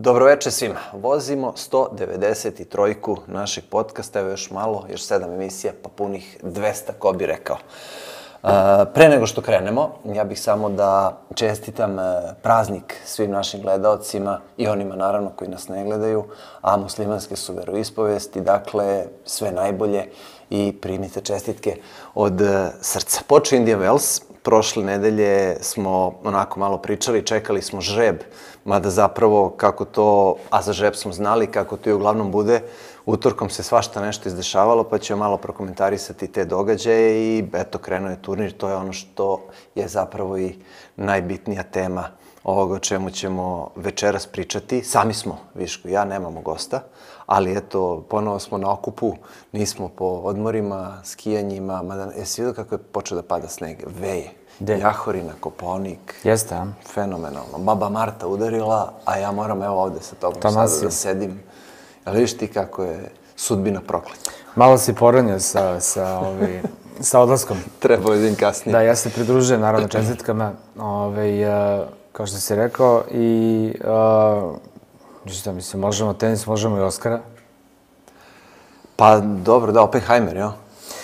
Dobroveče svima. Vozimo 193. našeg podcasta, evo još malo, još 7 emisija, pa punih 200, ko bi rekao. Pre nego što krenemo, ja bih samo da čestitam praznik svim našim gledaocima i onima naravno koji nas ne gledaju, a muslimanske su veroispovesti, dakle sve najbolje i primite čestitke od srca. Počeo Indian Wells, prošle nedelje smo onako malo pričali, čekali smo žreb, mada zapravo kako to, a za žreb smo znali kako to i uglavnom bude, utorkom se svašta nešto izdešavalo, pa ćemo malo prokomentarisati te događaje i eto, krenuo je turnir, to je ono što je zapravo i najbitnija tema ovoga o čemu ćemo večeras pričati. Sami smo, Viško i ja, nemamo gosta, ali eto, ponovo smo na okupu, nismo po odmorima, skijanjima, mada jesi vidio kako je počeo da pada sneg? Veje. Jahorina, Kopaonik. Jeste, a? Fenomenalno. Baba Marta udarila, a ja moram evo ovde sa tobom sada da sedim. Ali vidiš ti kako je sudbina prokleta. Malo si poranio sa odlaskom. Trebao je kasnije. Da, ja se pridružujem naravno čestitkama, kao što si rekao, i šta mislim, možemo tenis, možemo i Oskara. Pa dobro, da, Oppenheimer, jo?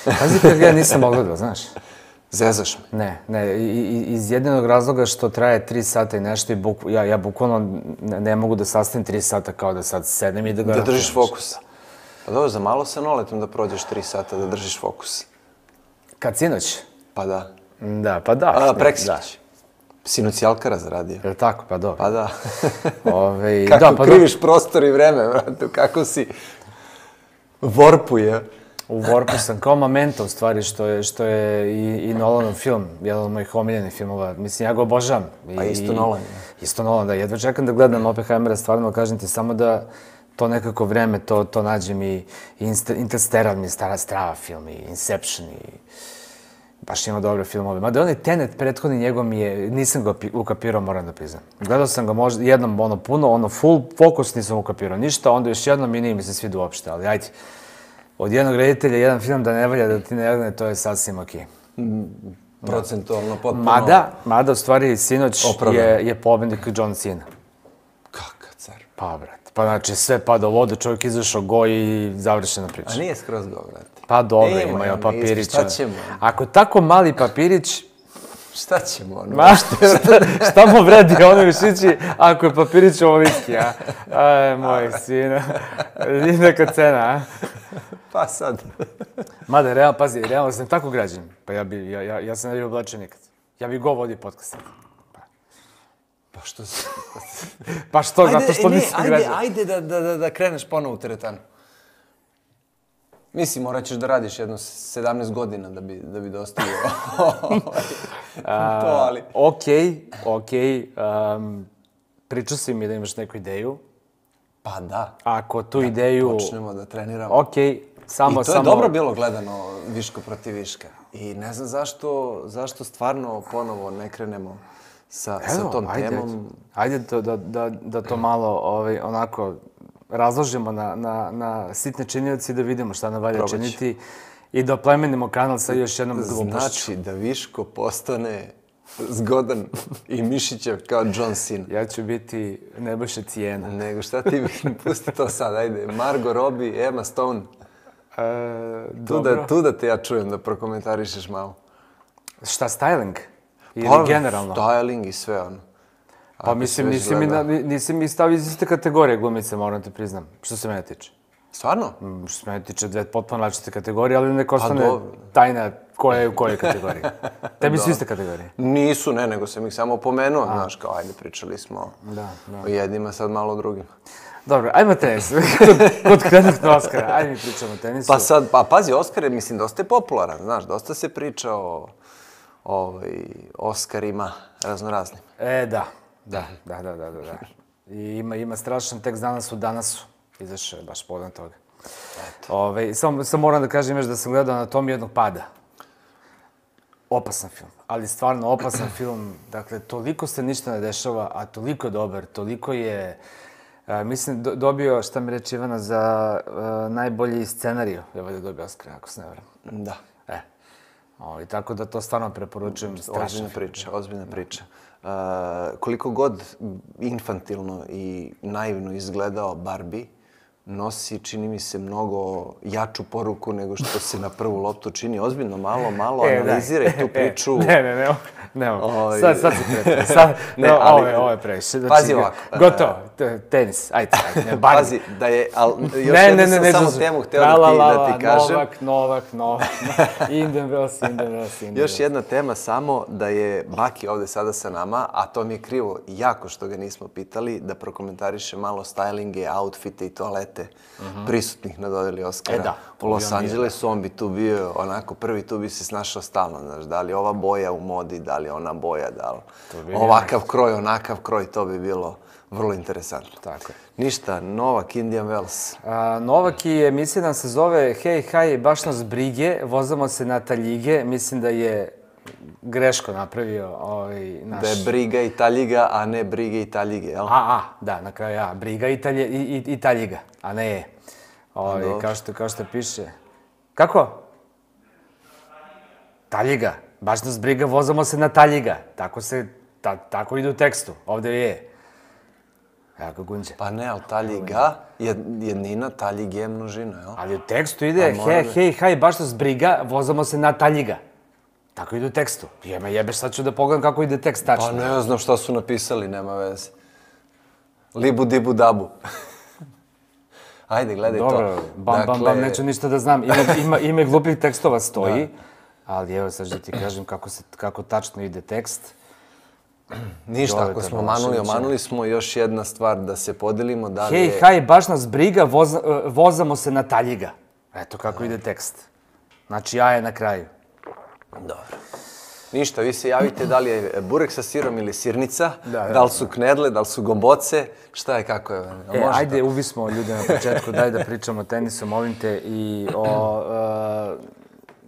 Pazi kako ja nisam ogledao, znaš. Zezaš me? Ne, iz jedinog razloga što traje 3 sata i nešto i ja bukvalno ne mogu da sastavim 3 sata kao da sad sedem i da ga... Da držiš fokus. Pa dobro, za malo sa Noletom da prođeš 3 sata da držiš fokus. Kad sinoć? Pa da. Da, pa da. Preksinoć. Sinoć je Alcaraz zaradio. Je li tako? Pa dobro. Pa da. Kako kriviš prostor i vreme, vrate, kako si vorpuje. U Warpu sam kao Memento, u stvari, što je i Nolanov film, jedan od mojih omiljenih filmova. Mislim, ja ga obožavam. Pa isto Nolan. Isto Nolan, da. Jedva čekam da gledam Oppenheimera, stvarno, kažem ti, samo da to nekako vreme, to nađem i Interstellar mi je strava film, i Inception, i baš ima dobre filmove. Mada onaj Tenet, prethodni njegov mi je, nisam ga ukapirao, moram da priznam. Gledao sam ga možda jednom, puno, full fokus nisam ukapirao ništa, onda još jednom i nije mi se sviđa uopšte, ali ajde. Od jednog reditelja, jedan film da ne valja, da ti ne legne, to je sasvim okej. Procentualno, potpuno... Mada, u stvari, sinoć je pobednik John Cena. Kakav car. Pa, brate. Pa, znači, sve pada u vodu, čovjek izašao go i završena priča. A nije skroz go, brate. Pa, dobro, imaju papirića. Šta ćemo? Ako je tako mali papirić... Šta ćemo, ono? Šta mu vredi ono višići ako je papirić ovoliki, a? Aj, moj sina. Neka cena, a? Pa sad. Mada, realno sam tako građan. Pa ja sam ne bi oblačio nikad. Ja bi go vodio podcast. Pa što si? Pa što, zato što nisam građan. Ajde da kreneš ponovo u teretanu. Mislim, morat ćeš da radiš jedno 17 godina da bi dostavio to, ali... Okej. Pričao si mi da imaš neku ideju. Pa da. Ako tu ideju... Počnemo da treniramo. Okej, samo... I to je dobro bilo gledano Viško protiv Viška. I ne znam zašto stvarno ponovo ne krenemo sa tom temom. Ajde da to malo onako razložimo na sitne činioci i da vidimo šta nam valja činiti i da oplemenimo kanal sa još jednom glupošću. Znači da Viško postane zgodan i Mišićev kao John Cena. Ja ću biti Nebojša Cijena. Nego šta ti pusti to sad, ajde. Margot Robbie, Emma Stone. Tu da te ja čujem da prokomentarišeš malo. Šta, styling? Ili generalno? Styling i sve ono. Pa mislim, nisi mi stavio iz iste kategorije glumice, moram te priznam, što se mene tiče. Stvarno? Što se mene tiče dve potpuno različite kategorije, ali neko ostane tajna koja je u kojoj kategoriji. Tebi su iste kategorije? Nisu, ne, nego sam ih samo pomenuo, znaš, kao ajde, pričali smo o jednima, sad malo o drugima. Dobro, ajmo tenis. Kod krenuti na Oskara, ajde mi pričamo o tenisu. Pa sad, pazi, Oskar je, mislim, dosta je popularan, znaš, dosta se priča o Oskarima raznoraznim. Da. I ima strašan tekst danas u Danasu. Izašao je baš povodom toga. Samo moram da kažem još da sam gledao Anatomiju jednog pada. Opasan film, ali stvarno opasan film. Dakle, toliko se ništa ne dešava, a toliko je dobar, toliko je... Mislim, dobio, šta mi reče Ivana, za najbolji scenariju. Je valjda dobio Oskar, ako se ne varam. Da. Tako da to stvarno preporučujem. Ozbiljna priča. koliko god infantilno i naivno izgledao Barbie, nosi, čini mi se, mnogo jaču poruku nego što se na prvu loptu čini. Ozbiljno, malo analiziraj tu priču. Ne mogu. Sad si pretio. Ovo je previše. Pazi ovako. Gotovo. Tenis. Ajde. Pazi, da je... Još jednu sam samo temu hteo da ti kažem. Novak. Indian Još jedna tema samo da je Baki ovde sada sa nama, a to mi je krivo jako što ga nismo pitali, da prokomentariše malo stylinge, outfite i toalete prisutnih na dodeli Oscara u Los Angelesu. On bi tu bio onako prvi, tu bi se snašao stalno, znaš, da li ova boja u modi, da li ona boja, da li ovakav kroj, onakav kroj, to bi bilo vrlo interesantno. Tako je. Ništa, Novak, Indian Wells. Novak i emisija nam se zove Hej, haj, baš nas brige, vozamo se na taljige. Mislim da je greško napravio naš... Da je briga i taljiga, a ne brige i taljige, jel? Da, na kraju briga i taljiga, a ne je. Kao što piše. Kako? Taljiga. Baš nas briga, vozamo se na taljiga. Tako ide u tekstu. Ovde je. Evo ga Gunđe. Pa ne, ali taljiga, jednina, taljig je množina, jel? Ali u tekstu ide, hej, haj, baš nas briga, vozamo se na taljiga. Tako ide u tekstu. Jebeš, sad ću da pogledam kako ide tekst tačno. Pa ne znam šta su napisali, nema veze. Libu, dibu, dabu. Ajde, gledaj to. Dobro, bam, neću ništa da znam. Ime glupih tekstova stoji, ali evo sad da ti kažem kako tačno ide tekst. Ništa, ako smo omanuli smo. Još jedna stvar da se podelimo. Hej, haj, baš nas briga, vozamo se na taljiga. Eto kako ide tekst. Znači, ja je na kraju. Dobro. Ništa, vi se javite da li je burek sa sirom ili sirnica, da li su knedle, da li su gomboce, šta je, kako je. Ajde, uvismo ljude na početku, daj da pričamo o tenisu, molim te.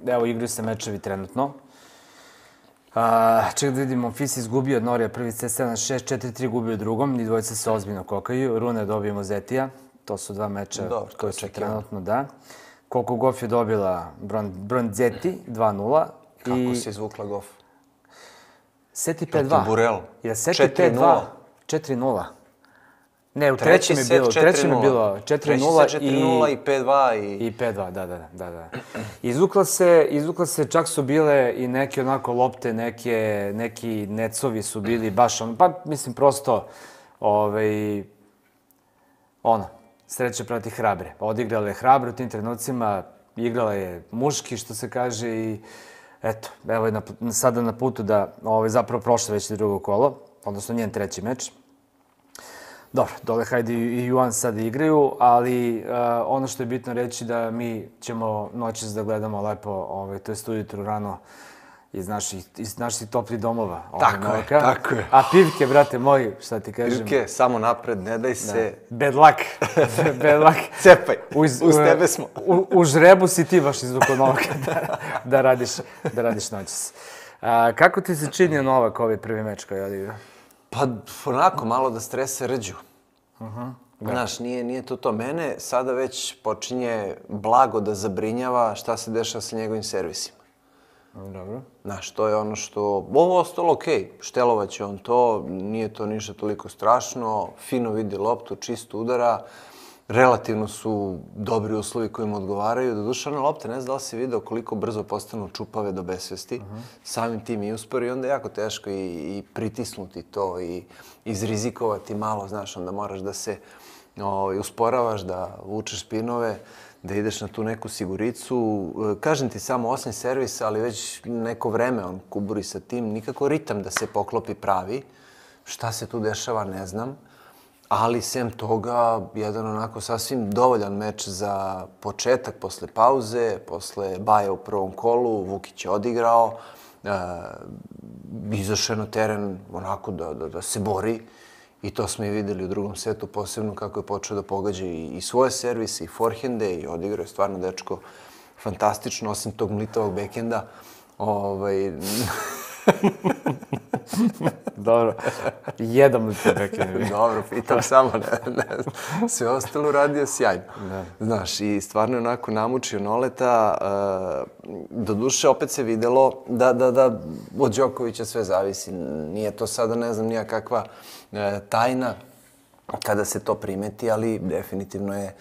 Evo, igraju se mečevi trenutno. Ček da vidimo, Fis izgubio od Norija prvi set 7-6, 4-3 gubio u drugom, ni dvojice se ozbiljno kokaju. Rune dobijemo Zetija, to su dva meča koji su trenutno, da. Koliko Goff je dobila Bronzetti, 2-0. Kako se izvukla Goff? Set i 5-2. Proti Burel. Je set i 5-2. 4-0. Ne, u trećem je bilo 4-0 i 5-2 i 5-2, da. Izvukla se, čak su bile i neke onako lopte, neki necovi su bili baš pa mislim prosto, sreće protiv hrabre. Odigrala je hrabro u tim trenucima, igrala je muški, što se kaže, i eto, evo je sada na putu da zapravo prošle već drugo kolo, odnosno njen treći meč. Dobro, dole Hajde i Juan sada igraju, ali ono što je bitno reći da mi ćemo noćas da gledamo lepo, to jest ujutru rano, iz naših toplih domova. Tako je. A pivke, brate moji, šta ti kažem? Pivke, samo napred, ne daj se... Bad luck. Cepaj, uz tebe smo. U žrebu si ti baš izvukao Novaka da radiš noćas. Kako ti se činio Novak ovaj prvi meč koji je odigrao? Pa onako, malo da strese Rđu. Znaš, nije to. Mene sada već počinje blago da zabrinjava šta se dešava sa njegovim servisima. Dobro. Znaš, to je ono što... Ovo ostalo okej, štelovaće on to, nije to ništa toliko strašno, fino vidi loptu, čisto udara, relativno su dobri uslovi koji mu odgovaraju. Doduše, one lopte, ne znam da li si video koliko brzo postanu čupave do besvesti, samim tim i uspori, onda je jako teško i pritisnuti to i izrizikovati malo, znaš, onda moraš da se usporavaš, da vučeš spinove, da ideš na tu neku siguricu. Kažem ti samo 8 servisa, ali već neko vreme on kuburi sa tim, nikako ritam da se poklopi pravi. Šta se tu dešava, ne znam. Ali, sem toga, jedan onako sasvim dovoljan meč za početak, posle pauze, posle baja u prvom kolu, Vukić je odigrao, izašao na teren onako da se bori. I to smo i videli u drugom setu, posebno kako je počeo da pogađa i svoje servise, i forehende, i odigrao je stvarno dečko fantastično, osim tog mlitavog bekenda. Dobro, jedom li te prekinem? Dobro, pitam samo, ne znam. Sve ostalo radio sjajno. Znaš, i stvarno je onako namučio Noleta. Doduše, opet se videlo da od Đokovića sve zavisi. Nije to sada, ne znam, nija kakva tajna kada se to primeti, ali definitivno je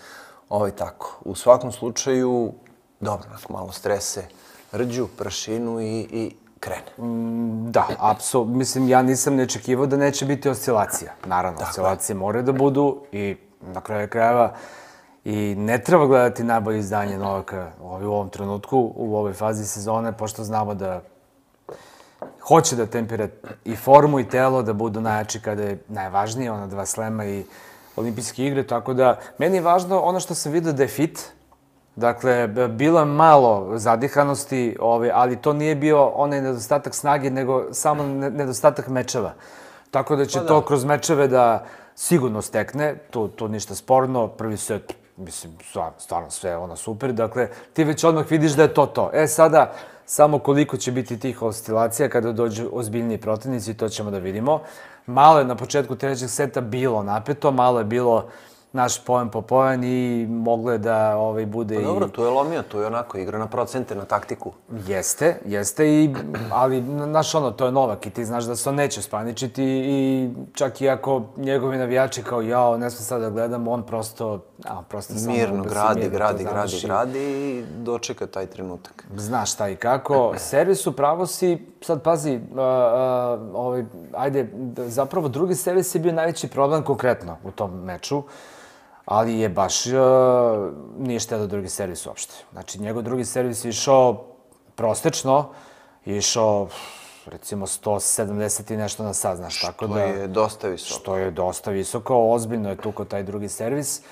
tako. U svakom slučaju, dobro, malo strese, rđu, prašinu i krene. Da, apsolutno. Mislim, ja nisam ne očekivao da neće biti oscilacija. Naravno, oscilacije moraju da budu i na kraju krajeva i ne treba gledati najbolje izdanje Novaka u ovom trenutku, u ovoj fazi sezone, pošto znamo da hoće da tempira i formu i telo, da budu najjači kada je najvažnije, ona 2 slema i olimpijske igre, tako da meni je važno ono što sam vidio da je fit. Dakle, bilo je malo zadihanosti, ali to nije bio onaj nedostatak snage, nego samo nedostatak mečeva. Tako da će to kroz mečeve da sigurno stekne, tu ništa sporno, prvi set, mislim, stvarno sve super, dakle, ti već odmah vidiš da je to. Sada, samo koliko će biti tih oscilacija kada dođu ozbiljniji protivnici, to ćemo da vidimo. Malo je na početku trećeg seta bilo napeto, malo je bilo naš poen po poen i moglo je da bude i... Pa dobro, tu je lomio, tu je onako igra na procente, na taktiku. Jeste, ali znaš to je Novak i ti znaš da se on neće spaničiti i čak i ako njegovi navijači kao ne smo sad da gledamo, on prosto mirno gradi i dočeka taj trenutak. Znaš šta i kako. Servis u pravo si, sad pazi, zapravo drugi servis je bio najveći problem konkretno u tom meču. Ali je baš, nije štedao drugi servis uopšte. Znači, njegov drugi servis je išao prostečno, je išao, recimo, 170 i nešto na sat, znaš, tako da... Što je dosta visoko. Što je dosta visoko, ozbiljno je tukao taj drugi servis.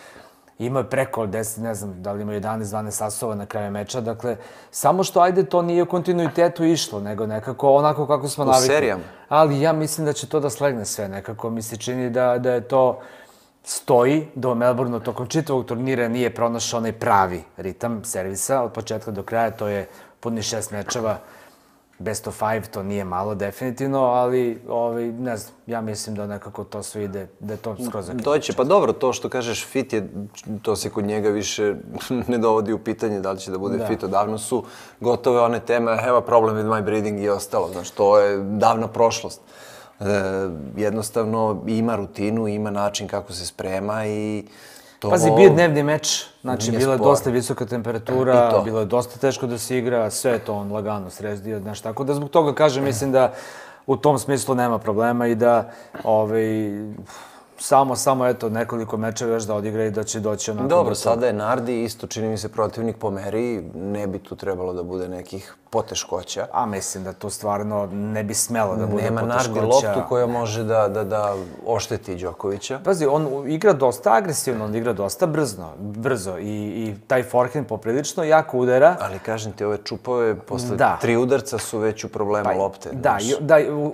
Imao je preko 10, ne znam, da li imao 11-12 asova na kraju meča, dakle, samo što, to nije u kontinuitetu išlo, nego nekako onako kako smo navikli. U serijama. Ali ja mislim da će to da slegne sve, nekako mi se čini da je to... stoji do Melbourneu tokom čitavog turnira nije pronašao onaj pravi ritam servisa od početka do kraja, to je punih 6 mečeva, best of 5, to nije malo definitivno, ali ne znam, ja mislim da nekako to sve ide, da je to skroz zaključno. Doće, pa dobro, to što kažeš fit je, to se kod njega više ne dovodi u pitanje da li će da bude fit, odavno su gotove one teme, I have a problem with my breathing i ostalo, znaš, to je davna prošlost. Jednostavno ima rutinu, ima način kako se sprema i to... Pazi, bio je dnevni meč, znači bila je dosta visoka temperatura, bilo je dosta teško da se igra, sve je to on lagano srezdio, znaš, tako da zbog toga kažem, mislim da u tom smislu nema problema i da samo eto nekoliko mečeva još da odigra i da će doći onako... Dobro, sada je Nardi, isto čini mi se protivnik po meri, ne bi tu trebalo da bude nekih poteškoća. A mislim da to stvrno ne bi smelo da bude poteškoća. Nema Nardi loptu koja može da ošteti Đokovića. Pazi, on igra dosta agresivno, on igra dosta brzo i taj forehand poprilično jako udara. Ali kažem ti, ove čupove posle 3 udarca su već u problemu lopte. Da,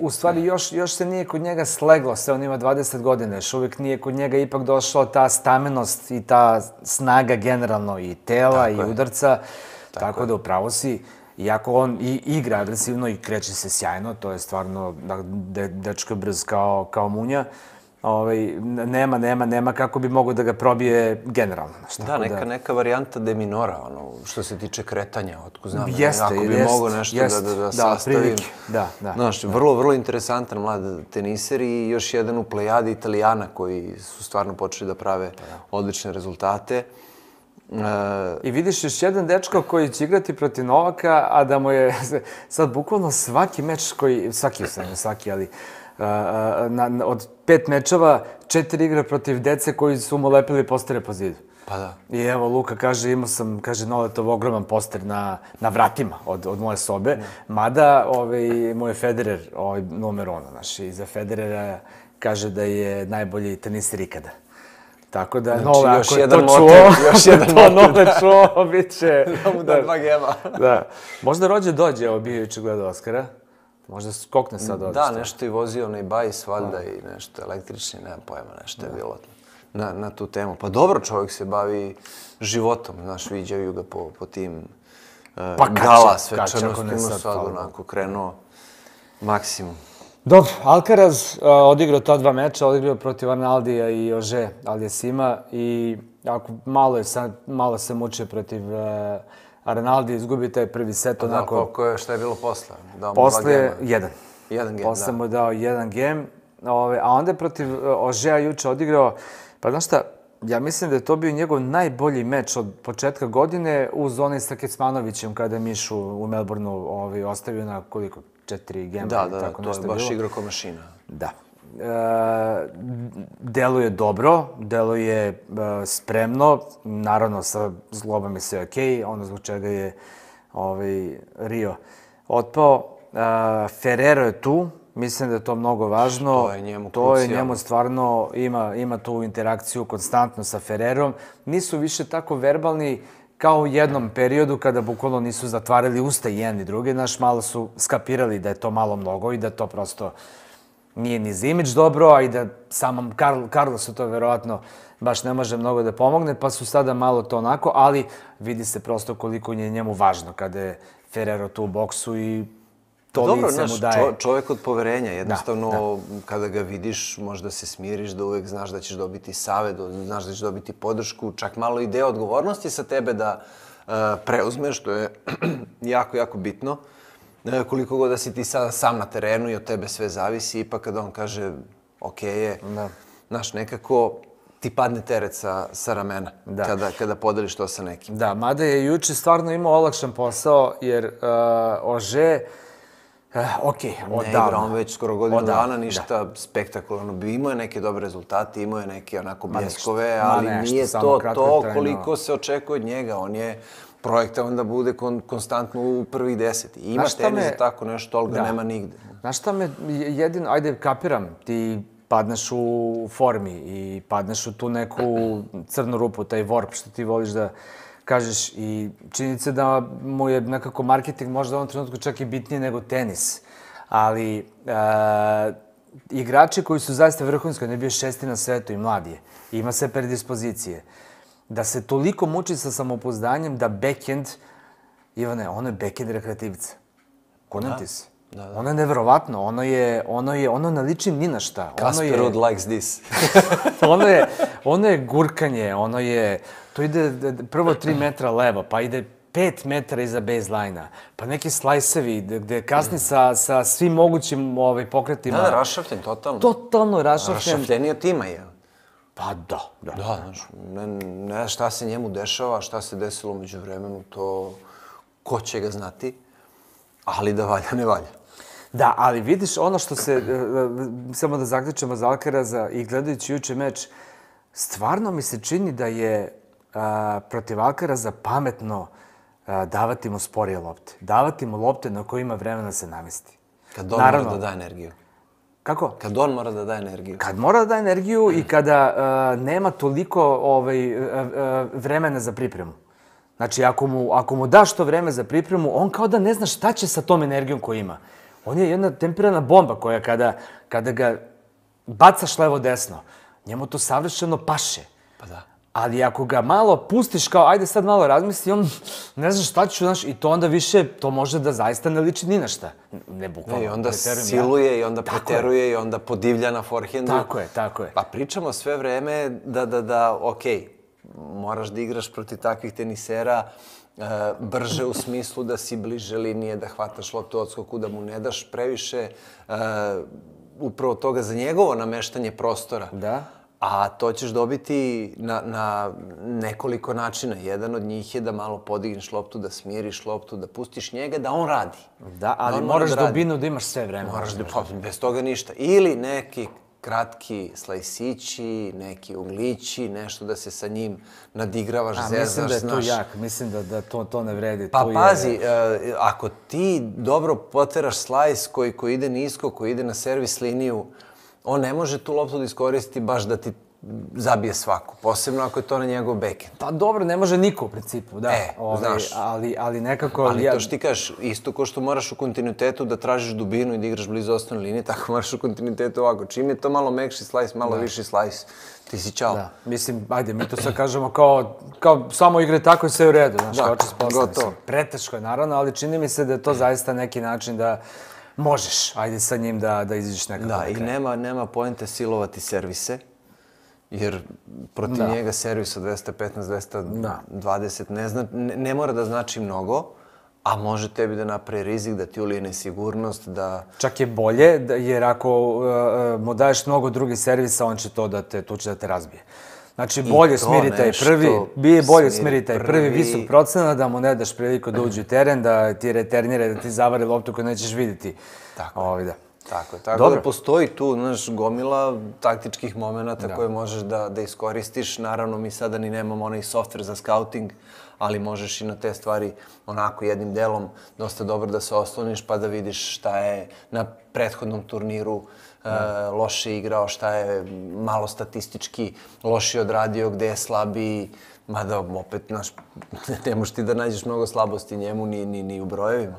u stvari još se nije kod njega sleglo, sve on ima 20 godina, još uvijek nije kod njega ipak došla ta stamenost i ta snaga generalno i tela i udarca, tako da upravo si. Iako on i igra agresivno i kreće se sjajno, to je stvarno dečko brz kao munja, nema kako bi mogo da ga probije generalno. Da, neka varijanta de minora, što se tiče kretanja, otko znam, ako bi mogo nešto da sastavim. Znaš, vrlo interesantan mlad teniser i još jedan u plejadi Italijana koji su stvarno počeli da prave odlične rezultate. I vidiš još jedan dečko koji će igrati protiv Novaka, a da mu je sad bukvalno svaki meč svaki, ali od 5 mečeva 4 igre protiv dece koji su mu lepili postere po zidu. Pa da. I evo, Luka kaže, imao sam, Noletov ogroman poster na vratima od moje sobe, mada moj Federer numero 1, znaš, i za Federera kaže da je najbolji teniser ikada. Tako da, Nole, ako je to Nole čuo, bit će... Da mu da 2 gema. Da. Možda Rođe dođe, evo bio juče gleda Oskara. Možda skokne sad ovdje. Da, nešto je vozio onaj bajs, valjda, i nešto električni, nemam pojma, nešto je bilo na tu temu. Pa dobro, čovjek se bavi životom, znaš, viđaju ga po tim gala svečanostima, sad onako krenuo Maksimum. Dobro, Alcaraz odigrao ta 2 meča, odigrao protiv Arnaldija i Ože Aliassima i ako malo se muče protiv Arnaldi, izgubi taj prvi set onako. Šta je bilo posle? Posle je 1. Jedan gem, Posle mu je dao 1 gem, a onda je protiv Ožeja juče odigrao, pa znaš šta, ja mislim da je to bio njegov najbolji meč od početka godine uz onaj sa Kecmanovićem kada je Mišu u Melbourneu ostavio na koliko? 4 gema. Da, to je baš igra ko mašina. Da. Deluje dobro, deluje spremno, naravno sa zlobom je sve okej, ono zbog čega je Rio otpao. Ferrero je tu, mislim da je to mnogo važno. To je njemu To je njemu stvarno, ima tu interakciju konstantno sa Ferrerom. Nisu više tako verbalni kao u jednom periodu kada bukvalno nisu zatvarali usta i jedni drugi. Znaš, malo su skapirali da je to malo mnogo i da to prosto nije ni za imidž dobro, a i da samom Carlosu to verovatno baš ne može mnogo da pomogne, pa su sada malo to onako, ali vidi se prosto koliko je njemu važno kada je Ferrero tu u boksu i to lice mu daje. Dobro, čovjek od poverenja, jednostavno kada ga vidiš možda se smiriš, da uvek znaš da ćeš dobiti savet, znaš da ćeš dobiti podršku, čak malo i deo odgovornosti sa tebe da preuzmeš, što je jako, jako bitno. Koliko god da si ti sada sam na terenu i od tebe sve zavisi, ipak kada on kaže okej je, znaš, nekako ti padne teret sa ramena kada podeliš to sa nekim. Da, mada je juče stvarno imao olakšan posao, jer Ože, ne igra on već skoro godinu dana, ništa spektakularno. Imao je neke dobre rezultate, imao je neke onako bljeskove, ali nije to koliko se očekuje od njega. On je projektovan da bude konstantno u prvih 10. Ima tenis za tako nešto, ali ga nema nigde. Znaš šta me jedino, ajde kapiram, ti padneš u formi i padneš u tu neku crnu rupu, taj warp što ti voliš da kažeš, i činjenica da mu je nekako marketing možda u ovom trenutku čak i bitnije nego tenis. Ali igrači koji su zaista vrhunski, on je bio 6. na svetu i mlad je, ima sve predispozicije. Da se toliko muči sa samopouzdanjem da backhand, Ivane, ono je backhand rekreativica. Kunem ti se. Ono je neverovatno, ono ne liči ni na šta. Casper Ruud likes this. Ono je gurkanje, to ide prvo 3 metra levo, pa ide 5 metara iza baseline-a, pa neki slajsevi gde kasni sa svim mogućim pokretima. Da, rašafljen, totalno. Totalno rašafljen. Rašafljeniji od tima je. Pa da. Da, znaš, ne šta se njemu dešava, šta se desilo među vremenu, to ko će ga znati, ali da valja, ne valja. Da, ali vidiš ono što se, samo da zaključimo za Alcaraza i gledajući juče meč, stvarno mi se čini da je protiv Alcaraza pametno davati mu sporije lopte. Davati mu lopte na koje ima vremena da se namesti. Kad on mora da da energiju. Kako? Kad on mora da da energiju. Kad mora da da energiju i kada nema toliko vremena za pripremu. Znači, ako mu daš to vreme za pripremu, on kao da ne zna šta će sa tom energijom koju ima. On je jedna tempirana bomba koja kada ga bacaš levo-desno, njemu to savršeno paše. Pa da. Ali ako ga malo pustiš kao, ajde sad malo razmisli, on ne zna šta ću, znaš, i to onda više, to može da zaista ne liči ni na šta. Ne bukvalno. I onda siluje, i onda preteruje, i onda podivlja na forehandu. Tako je. Pa pričamo sve vreme da, okej, moraš da igraš protiv takvih tenisera brže u smislu da si bliže linije, da hvataš loptu u odskoku, da mu ne daš previše upravo toga za njegovo nameštanje prostora. Da. A to ćeš dobiti na nekoliko načina. Jedan od njih je da malo podigneš loptu, da smiriš loptu, da pustiš njega, da on radi. Da, ali moraš dubinu da imaš sve vreme. Moraš da, bez toga ništa. Ili neki kratki slajsići, neki uglići, nešto da se sa njim nadigravaš, zezaš, znaš. Mislim da to ne vredi. Pa pazi, ako ti dobro poteraš slajs koji ide nisko, koji ide na servis liniju, on ne može tu loptu da iskoristi baš da ti zabije svaku, posebno ako je to na njegov backhand. Pa dobro, ne može niko u principu, da. Znaš. Ali nekako... Ali to što ti kažeš, isto ko što moraš u kontinuitetu da tražiš dubinu i da igraš blizu osnovne linije, tako moraš u kontinuitetu ovako. Čim je to malo mekši slajs, malo viši slajs, ti si čao. Da, mislim, ajde, mi to sad kažemo kao samo igre tako i sve u redu, znaš, kao oči s posla. Preteško je, naravno, ali čini mi se da je to zaista neki način da možeš, ajde sa njim da izađeš nekako. Da, i nema poente silovati servise, jer protiv njega servis od 215, 220 ne mora da znači mnogo, a može tebi da napravi rizik, da ti ulije nesigurnost, da... Čak je bolje, jer ako mu daješ mnogo drugih servisa, on će tu će da te razbije. Znači, bolje smiri taj prvi, bolje smiri taj prvi visok procenat, da mu ne daš priliku da uđe u teren, da ti reternira, da ti zavari loptu koju nećeš vidjeti. Tako je. Tako da postoji tu, znaš, gomila taktičkih momenata koje možeš da iskoristiš. Naravno, mi sada ni nemamo onaj softver za scouting, ali možeš i na te stvari onako jednim delom dosta dobro da se osloniš pa da vidiš šta je na prethodnom turniru loše igrao, šta je malo statistički loše odradio, gde je slabiji. Mada opet, znaš, ne možeš ti da nađeš mnogo slabosti njemu ni u brojevima.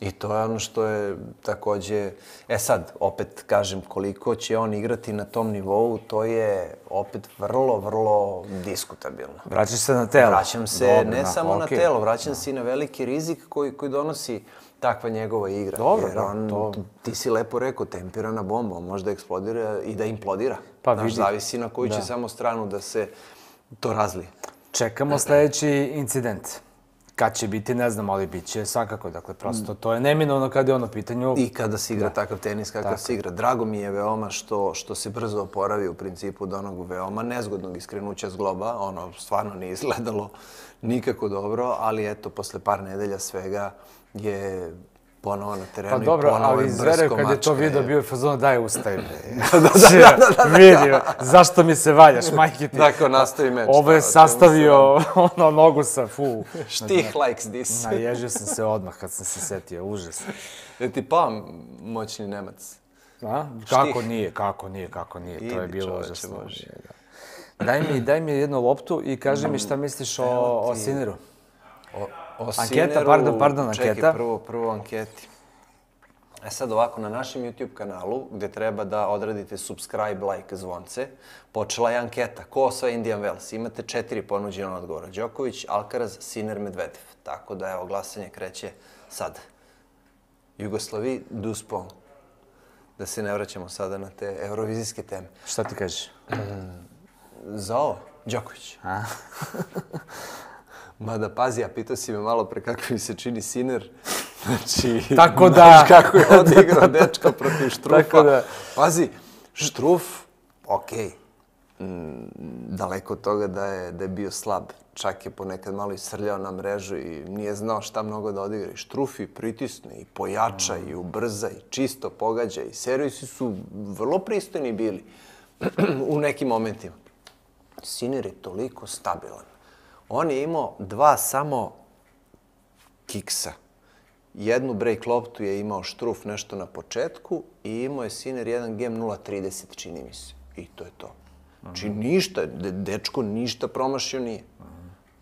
I to je ono što je takođe... Sad, opet kažem, koliko će on igrati na tom nivou, to je opet vrlo, vrlo diskutabilno. Vraćaš se na telo. Vraćam se ne samo na telo, vraćam se i na veliki rizik koji donosi takva njegova igra. Jer ti si lepo rekao, tempirana bomba, on može da eksplodira i da implodira. Zavisi na koju će samo stranu da se to razlije. Čekamo sledeći incident. Kad će biti, ne znam, ali bit će svakako. Dakle, prosto to je neminovno kad je ono pitanju... I kada se igra takav tenis, kakav se igra. Drago mi je veoma što se brzo oporavi u principu od onog veoma nezgodnog iskrenuća zgloba. Ono stvarno nije izgledalo nikako dobro, ali eto, posle par nedelja svega je ponovo na terenu i ponovo je brsko mačka. Pa dobro, ali Zverev kad je to video bio je fazon daj ustaj. Vidio, zašto mi se valjaš, majke ti. Dakle, nastavi meč. Ovo je sastavio nogu sa Štih likes this. Naježio sam se odmah kad sam se setio, užas. Je ti pao moćni Nemac? Kako nije, to je bilo užasno. Daj mi jednu loptu i kaži mi šta misliš o Sinneru. Anketa, pardon, anketa. Čekaj, prvo anketi. Sad ovako, na našem YouTube kanalu, gde treba da odradite subscribe, like, zvonce, počela je anketa. Ko osvaja Indian Wells? Imate 4 ponuđena odgovora. Đoković, Alcaraz, Sinner, Medvedev. Tako da, evo, glasanje kreće sad. Jugoslavi, Duspon. Da se ne vraćamo sada na te eurovizijske teme. Šta ti kažeš? Za ovo? Đoković. Mada, pazi, a pitao si me malo pre kako mi se čini Sinner. Znači, tako da... Znaš kako je odigrao dečka protiv Štrufa. Pazi, Štruf, okej. Daleko od toga da je bio slab. Čak je ponekad malo isrljao na mrežu i nije znao šta mnogo da odigra. I Štruf i pritisne, i pojača, i ubrza, i čisto pogađa. I servisi su vrlo pristojni bili u nekim momentima. Sinner je toliko stabilan. On je imao 2 samo kiksa. Jednu break loptu je imao Štruf nešto na početku i imao je Sinner jedan game 0.30, čini mi se. I to je to. Znači ništa, dečko ništa promašio nije.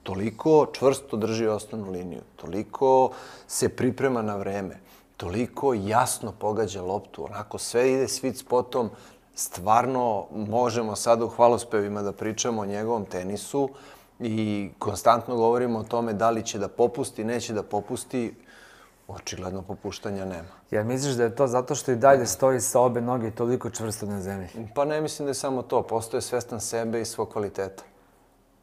Toliko čvrsto drži osnovnu liniju, toliko se priprema na vreme, toliko jasno pogađa loptu, onako sve ide sweet spotom. Stvarno možemo sada u hvalospevima da pričamo o njegovom tenisu i konstantno govorimo o tome da li će da popusti, neće da popusti. Očigledno popuštanja nema. Jel misliš da je to zato što i dalje stoji sa obe noge toliko čvrsto na zemlji? Pa ne mislim da je samo to. Postoje svestan sebe i svog kvaliteta.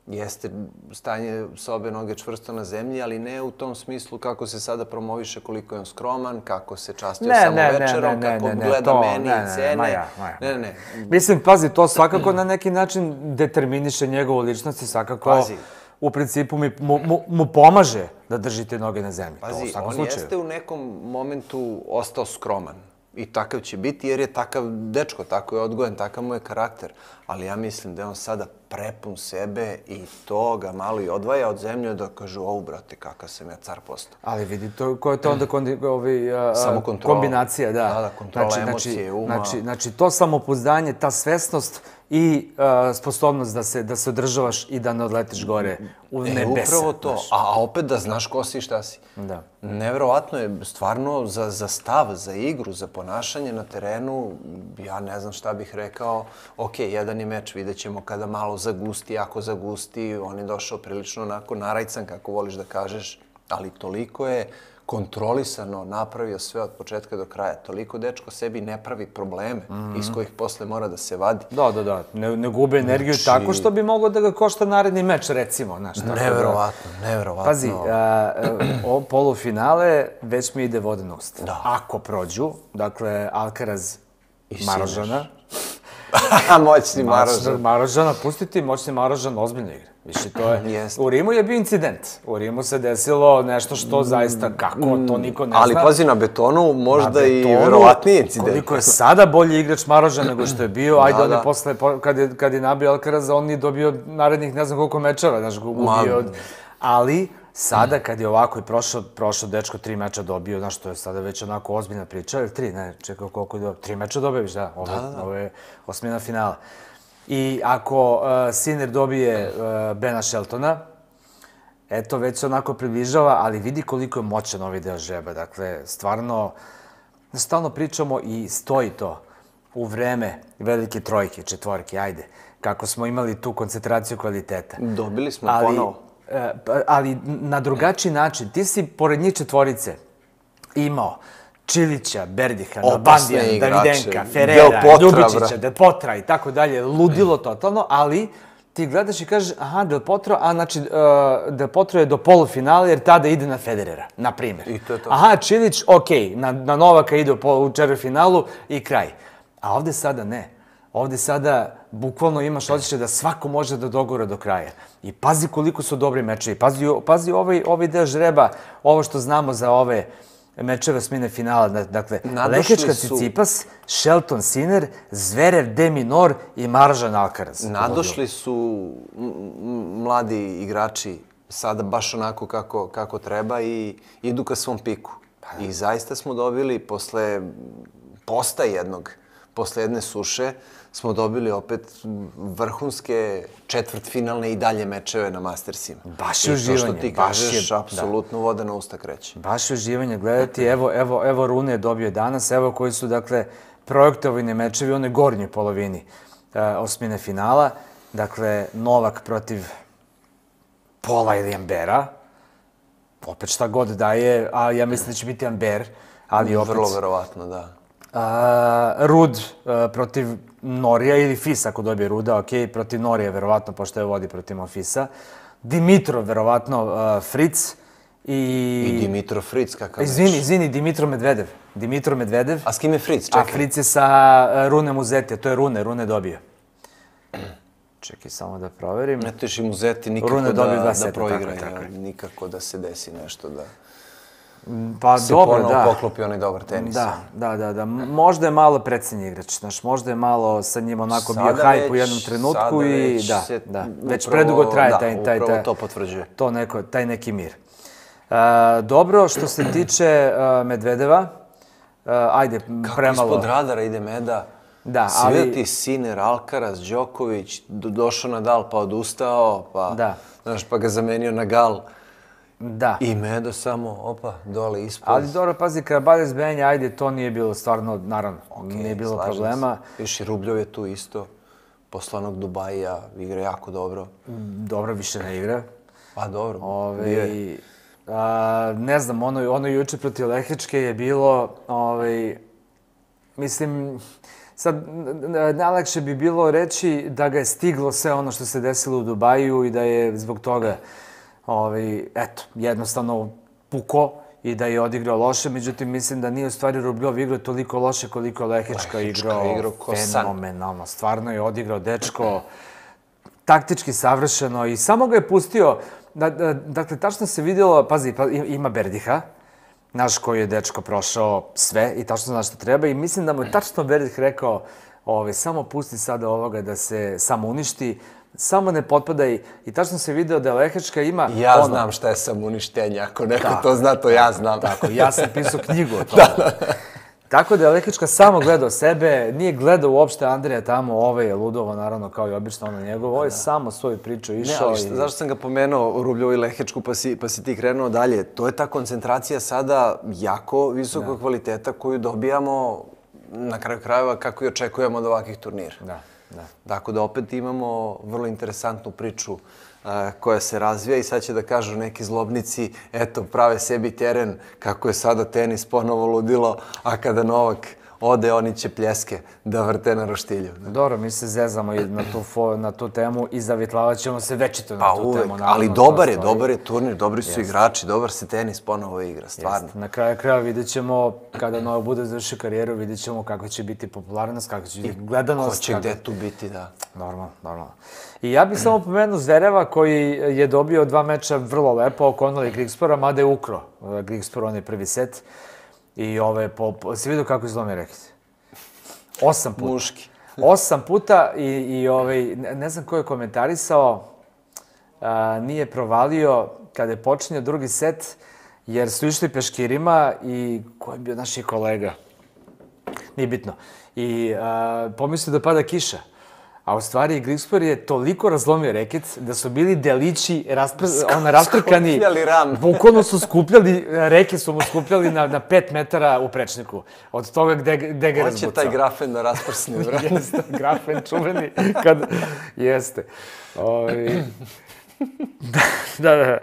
Jeste stanje sa obe noge čvrsto na zemlji, ali ne u tom smislu kako se sada promoviše, koliko je on skroman, kako se častio samo večerom, kako gleda meni i cene. Ne. Mislim, pazi, to svakako na neki način determiniše njegovu ličnost i svakako u principu mu pomaže da drži te noge na zemlji. Pazi, on jeste u nekom momentu ostao skroman. I takav će biti jer je takav dečko, tako je odgojen, takav mu je karakter. Ali ja mislim da je on sada prepun sebe i to ga malo i odvaja od zemlje da kažu, ovo, brate, kakav sam ja car postao. Ali vidi, koja je to onda kombinacija, da. Da, kontrola emocije, uma. Znači, to samopouzdanje, ta svesnost i sposobnost da se održavaš i da ne odletiš gore u nebesa. Upravo to. A opet da znaš ko si i šta si. Da. Nevjerovatno je stvarno za stav, za igru, za ponašanje na terenu. Ja ne znam šta bih rekao. Ok, jedan je meč, vidjet ćemo kada malo zagusti, ako zagusti. On je došao prilično onako narajcan, kako voliš da kažeš. Ali toliko je kontrolisano napravio sve od početka do kraja. Toliko dečko sebi ne pravi probleme iz kojih posle mora da se vadi. Da. Ne gube energiju tako što bi moglo da ga košta naredni meč, recimo. Neverovatno. Pazi, polufinale već mi ide voda na usta. Da. Ako prođu, dakle, Alcaraz Marožana. Moćni Marožan. Marožana, pustiti moćni Marožan ozbiljno igra. Više, to je... U Rimu je bio incident. U Rimu se desilo nešto što zaista, kako, to niko ne zna. Ali pazi, na betonu možda i verovatniji incident. Koliko je sada bolji igrač Marožan nego što je bio, ajde on je posle, kad je nabio Alcaraza, on je dobio narednih ne znam koliko mečeva, znaš, gubio od... Ali, sada kad je ovako i prošao dečko 3 meča dobio, znaš, to je sada već onako ozbiljna priča, ili 3, ne, čekaj koliko je dobio, 3 meča dobio viš, da, ovo je osmina finala. I ako Sinner dobije Bena Sheltona, eto, već se onako približava, ali vidi koliko je moćan ovaj deo žreba. Dakle, stvarno, stalno pričamo i stoji to u vreme velike trojke, četvorke, ajde, kako smo imali tu koncentraciju kvaliteta. Dobili smo ponovo. Ali na drugačiji način. Ti si, pored njih četvorice, imao Čilića, Berdiha, Nalbandija, Davidenka, Ferrera, Ljubičića, Del Potra i tako dalje. Ludilo totalno, ali ti gledaš i kažeš, aha, Del Potro, a znači Del Potro je do polufinala jer tada ide na Federera, na primjer. I to je to. Aha, Čilić, okej, na Novaka ide u četvrtfinalu i kraj. A ovde sada ne. Ovde sada bukvalno imaš osjećaj da svako može da dogura do kraja. I pazi koliko su dobri mečevi. Pazi ovaj deo žreba, ovo što znamo za ove mečeve osmine finala. Dakle, Lehečka Cicipas, Shelton Sinner, Zverev de Minaur i Marožan Alcaraz. Nadošli su mladi igrači sada baš onako kako treba i idu ka svom piku. I zaista smo dobili posle posta jednog, posle jedne suše, smo dobili opet vrhunske četvrtfinalne i dalje mečeve na Mastersima. Baš je uživanje. I to što ti kažeš, apsolutno voda na usta kreće. Baš je uživanje gledati. Evo Rune je dobio danas, evo koji su, dakle, projektovani mečevi u onoj gornjoj polovini osmine finala. Dakle, Novak protiv Pola ili Ambera. Opet šta god daje, a ja mislim da će biti Amber, ali opet... Vrlo verovatno, da. Rud protiv Norija ili Fis ako dobije Ruda, ok, protiv Norija verovatno, pošto je vodi protiv Monfisa. Dimitrov verovatno Fritz i Dimitrov Fritz, kakav meč. Izvini, Dimitrov Medvedev. A s kim je Fritz? Čekaj. A Fritz je sa Runem Uzeti, to je Rune dobio. Čekaj, samo da proverim. Ne teš i Muzeti nikako da proigra, nikako da se desi nešto da... Pa se dobro, ponovo da. poklopi onaj dobar tenis. Da. Možda je malo precenji igrač, znaš, možda je malo sa njim onako bio hajp u jednom trenutku i da. Već predugo traje taj... Upravo to potvrđuje. Taj neki mir. Dobro, što se tiče Medvedeva, ajde, premalo... Kako ispod radara ide Meda. Da, ali... Sveti Sinner, Alcaraz, Đoković, došao Nadal pa odustao, pa ga zamenio na Gal. Da. I Medo samo, opa, dole ispod. Ali dobro, pazi, Karabaljes Benja, ajde, to nije bilo stvarno, naravno, nije bilo problema. Još i Rubljov je tu isto, posle onog Dubaija, igra jako dobro. Dobro, više ne igra. Pa dobro, bio je. Ne znam, ono juče protiv Lehečke je bilo, mislim, sad, najlakše bi bilo reći da ga je stiglo sve ono što se desilo u Dubaju i da je zbog toga eto, jednostavno puko i da je odigrao loše, međutim, mislim da nije u stvari Rubljov igrao toliko loše koliko je Lehečka igrao fenomenalno. Stvarno je odigrao dečko taktički savršeno i samo ga je pustio, dakle, tačno se vidjelo, pazi, ima Berdiha, naš koji je dečko prošao sve i tačno zna što treba i mislim da mu je tačno Berdih rekao samo pusti sada ovoga da se samo uništi, samo ne potpadaj i tačno se video da Lehečka ima... Ja znam šta je samouništenje, ako neko to zna, to ja znam. Tako, ja sam pisao knjigu o tome. Tako da je Lehečka samo gledao sebe, nije gledao uopšte Andreja tamo, je ludovo, naravno, kao i obično ono njegovo, je samo svoju priču išao. Ne, ali zašto sam ga pomenuo, Rubljovu i Lehečku, pa si ti krenuo dalje? To je ta koncentracija sada jako visokog kvaliteta koju dobijamo na kraju krajeva kako i očekujemo od ovakvih turnira. Tako da opet imamo vrlo interesantnu priču koja se razvija i sad će da kažu neki zlobnici, eto, prave sebi teren kako je sada tenis ponovo ludilo, a kada Novak ode, oni će pljeske da vrte na roštilju. Dobro, mi se zezamo i na tu temu i zavitlavat ćemo se večito na tu uvek, temu. ali dobar je turnir, dobri su igrači, dobar se tenis ponovo igra, stvarno. Na kraju kraja vidjet ćemo, kada Novak bude završio karijeru, vidjet ćemo kako će biti popularnost, kako će biti gledanost. Ko će gde tu biti, da. Normalno. I ja bih samo pomenuo Zvereva koji je dobio 2 meča vrlo lepo oko Conor Grigspora, mada je ukro Grigspor, on je prvi set. I si vidio kako izlomio reket? 8 puta. Muški. 8 puta i ne znam ko je komentarisao, nije provalio kada je počinio drugi set, jer su išli peškirima i ko je bio naših kolega? Nije bitno. I pomislio da pada kiša. A u stvari Grigspor je toliko razlomio reket da su bili delići rastrkani. Skupljali ram. Bukvalno su skupljali, reke su mu skupljali na 5 metara u prečniku. Od toga gde ga je razbucao. Hoće taj grafen da rasprsne, vrati. Jeste, grafen čuveni. Jeste. Da.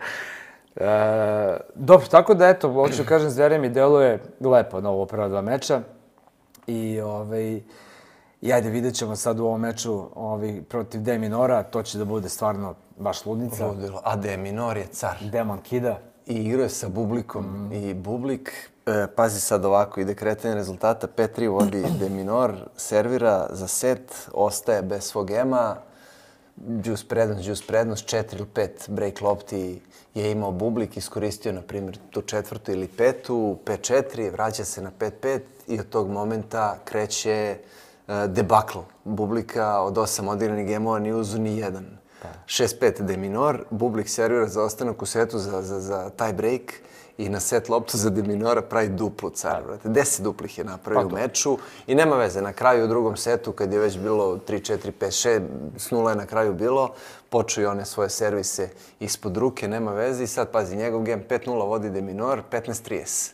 Dobro, tako da eto, hoću kažem, Zverev mi deluje lepo na ovo prva 2 meča. I ajde, vidjet ćemo sad u ovom meču protiv De Minora, to će da bude stvarno baš ludnica. Ludilo. A De Minor je car. Demon kida. I igrao je sa Bublikom. I Bublik, pazi sad ovako, ide kretanje rezultata, 5-3 vodi De Minor, servira za set, ostaje bez svog ema, džus prednost, 4 ili 5 break lopti je imao Bublik, iskoristio, na primjer, tu 4. ili 5. 5-4, vraća se na 5-5 i od tog momenta kreće debakl Bublika. Od 8 odigranih gemova ni uzu ni jedan. 6-5 De Minor, Bublik servira za ostanak u setu za taj break i na set loptu za De Minora pravi duplu car. 10 duplih je napravio u meču i nema veze. Na kraju u drugom setu, kad je već bilo 3-4-5-6, s 0 je na kraju bilo, počeo i one svoje servise ispod ruke, nema veze. I sad, pazi, njegov gem 5-0 vodi De Minor, 15-30.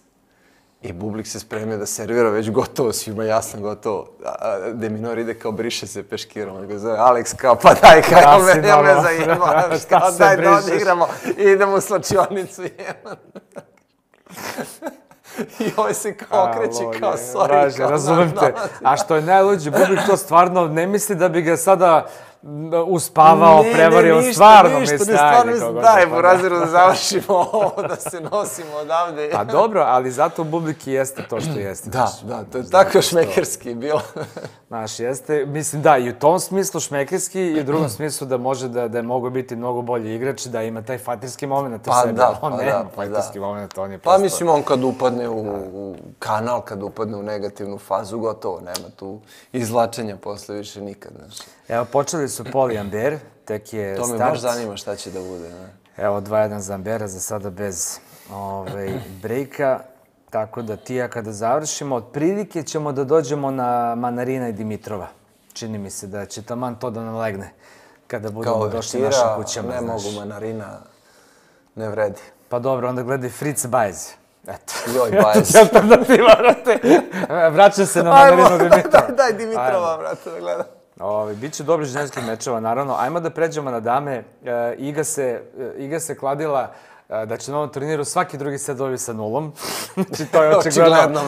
I Bublik se spremio da servira već gotovo, svima jasno gotovo. De Minor ide kao briše se peškirom. On ga zove, Alex kao, pa daj, kao me zaimaš, kao daj da odigramo i idemo u slačionicu. I ovaj se kao okreće kao sorry. Razumem te. A što je najluđe, Bublik to stvarno ne misli da bi ga sada uspavao, prevario, stvarno misli. Daj, Buraziru, da završimo ovo, da se nosimo odavde. Pa dobro, ali zato Bublik i jeste to što jeste. Da, to je tako šmekerski bilo. Znaš, jeste, mislim da, i u tom smislu šmekerski i u drugom smislu da može da je mogo biti mnogo bolji igrač, da ima taj fatirski moment u sebi. On nema fatirski moment, on je prosto... Pa mislim, on kad upadne u kanal, kad upadne u negativnu fazu, gotovo, nema tu izvlačenja posle više nikad, znaš. Evo, počeli su Pol i Amber, tek je start. To me baš zanima šta će da bude, ne? Evo, 2-1 za Ambera, za sada bez brejka. Tako da ti ja kada završimo, otprilike ćemo da dođemo na Manarina i Dimitrova. Čini mi se da će taman to da nam legne kada budemo došli našim kućama. Ne mogu, Manarina ne vredi. Pa dobro, onda gledaj Fritz Bajz. Eto. Joj, Bajz. Alternativa, vrate. Vraćam se na Manarinu Dimitrova. Daj Dimitrova, vrate, da gledam. Biće dobri ženskih mečeva, naravno. Ajmo da pređemo na dame. Iga se kladila da će na ovom turniru svaki drugi set dobiti sa 0. Znači, to je očigledno.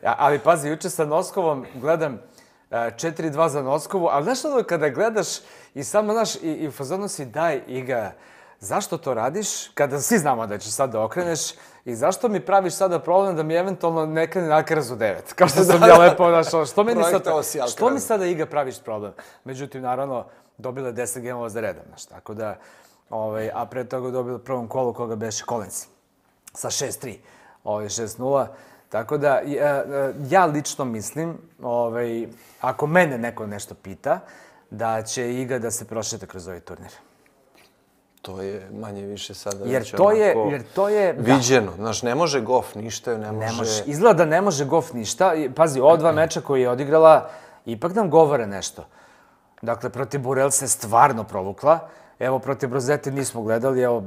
Ali pazi, juče sa Noskovom gledam 4-2 za Noskovu, ali znaš ono kada gledaš i samo, znaš, i u fazonu si daj, Iga, zašto to radiš kada svi znamo da ćeš sad da okreneš i zašto mi praviš sada problem da mi eventualno ne krene Alcaraz u 9? Kao što sam ja lepo našao. Što mi sada, Iga, praviš problem? Međutim, naravno, dobila je 10 gemova za redom, znaš, tako da, a pre toga dobila prvom kolu koga beše Collins sa 6-3, 6-0. Tako da, ja lično mislim, ako mene neko nešto pita, da će Iga da se prošeta kroz ovaj turnir. To je manje više sada jer to je viđeno. Znaš, ne može Goff ništa, ne može... Izgleda da ne može Goff ništa. Pazi, ova 2 meča koje je odigrala, ipak nam govore nešto. Dakle, protiv Burel se stvarno provukla. Evo, protiv Brozeti nismo gledali, evo,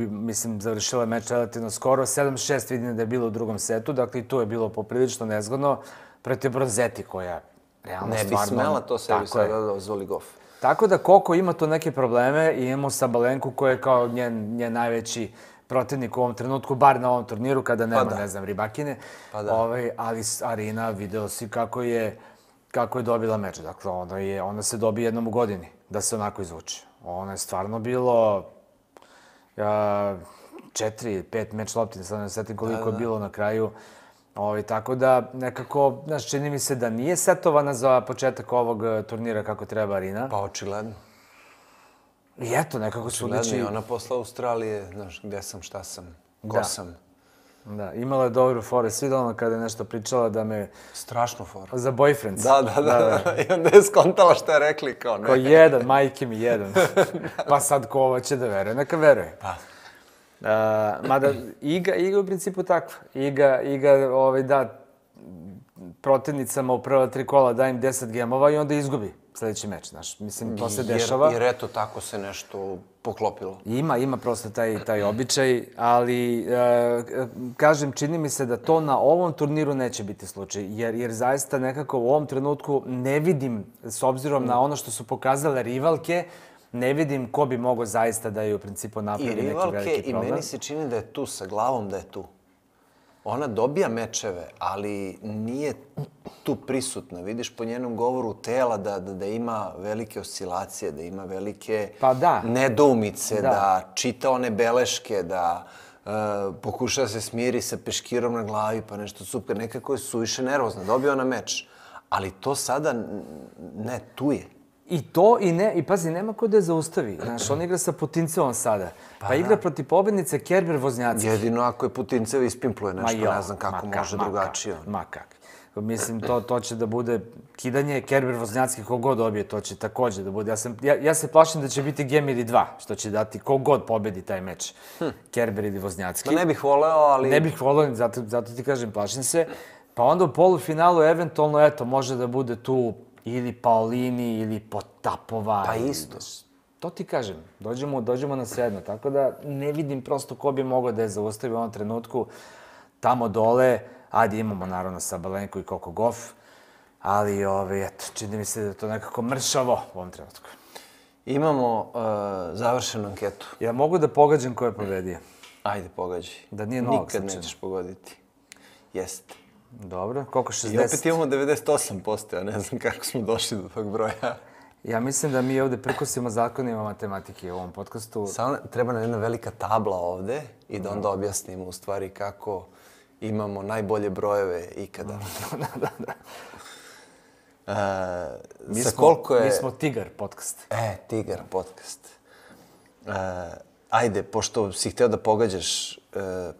mislim, završila je meč relativno skoro. 7-6 vidim da je bilo u drugom setu, dakle, i tu je bilo poprilično nezgodno. Protiv Brozeti koja realno Ne bi smela to sebi sada da dozvoli Goff. Tako da Koko ima tu neke probleme i imamo Sabalenku koji je kao njen najveći protivnik u ovom trenutku, bar na ovom turniru kada nema, ne znam, Ribakine. Ali Arina, video si kako je dobila meč. Dakle, ona se dobije jednom u godini da se onako izvuče. Ono je stvarno bilo 4-5 meč lopti, sad ne setim koliko je bilo na kraju. Tako da, nekako, znaš, čini mi se da nije setovana za početak ovog turnira kako treba Arina. Pa očigledno. I eto, nekako su liči... Očigledno, ona posle Australije, znaš, gde sam, šta sam, ko sam. Da, imala je dobru foru. Svidela ona kada je nešto pričala da me... Strašnu foru. Za boyfriends. Da. I onda je skontala šta je rekli, kao ne. Ko jedan, majke mi jedan. Pa sad ko ovo će da veruje, neka veruje. Pa. Mada, Iga u principu takva. Iga da protivnicama u prva 3 kola da im 10 gemova i onda izgubi sledeći meč, znaš. Mislim, to se dešava. Jer eto, tako se nešto poklopilo. Ima prosto taj običaj, ali kažem, čini mi se da to na ovom turniru neće biti slučaj, jer zaista nekako u ovom trenutku ne vidim, s obzirom na ono što su pokazale rivalke, ne vidim ko bi mogao zaista da je u principu napravi neki veliki problem. I rivalke, i meni se čini da je tu, sa glavom da je tu. Ona dobija mečeve, ali nije tu prisutna. Vidiš po njenom govoru tela da ima velike oscilacije, da ima velike nedoumice, da čita one beleške, da pokuša da se smiri sa peškirom na glavi, pa nešto super. Nekako je suviše nervozna. Dobio ona meč. Ali to sada, ne, tu je. I to, i pazi, nema ko da je zaustavi. Znaš, on igra sa Putincevom sada. Pa igra protiv pobednice Kerber-Voznjacki. Jedino ako je Putincev ispimpluje nešto, ne znam kako može drugačije. Ma kak. Mislim, to će da bude kidanje Kerber-Voznjacki, kogod dobije, to će takođe da bude. Ja se plašim da će biti Gemiri 2, što će dati kogod pobedi taj meč. Kerber ili Voznjacki. Ma ne bih voleo, ali... Ne bih voleo, zato ti kažem, plašim se. Pa onda u polufinalu, eventualno, eto, može da bude tu ili Paolini, ili Potapova. Pa isto. To ti kažem, dođemo na sedno, tako da ne vidim prosto ko bi mogao da je zaustavi u ovom trenutku tamo dole. Ajde, imamo naravno Sabalenku i Coco Gauff, ali eto, čini mi se da je to nekako mršavo u ovom trenutku. Imamo završenu anketu. Ja mogu da pogađam ko je pobedio? Ajde, pogađaj. Da nije Novak Nikad nećeš pogoditi. Jeste. Dobro, koliko 60? I opet imamo 98%, ja ne znam kako smo došli do tog broja. Ja mislim da mi ovde prkosimo zakonima matematike u ovom podcastu. Samo treba nam jedna velika tabla ovde i da onda objasnimo u stvari kako imamo najbolje brojeve ikada. Mi smo Tigar podcast. Tigar podcast. Ajde, pošto si hteo da pogađaš,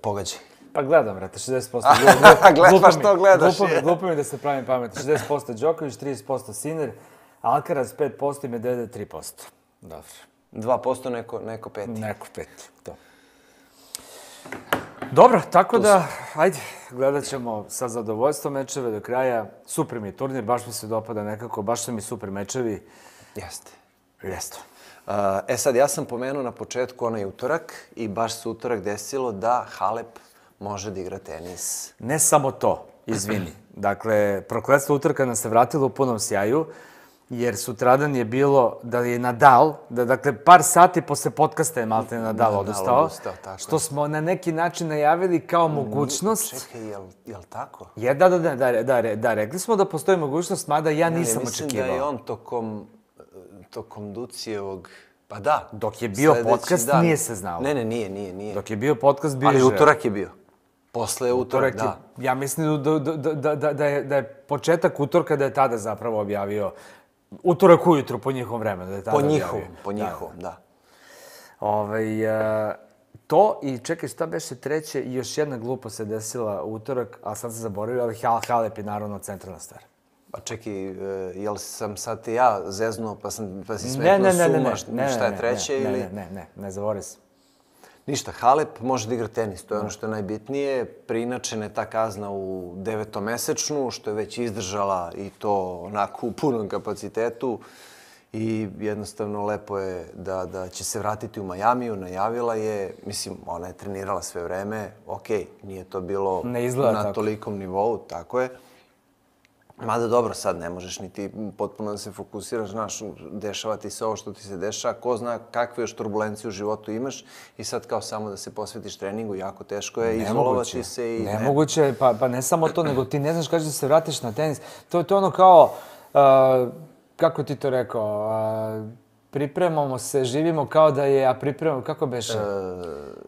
pogađaj. Pa gledam, brate, 60%. Pa što gledaš? Glupo mi da se pravim pametno. 60% Đoković, 30% Sinner, Alcaraz 5% i Medvedev 3%. Dobro. 2% neko peti. Neko peti, to. Dobro, tako da, ajde, gledat ćemo sa zadovoljstvom mečeve do kraja. Super mi je turnir, baš mi se dopada nekako, baš su mi super mečevi. Jeste. Sad, ja sam pomenuo na početku onaj utorak i baš se utorak desilo da Halep može da igra tenis. Ne samo to, izvini. Dakle, prokletstvo utorka nas se vratilo u punom sjaju, jer sutradan je bilo da je Nadal, dakle, par sati posle podcasta je Malte Nadal odustao, što smo na neki način najavili kao mogućnost. Čekaj, je li tako? Da, rekli smo da postoji mogućnost, mada ja nisam očekivao. Mislim da je on tokom Ducijevog... Pa da. Dok je bio podcast, nije se znalo. Ne, nije. Dok je bio podcast, bio je ali utorak je bio. Posle utorak, da. Ja mislim da je početak utorka da je tada zapravo objavio. Utorak ujutru po njihovom vremenu da je tada objavio. Po njihovom, da. To i čekaj, šta beše treće i još jedna glupa se desila utorak, a sad se zaboravio, ali Halep je naravno centralna stvar. Pa čekaj, jel sam sad ja zeznuo pa si smetnuo suma šta je treće ili... Ne, zaboravio sam. Ništa, Halep može da igra tenis, to je ono što je najbitnije. Preinačena je ta kazna u 9-mesečnu, što je već izdržala i to onako u punom kapacitetu. I jednostavno lepo je da će se vratiti u Majamiju, najavila je, mislim, ona je trenirala sve vreme, okej, nije to bilo na tolikom nivou, tako je. Mada dobro, sad ne možeš ni ti potpuno da se fokusiraš, znaš, dešava ti se ovo što ti se dešava, ko zna kakve još turbulencije u životu imaš i sad kao samo da se posvetiš treningu, jako teško je izolovati se i... Nemoguće, pa ne samo to, nego ti ne znaš kada da se vratiš na tenis. To je ono kao, kako ti to rekao, pripremamo se, živimo kao da je, a pripremamo, kako beše?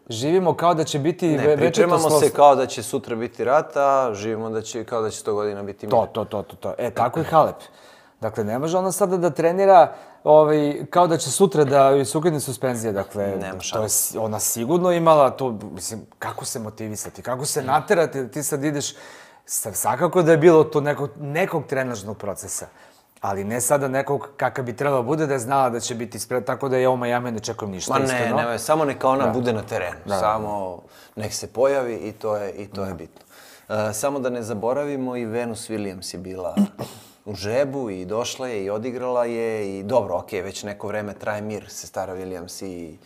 Živimo kao da će biti večito slovo. Ne, pripremamo se kao da će sutra biti rat, a živimo kao da će 100 godina biti mir. To. Tako je Halep. Dakle, ne može ona sada da trenira kao da će sutra da joj se ukine suspenzija. Dakle, to je ona sigurno imala to, mislim, kako se motivisati, kako se naterati da ti sad ideš, svakako da je bilo to nekog trenažnog procesa. Ali ne sada nekog kakav bi trebalo bude da je znala da će biti ispred, tako da ja u Miami ne čekujem ništa. Ma ne, samo neka ona bude na terenu. Samo nek se pojavi i to je bitno. Samo da ne zaboravimo, i Venus Williams je bila u žrebu i došla je i odigrala je i dobro, okej, već neko vreme traje mir, sestara Williams i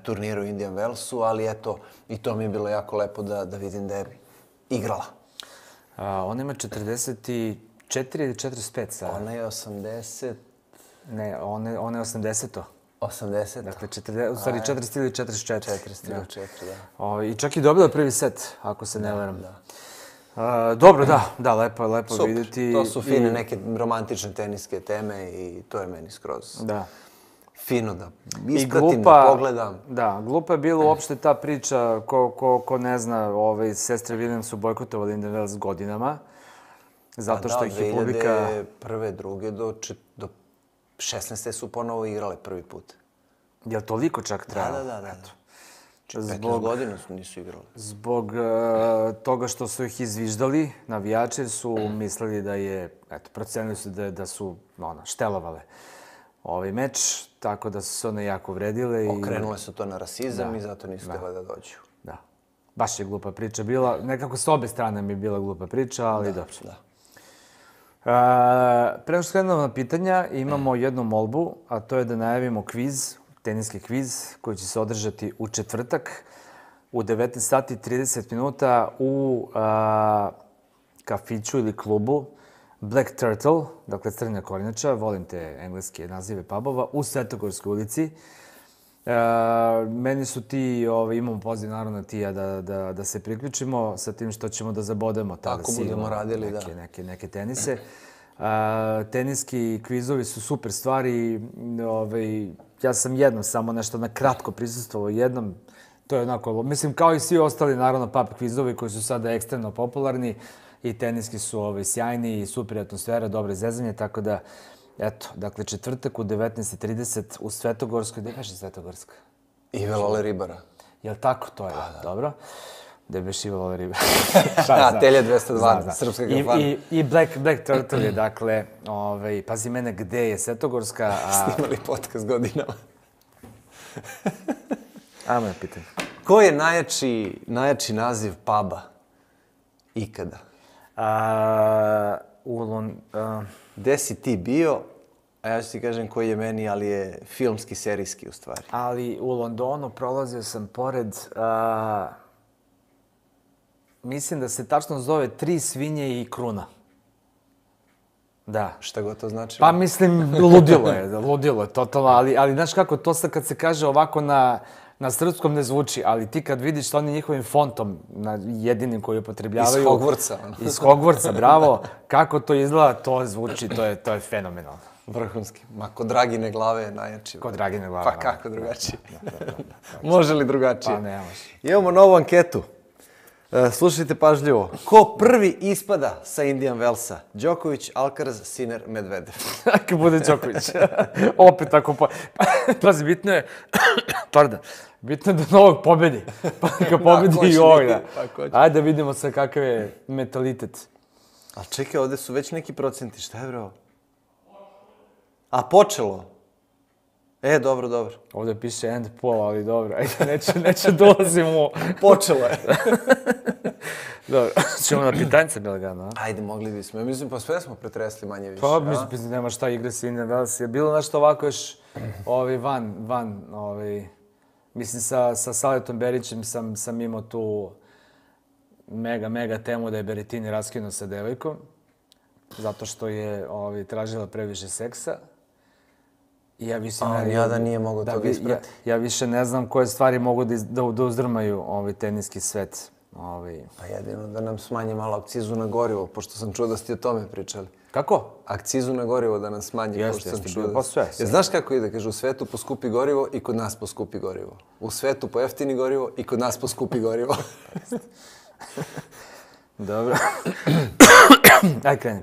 turniru u Indian Wellsu, ali eto, i to mi je bilo jako lepo da vidim da je igrala. Ona ima 44 ili 45 sada? Ona je 80... Ne, ona je 80-to. 80? Dakle, u stvari 40 ili 44. 40 ili 4, da. I čak i dobila prvi set, ako se ne varam. Dobro, da, lepo vidjeti. To su fine neke romantične teniske teme i to je meni skroz fino da ispratim, da pogledam. Da, glupa je bila uopšte ta priča, ko ne zna, sestre Williams su bojkotovali Indian Wells godinama. Zato što ih je publika... Prve, druge do 16. su ponovo igrale prvi put. Je li toliko čak trajalo? Da. 15 godina nisu igrali. Zbog toga što su ih izviždali, navijači, jer su mislili da je... Eto, procenili su da su štelovale ovaj meč, tako da su se one jako vredile. Okrenule su to na rasizam i zato nisu htjela da dođu. Da. Baš je glupa priča bila. Nekako s obe strane mi je bila glupa priča, ali dobro. Pre nego što krenemo na pitanja, imamo jednu molbu, a to je da najavimo kviz, teniski kviz, koji će se održati u četvrtak u 19 sati 30 minuta u kafiću ili klubu Black Turtle, dakle Crnja kornjača, volim te engleske nazive pubova, u Svetogorskoj ulici. Meni su ti, imamo poziv naravno Tija da se priključimo sa tim što ćemo da zabodemo tako budemo radili, neke tenise. Teniski kvizovi su super stvari. Ja sam jednom samo nešto na kratko prisustvovao jednom. To je onako, mislim kao i svi ostali naravno pub kvizovi koji su sada ekstremno popularni i teniski su sjajni i super atmosfera, dobre zezanje, tako da eto, dakle, četvrtak u 19:30 u Svetogorskoj. Gde beše Svetogorska? Ive Lole Ribara. Jel' tako? To je, dobro. Gde beše Ive Lole Ribara? Telje 202, srpska kafana. I Black Turtle je, dakle, pazi mene, gde je Svetogorska? Snimali podcast godinama. Ajmo na pitanje. Ko je najjači naziv puba ikada? Gde si ti bio, a ja ću ti kažem koji je meni, ali je filmski, serijski u stvari. Ali u Londonu prolazio sam pored, mislim da se tačno zove Tri svinje i kruna. Da. Šta god to znači? Pa mislim, ludilo je totalno, ali znaš kako, to sad kad se kaže ovako na srpskom ne zvuči, ali ti kad vidiš sa onim njihovim fontom, jedinim koji upotrebljavaju... Iz Hogwartsa. Iz Hogwartsa, bravo. Kako to izgleda, to zvuči, to je fenomenalno. Vrhunski. Ma, kod Dragine glave je najjači. Kod Dragine glave. Pa kako drugačije? Može li drugačije? Pa ne može. Imamo novu anketu. Slušajte pažljivo. Ko prvi ispada sa Indian Wellsa? Đoković, Alcaraz, Sinner, Medvedev. Ako bude Đoković. Opet ako... Pazi, bitno je... Pardon. Bitno je da novog pobedi. Pa neka pobedi i ovaj. Ajde da vidimo sad kakav je mentalitet. Ali čekaj, ovde su već neki procenti. Šta je, bro? A počelo? Dobro. Ovdje piše end poll, ali dobro. Ajde, neće dolazimo. Počelo je. Dobro, ćemo na pitanjce, Belgano, a? Ajde, mogli bismo. Ja mislim, pa sve smo pretresli manje više. Pa, mislim, nema šta igre s Indian Wells. Je bilo nešto ovako još van, mislim, sa Saletom Berićem sam imao tu mega temu da je Berettini raskinuo sa devojkom. zato što je tražila previše seksa. I ja više Jada nije mogao to da isprati. Ja više ne znam koje stvari mogu da uzdrmaju teniski svet. Pa jedino da nam smanje malo akcizu na gorivo, pošto sam čuo da ste o tome pričali. Kako? Akcizu na gorivo da nam smanje, pošto sam čuo da... sve. Jer znaš kako ide? Kaže, u svetu poskupi gorivo i kod nas poskupi gorivo. U svetu pojeftini gorivo i kod nas poskupi gorivo. Dobro. Aj, kreni.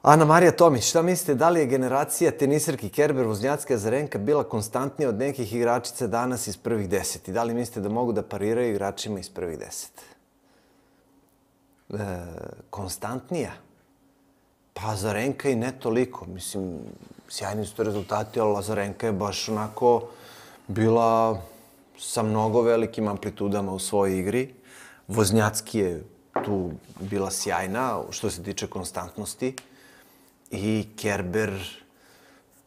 Ana Marija Tomić, šta mislite, da li je generacija tenisarki Kerber, Voznjacka, Azarenka bila konstantnija od nekih igračica danas iz prvih 10? I da li mislite da mogu da pariraju igračima iz prvih 10? Konstantnija? Pa Azarenka i ne toliko. Mislim, sjajni su to rezultati, ali Azarenka je baš onako bila sa mnogo velikim amplitudama u svojoj igri. Voznjacki je tu bila sjajna što se tiče konstantnosti. I Kerber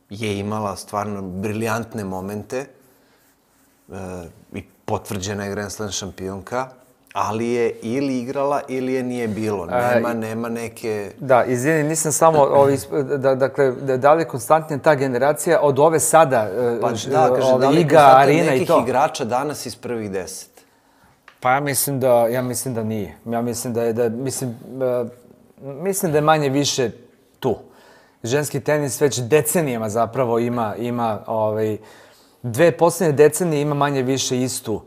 je imala stvarno briljantne momente i potvrđena je Grand Slam šampionka, ali je ili igrala ili je nije bilo. Nema neke... Da, izvini, nisam samo... Dakle, da li je konstantnija ta generacija od ove sada? Pa da, kaže, da li je konstantnija nekih igrača danas iz prvih 10? Pa ja mislim da nije. Mislim da je manje više tu. Ženski tenis već decenijama zapravo ima dve posljednje decenije ima manje više istu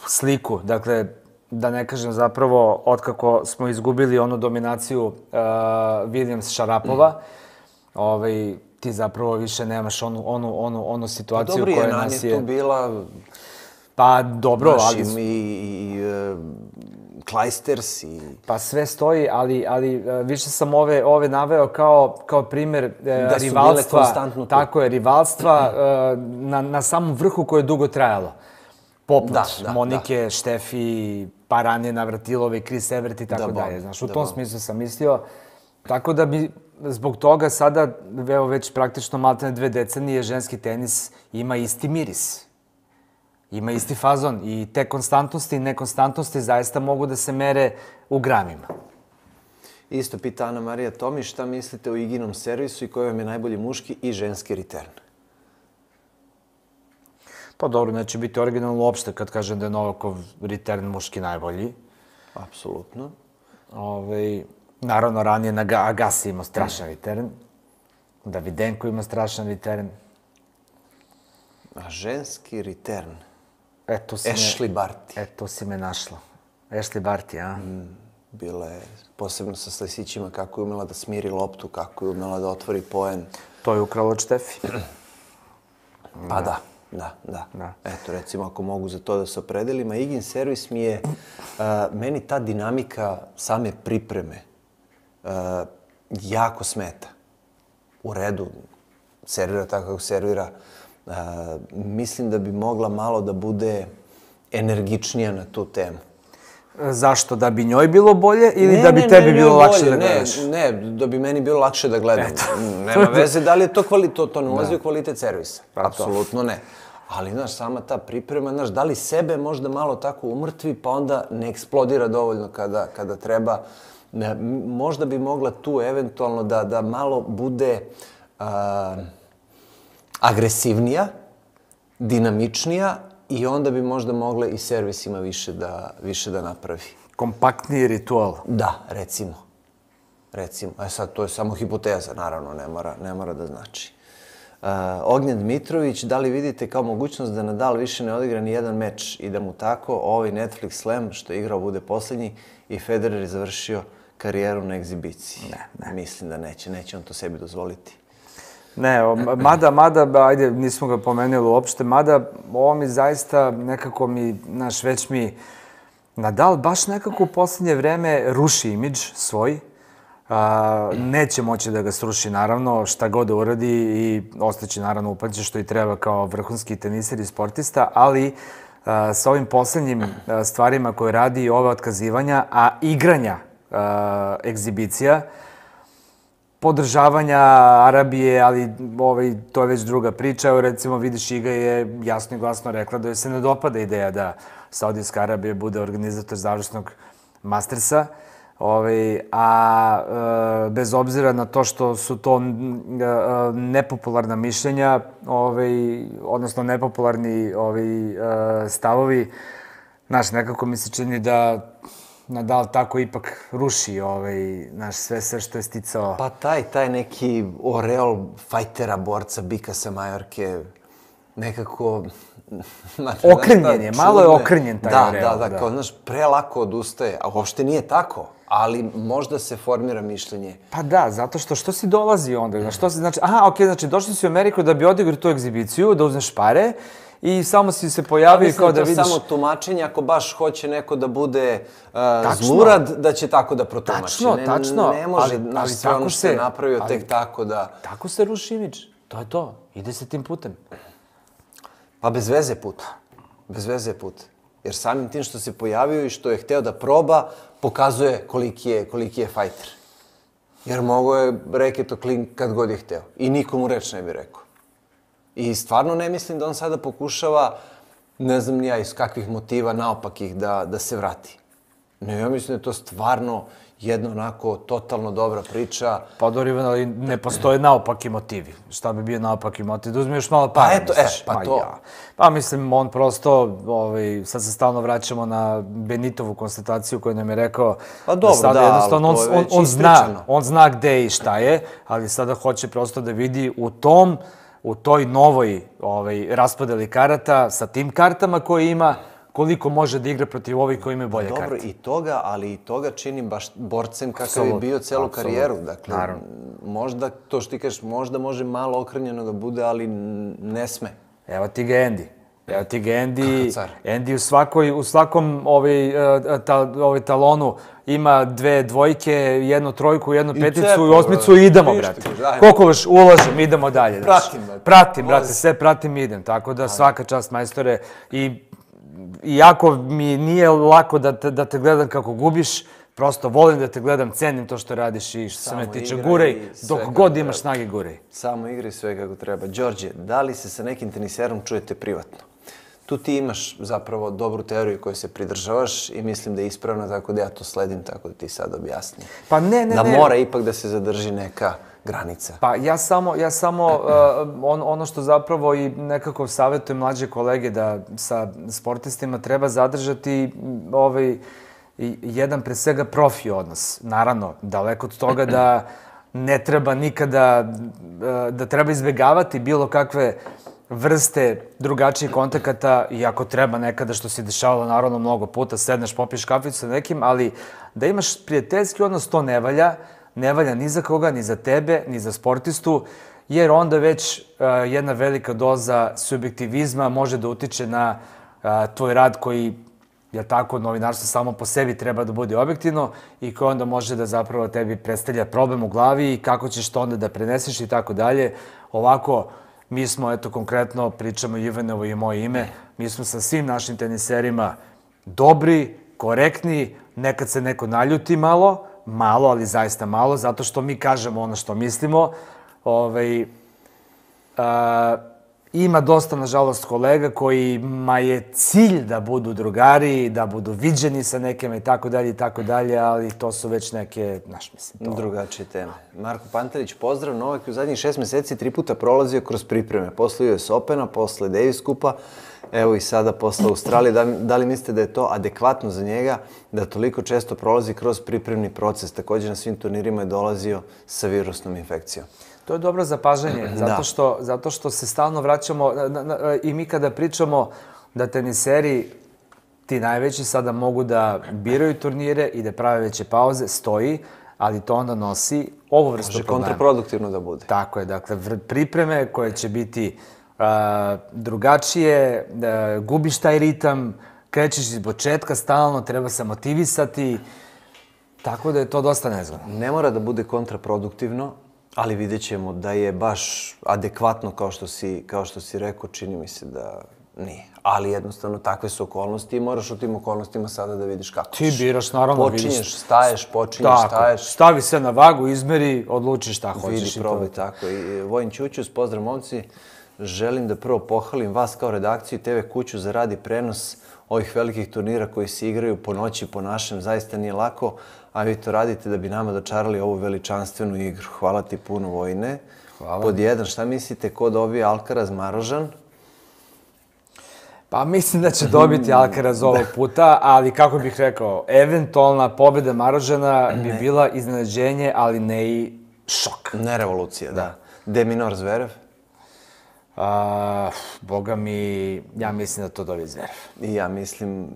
sliku. Dakle, da ne kažem zapravo, otkako smo izgubili onu dominaciju Williams-Šarapova, ti zapravo više nemaš onu situaciju koja nas je... Dobro, je tu bila... Pa dobro, ali... I Kleisters i... Pa sve stoji, ali više sam ove naveo kao primjer rivalstva. Tako je, rivalstva na samom vrhu koje je dugo trajalo. Poput Monike, Štefi, pa ranije Navratilove, Chris Evert i tako dalje. Znaš, u tom smislu sam mislio. Tako da bi zbog toga sada, već praktično maltene 2 decenije, ženski tenis ima isti miris. Ima isti fazon i te konstantnosti i nekonstantnosti zaista mogu da se mere u gramima. Isto pita Ana Marija Tomić, šta mislite o Iginom servisu i koji vam je najbolji muški i ženski return? Pa dobro, neće biti originalno uopšte kad kažem da je Novakov return muški najbolji. Apsolutno. Naravno, ranije na Agassi imao strašan return. Davidenko imao strašan return. A ženski return? Ashley Barty. To si me našla. Ashley Barty, a? Bila je, posebno sa slesićima, kako je umela da smiri loptu, kako je umela da otvori poen. To je ukralo od Štefi. Pa da. Eto, recimo, ako mogu za to da se opredelim. A Igin servis mi je, meni ta dinamika same pripreme jako smeta. U redu, servira tako kako servira. Mislim da bi mogla malo da bude energičnija na tu temu. Zašto? Da bi njoj bilo bolje ili da bi tebi bilo lakše da gledaš? Ne, da bi meni bilo lakše da gledam. Nema veze da li je to kvalitet, to ne ulazi u kvalitet servisa. Apsolutno ne. Ali, znaš, sama ta priprema, znaš, da li sebe možda malo tako umrtvi, pa onda ne eksplodira dovoljno kada treba. Možda bi mogla tu eventualno da malo bude agresivnija, dinamičnija i onda bi možda mogla i servisima više da napravi. Kompaktniji ritual. Da, recimo. A sad, to je samo hipoteza, naravno, ne mora da znači. Ognjen Dmitrović, da li vidite kao mogućnost da Nadal više ne odigra ni jedan meč i da mu tako ovaj Netflix slam što je igrao bude posljednji i Federer je završio karijeru na egzibiciji? Ne. Mislim da neće on to sebi dozvoliti. Ne, mada, ajde, nismo ga pomenuli uopšte, mada ovo mi zaista nekako već mi Nadal baš nekako u posljednje vreme ruši imidž svoj. Neće moći da ga sruši, naravno, šta god da uradi i ostaći, naravno, upamćen što i treba kao vrhunski teniser i sportista, ali sa ovim posljednjim stvarima koje radi i ove otkazivanja, a igranja egzibicija, podržavanja Arabije, ali to je već druga priča. Evo, recimo, vidiš, Iga je jasno i glasno rekla da joj se ne dopada ideja da Saudijska Arabija bude organizator završnog Mastersa. Bez obzira na to što su to nepopularna mišljenja, odnosno nepopularni stavovi, znaš, nekako mi se čini da Nadal tako ipak ruši sve što je sticao. Pa taj neki oreol fajtera, borca, bika sa Majorke, nekako... Okrnjen je, malo je okrnjen taj oreol. Da, kao, znaš, prelako odustaje, a uopšte nije tako, ali možda se formira mišljenje. Pa da, zato što si dolazi onda, znači, došli si u Ameriku da bi odigrao tu egzibiciju, da uzmeš pare, i samo si se pojavio kao da vidiš... Mislim, to samo tumačenje, ako baš hoće neko da bude zlurad, da će tako da protumači. Tačno. Ne može, znaš, sve ono što je napravio tek tako da... Tako se ruši imidž. To je to. Ide se tim putem. Pa bez veze put. Jer samim tim što se pojavio i što je hteo da proba, pokazuje koliki je fajter. Jer mogo je reket o klin kad god je hteo. I nikomu reč ne bi rekao. I stvarno ne mislim da on sada pokušava, ne znam ni ja iz kakvih motiva naopakih da se vrati. Ne, ja mislim da je to stvarno jedna onako totalno dobra priča. Pa dobro, ali ne postoje naopaki motivi. Šta bi bio naopaki motiv? Da uzme još malo para. Pa to. Pa mislim, on prosto, sad se stalno vraćamo na Benitovu konstataciju koju nam je rekao. Pa dobro, da, to je već ispričano. On zna gde i šta je, ali sada hoće prosto da vidi u toj novoj raspodeli karata, sa tim kartama koje ima, koliko može da igra protiv ovih koji imaju bolje karte. Dobro, i toga, ali i toga činim baš borcem kakav je bio celu karijeru. Dakle, možda, to što ti kažeš, možda može malo okrnjeno da bude, ali ne sme. Evo ti ga Andy. Andy u svakom talonu ima 2 dvojke, 1 trojku, 1 peticu i 8 i idemo, brate. Koliko još ulažem, idemo dalje. Pratim, brate, sve pratim i idem. Tako da svaka čast, majstore. Iako mi nije lako da te gledam kako gubiš, prosto volim da te gledam, cenim to što radiš i što se me tiče, guraj, dok god imaš snage, guraj. Samo igraj sve kako treba. Đorđe, da li se sa nekim teniserom čujete privatno? Tu ti imaš zapravo dobru teoriju koju se pridržavaš i mislim da je ispravna, tako da ja to sledim, tako da ti sad objasnim. Pa ne. Da mora ipak da se zadrži neka granica. Pa ja samo ono što zapravo i nekako savjetujem mlađe kolege da sa sportistima treba zadržati jedan pre svega profi odnos. Naravno, daleko od toga da ne treba nikada, da treba izbjegavati bilo kakve vrste drugačijih kontakata i ako treba nekada, što se dešavalo naravno mnogo puta, sedneš, popiješ kaficu sa nekim, ali da imaš prijateljski odnos, to ne valja. Ne valja ni za koga, ni za tebe, ni za sportistu, jer onda već jedna velika doza subjektivizma može da utiče na tvoj rad koji, jel tako, novinarstvo samo po sebi treba da bude objektivno i koji onda može da zapravo tebi predstavlja problem u glavi i kako ćeš to onda da preneseš i tako dalje. Ovako, mi smo, eto, konkretno, pričamo Ivanovo i moje ime, mi smo sa svim našim teniserima dobri, korektni, nekad se neko naljuti malo, ali zaista malo, zato što mi kažemo ono što mislimo. Ima dosta, nažalost, kolega kojima je cilj da budu drugari, da budu viđeni sa nekima i tako dalje, ali to su već neke, drugačije teme. Marko Pantelić, pozdrav. Novak je u zadnjih 6 meseci 3 puta prolazio kroz pripreme. Posle US Opena, posle Davis Kupa, evo i sada posle Australije. Da li mislite da je to adekvatno za njega, da toliko često prolazi kroz pripremni proces? Također na svim turnirima je dolazio sa virusnom infekcijom. To je dobro zapažanje, zato što se stalno vraćamo i mi kada pričamo da teniseri, ti najveći, sada mogu da biraju turnire i da prave veće pauze, stoji, ali to onda nosi ovu vrstu problema. Može kontraproduktivno da bude. Tako je, dakle, pripreme koje će biti drugačije, gubiš taj ritam, krećeš iz početka stalno, treba se motivisati, tako da je to dosta nezgodno. Ne mora da bude kontraproduktivno, ali vidjet ćemo da je baš adekvatno kao što si rekao, čini mi se da nije. Ali jednostavno takve su okolnosti i moraš u tim okolnostima sada da vidiš kako ćeš. Ti biraš, naravno. Počinješ, staješ, staješ. Stavi se na vagu, izmeri, odluči šta hoćeš. Vidi, probaj tako. I Vojin Ćućus, pozdrav momci. Želim da prvo pohvalim vas kao redakciju i TV kuću za rad i prenos ovih velikih turnira koji se igraju po noći, po našem. Zaista nije lako, a vi to radite da bi nama dočarali ovu veličanstvenu igru. Hvala ti puno, Vojine. Hvala. Pod jedan, šta mislite ko dobije Alcaraz Marožan? Pa mislim da će dobiti Alcaraz ovog puta, ali kako bih rekao, eventualna pobjeda Marožana bi bila iznenađenje, ali ne i šok. Ne revolucija, da. De Minaur Zverev? Boga mi, ja mislim da to dobije Zverev. I ja mislim,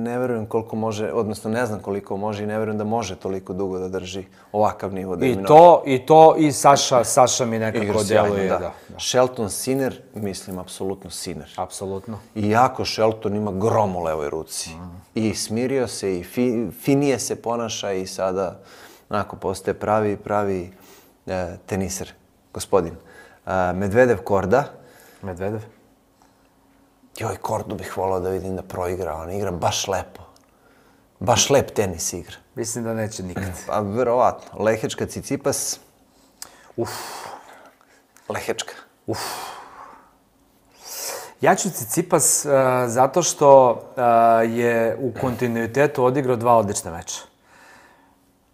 ne verujem koliko može, odnosno ne znam koliko može i ne verujem da može toliko dugo da drži ovakav nivo De Minaur. I Saša mi nekako djeluje. Da. Shelton Sinner, mislim, apsolutno Sinner. Apsolutno. Iako Shelton ima grom u levoj ruci. I smirio se i finije se ponaša i sada onako postaje pravi teniser, gospodin. Medvedev Korda. Medvedev? Joj, Kordu bih volao da vidim da proigra. On igra baš lepo. Baš lep tenis igra. Mislim da neće nikad. Pa, verovatno. Lehečka Cicipas. Lehečka. Ja ću Cicipas zato što je u kontinuitetu odigrao 2 odlična meča.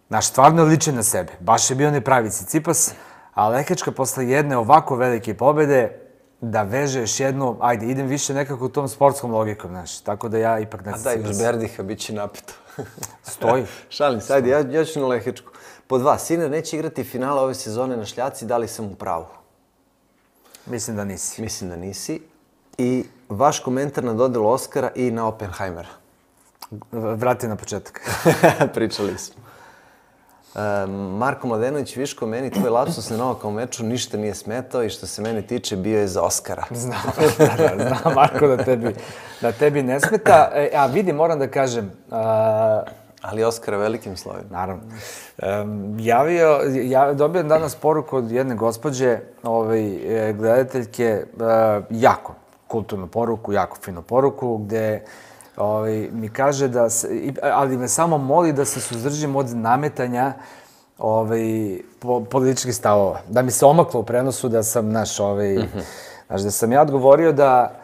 Znaš, stvarno je ličan na sebe. Baš je bio nepravi Cicipas, a Lehečka posle jedne ovako velike pobjede da veže još jednu, ajde, idem više nekako u tom sportskom logikom, znaš. Tako da ja ipak na Cicipas. A daj, uz Berdiha bit će napeto. Stoji. Šalim se, ajde, ja ću na Lehečku. Pod 2, Sinner neće igrati finale ove sezone na šljaci, da li sam u pravu? Mislim da nisi. Mislim da nisi. I vaš komentar na dodelu Oskara i na Oppenheimera. Vrati na početak. Pričali smo. Marko Mladenović, Viško, meni tvoj lapsus na Novaka u meču ništa nije smetao i što se mene tiče bio je za Oskara. Znam, Marko, da tebi ne smeta. A vidi, moram da kažem... Ali Oskara velikim slovima. Naravno. Dobio danas poruku od jedne gospođe, gledateljke, jako kulturnu poruku, jako finu poruku, gde mi kaže da ali me samo moli da se suzdržim od nametanja političkih stavova. Da mi se omaklo u prenosu da sam, znaš, da sam ja odgovorio da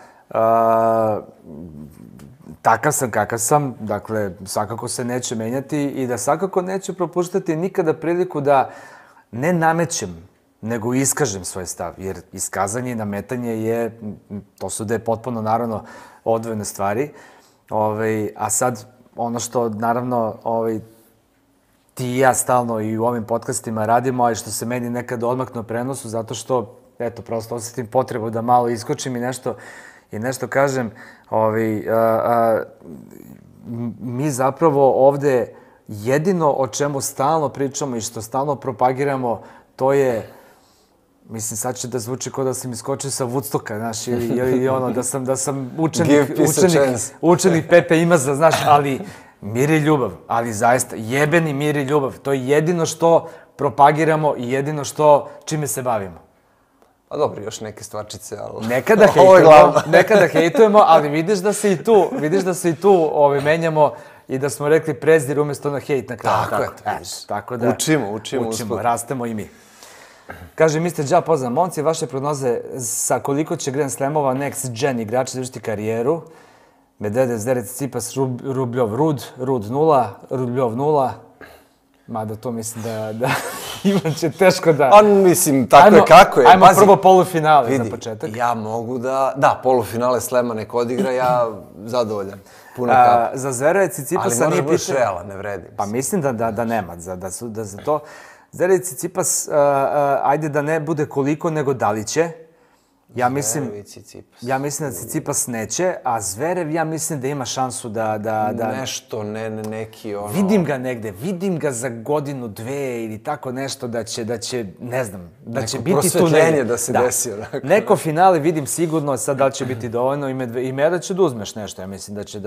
takav sam kakav sam, dakle, svakako se neće menjati i da svakako neću propuštati nikada priliku da ne namećem, nego iskažem svoj stav. Jer iskazanje i nametanje to su potpuno, naravno, odvojene stvari. A sad, ono što, naravno, ti i ja stalno i u ovim podcastima radimo, a i što se meni nekad odmakne u prenosu, zato što, eto, prosto osjetim potrebu da malo iskočim i nešto kažem. Mi zapravo ovde jedino o čemu stalno pričamo i što stalno propagiramo, to je, mislim, sad će da zvuči kao da sam iskočio sa Woodstocka, znaš, ili ono, da sam učenik Pepe Imaza, znaš, ali mir i ljubav, ali zaista, jebeni mir i ljubav, to je jedino što propagiramo i jedino čime se bavimo. Pa dobro, još neke stvarčice, ali... Nekada hejtujemo, ali vidiš da se i tu menjamo i da smo rekli prezir umjesto na hejt na kraju. Tako je. Učimo. Rastemo i mi. Kaže, Mr. Ja, pozdrav, momci, vaše prognoze sa koliko će Grand Slamova next gen igrači završiti karijeru? Medvedev, Zverev, Tsitsipas, Rubljov, Rud 0, Rubljov 0. Mada to mislim da Ivan će teško da... On, mislim, tako je kako je. Ajmo prvo polufinale za početak. Ja mogu da... Da, polufinale Slema nek odigra, ja zadovoljan. Puno kapa. Za Zvereva i Tsitsipasa nije pitanje... Ali može biti realan, ne vredi. Pa mislim da nema, da za to... Zverev i Tsitsipas, ajde da ne bude koliko, nego da li će. Ja mislim da Tsitsipas neće, a Zverev ja mislim da ima šansu da... Nešto, neki ono... Vidim ga za godinu, 2 ili tako nešto da će, ne znam, da će biti tu... Neko prosvetljenje da se desi. Neko finale vidim sigurno, sad da li će biti dovoljno i Meda će da uzmeš nešto, ja mislim da će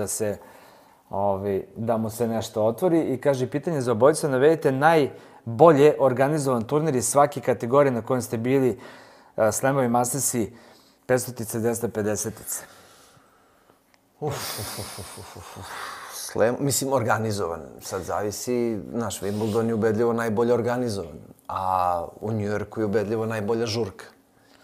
da mu se nešto otvori. I kaže, pitanje za obojicu, navedite najbolje organizovan turnir iz svake kategorije na kojem ste bili, Slamovi, Mastersi, 500-tice, 250-tice. Mislim, organizovan. Sad zavisi, naš Wimbledon je ubedljivo najbolje organizovan, a u New Yorku je ubedljivo najbolja žurka.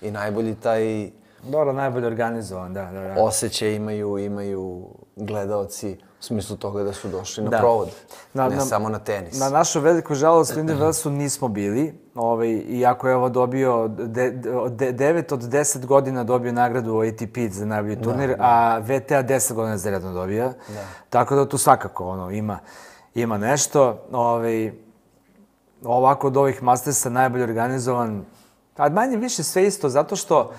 I najbolji taj... Dobro, najbolje organizovan, da. Osjećaj imaju gledaoci u smislu toga da su došli na provod, ne samo na tenis. Na našu veliku žalost Lindy Wellsu nismo bili, iako je ovo dobio 9 od 10 godina dobio nagradu ATP za najbolji turnir, a VTA 10 godina zaredno dobija. Tako da tu svakako ima nešto. Ovako od ovih Mastersa najbolje organizovan, a manje više sve isto, zato što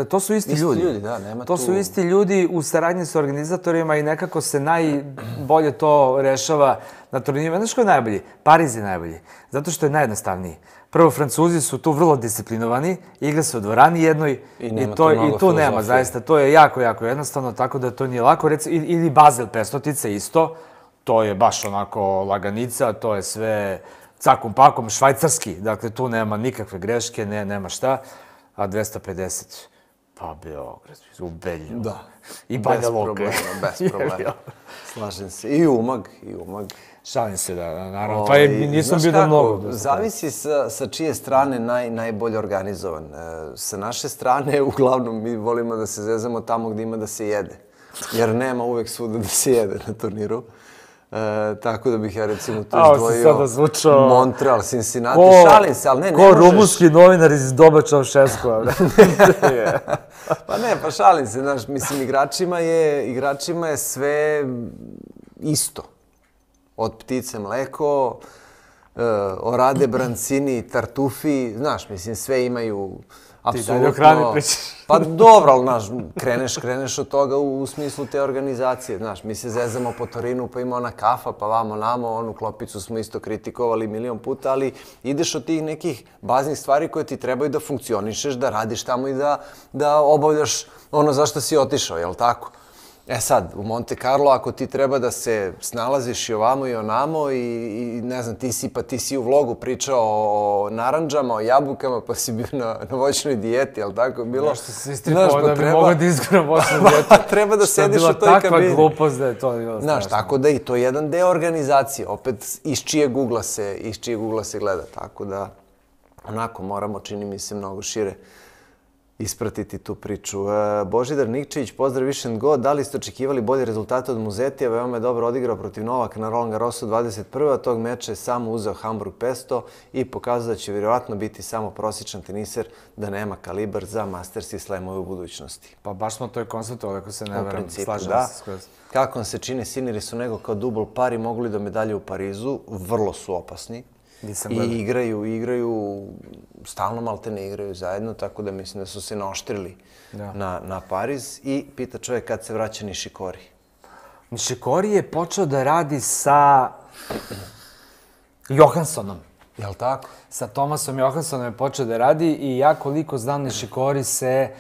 to su isti ljudi. To su isti ljudi u saradnji sa organizatorima i nekako se najbolje to rešava na turnirima. Znaš ko je najbolji? Pariz je najbolji, zato što je najjednostavniji. Prvo, Francuzi su tu vrlo disciplinovani, igra se u dvorani jednoj i tu nema, zaista. To je jako, jako jednostavno, tako da to nije lako. Ili Basel Pestotica isto, to je baš onako laganica, to je sve cakom pakom, švajcarski, dakle tu nema nikakve greške, nema šta, a 250, pa Beograd, u Belju. Da, i Banja Luka. Bez problema. Slažem se. I Umag. Šalim se, da, naravno. Pa nisam bio da mnogo. Zavisi sa čije strane najbolje organizovan. Sa naše strane, uglavnom, mi volimo da se zezamo tamo gdje ima da se jede. Jer nema uvek svuda da se jede na turniru. Tako da bih ja recimo tu izdvojio Montreal, Cincinnati, šalim se, ali ne možeš... Ko rumunski novinar iz doba Čaušeskova. Pa šalim se, znaš, mislim, igračima je sve isto. Od ptice mleko, orade, brancini, tartufi, znaš, mislim, sve imaju... Ti dalje o hrani pričaš. Pa dobro, ali, znaš, kreneš od toga u smislu te organizacije, znaš, mi se zezamo po Torinu, pa ima ona kafa, pa vamo namo, onu klopicu smo isto kritikovali milion puta, ali ideš od tih nekih baznih stvari koje ti trebaju da funkcionišeš, da radiš tamo i da obavljaš ono za što si otišao, jel' tako? E sad, u Monte Carlo, ako ti treba da se snalaziš i ovamo i onamo i ne znam, ti si u vlogu pričao o naranđama, o jabukama, pa si bio na voćnoj dijeti, jel' tako je bilo? Nešto se istripao da bi mogao da izguram voćnu dijetu. Treba da sediš u toj kabini. Što je bila takva glupost da je to bilo strašno. Znaš, tako da i to je jedan deo organizacije, opet iz čijeg ugla se gleda, tako da onako moramo, čini mi se, mnogo šire ispratiti tu priču. Božidar Nikčević, pozdrav Više and Go. Da li ste očekivali bolje rezultate od Muzetija? Veoma je dobro odigrao protiv Novaka na Roland Garrosu 21. Tog meča je samo uzeo Hamburg Pesto i pokazao da će vjerovatno biti samo prosječan teniser, da nema kalibar za Masters i Slamove u budućnosti. Pa baš smo to i konstatovali, ako se ne veram, slažem se skroz. Kako vam se čini Siniri su nego kao dubl pari, mogu li do medalje u Parizu? Vrlo su opasni. I igraju, stalno malte ne igraju zajedno, tako da mislim da su se naoštrili na Pariz. I pita čovjek kad se vraća Nishikori. Nishikori je počeo da radi sa Johanssonom. Jel' tako? Sa Thomasom Johanssonom je počeo da radi i ja koliko znam Nishikori se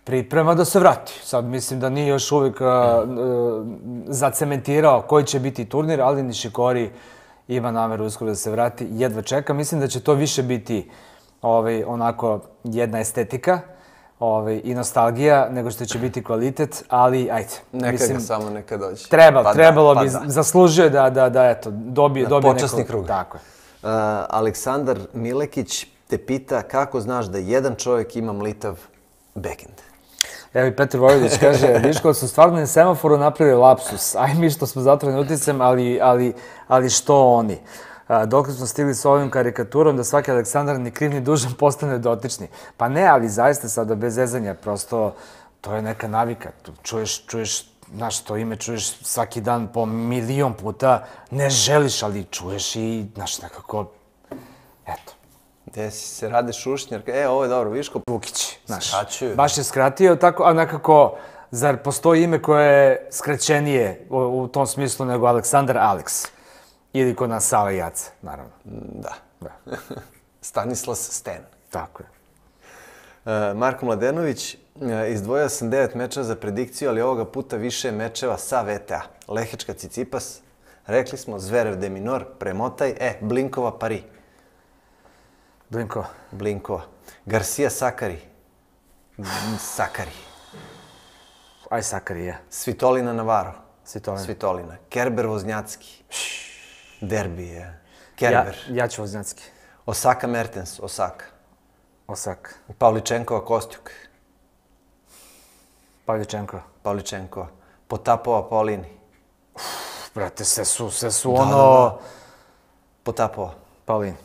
priprema da se vrati. Sad mislim da nije još uvijek zacementirao koji će biti turnir, ali Nishikori ima nameru uskoro da se vrati, jedva čeka. Mislim da će to više biti onako jedna estetika i nostalgija, nego što će biti kvalitet, ali ajde. Neka dođe. Trebalo bi, zaslužio je da dobije neko... Počasni krug. Tako je. Aleksandar Milekić te pita kako znaš da jedan čovjek ima mlitav backhand. Evo i Petar Vojvodić kaže, Viško su stvarno na semaforu napravili lapsus. Aj mi što smo zatvoreni uticem, ali što oni? Dokle smo stigli s ovim karikaturom da svaki Aleksandar ni kriv ni dužan postane dotični. Pa ne, ali zaista sada bez zezanja, prosto to je neka navika. Čuješ, znaš, to ime čuješ svaki dan po milion puta, ne želiš, ali čuješ i, znaš, nekako, eto. Gde si se rade Šušnjar, ovo je dobro, Viško Vukić, znaš, baš je skratio tako, a nekako, zar postoji ime koje je skraćenije u tom smislu nego Aleksandar Alex? Ili kod nas Sava Jaca, naravno. Da. Stanislas Sten. Tako je. Marko Mladenović, izdvojio sam 9 mečeva za predikciju, ali ovoga puta više mečeva sa VTA. Lehečka Cicipas, rekli smo Zverev de Minor, Premotaj, Blinkova Pari. Blinkova. Garcia Sakari. Aj Sakari, je. Svitolina Navarro. Svitolina. Kerber Voznjacki. Derbi je. Kerber. Ja ću Voznjacki. Osaka Mertens. Osaka. Pavličenkova Kostjuk. Pavličenkova. Potapova Paulini. Brate, sve su ono... Potapova. Paulini.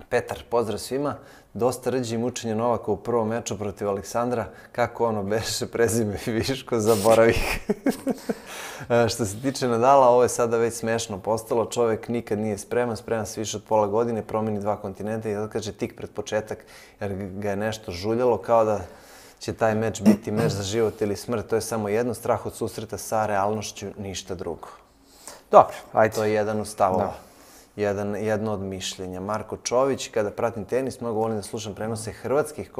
Petar, pozdrav svima. Dosta rđi mučenja Novaka u prvom meču protiv Aleksandra. Kako ono beše prezime i Viško, zaboravih. Što se tiče Nadala, ovo je sada već smešno postalo. Čovek nikad nije spreman se više od pola godine, promeni 2 kontinenta i kaže tik pred početak jer ga je nešto žuljalo kao da će taj meč biti meč za život ili smrt. To je samo jedno, strah od susreta sa realnošću, ništa drugo. Dobro, ajde. To je jedan od stavova. Jedno od mišljenja. Marko Čović, kada pratim tenis, mnogo volim da slušam prenose hrvatskih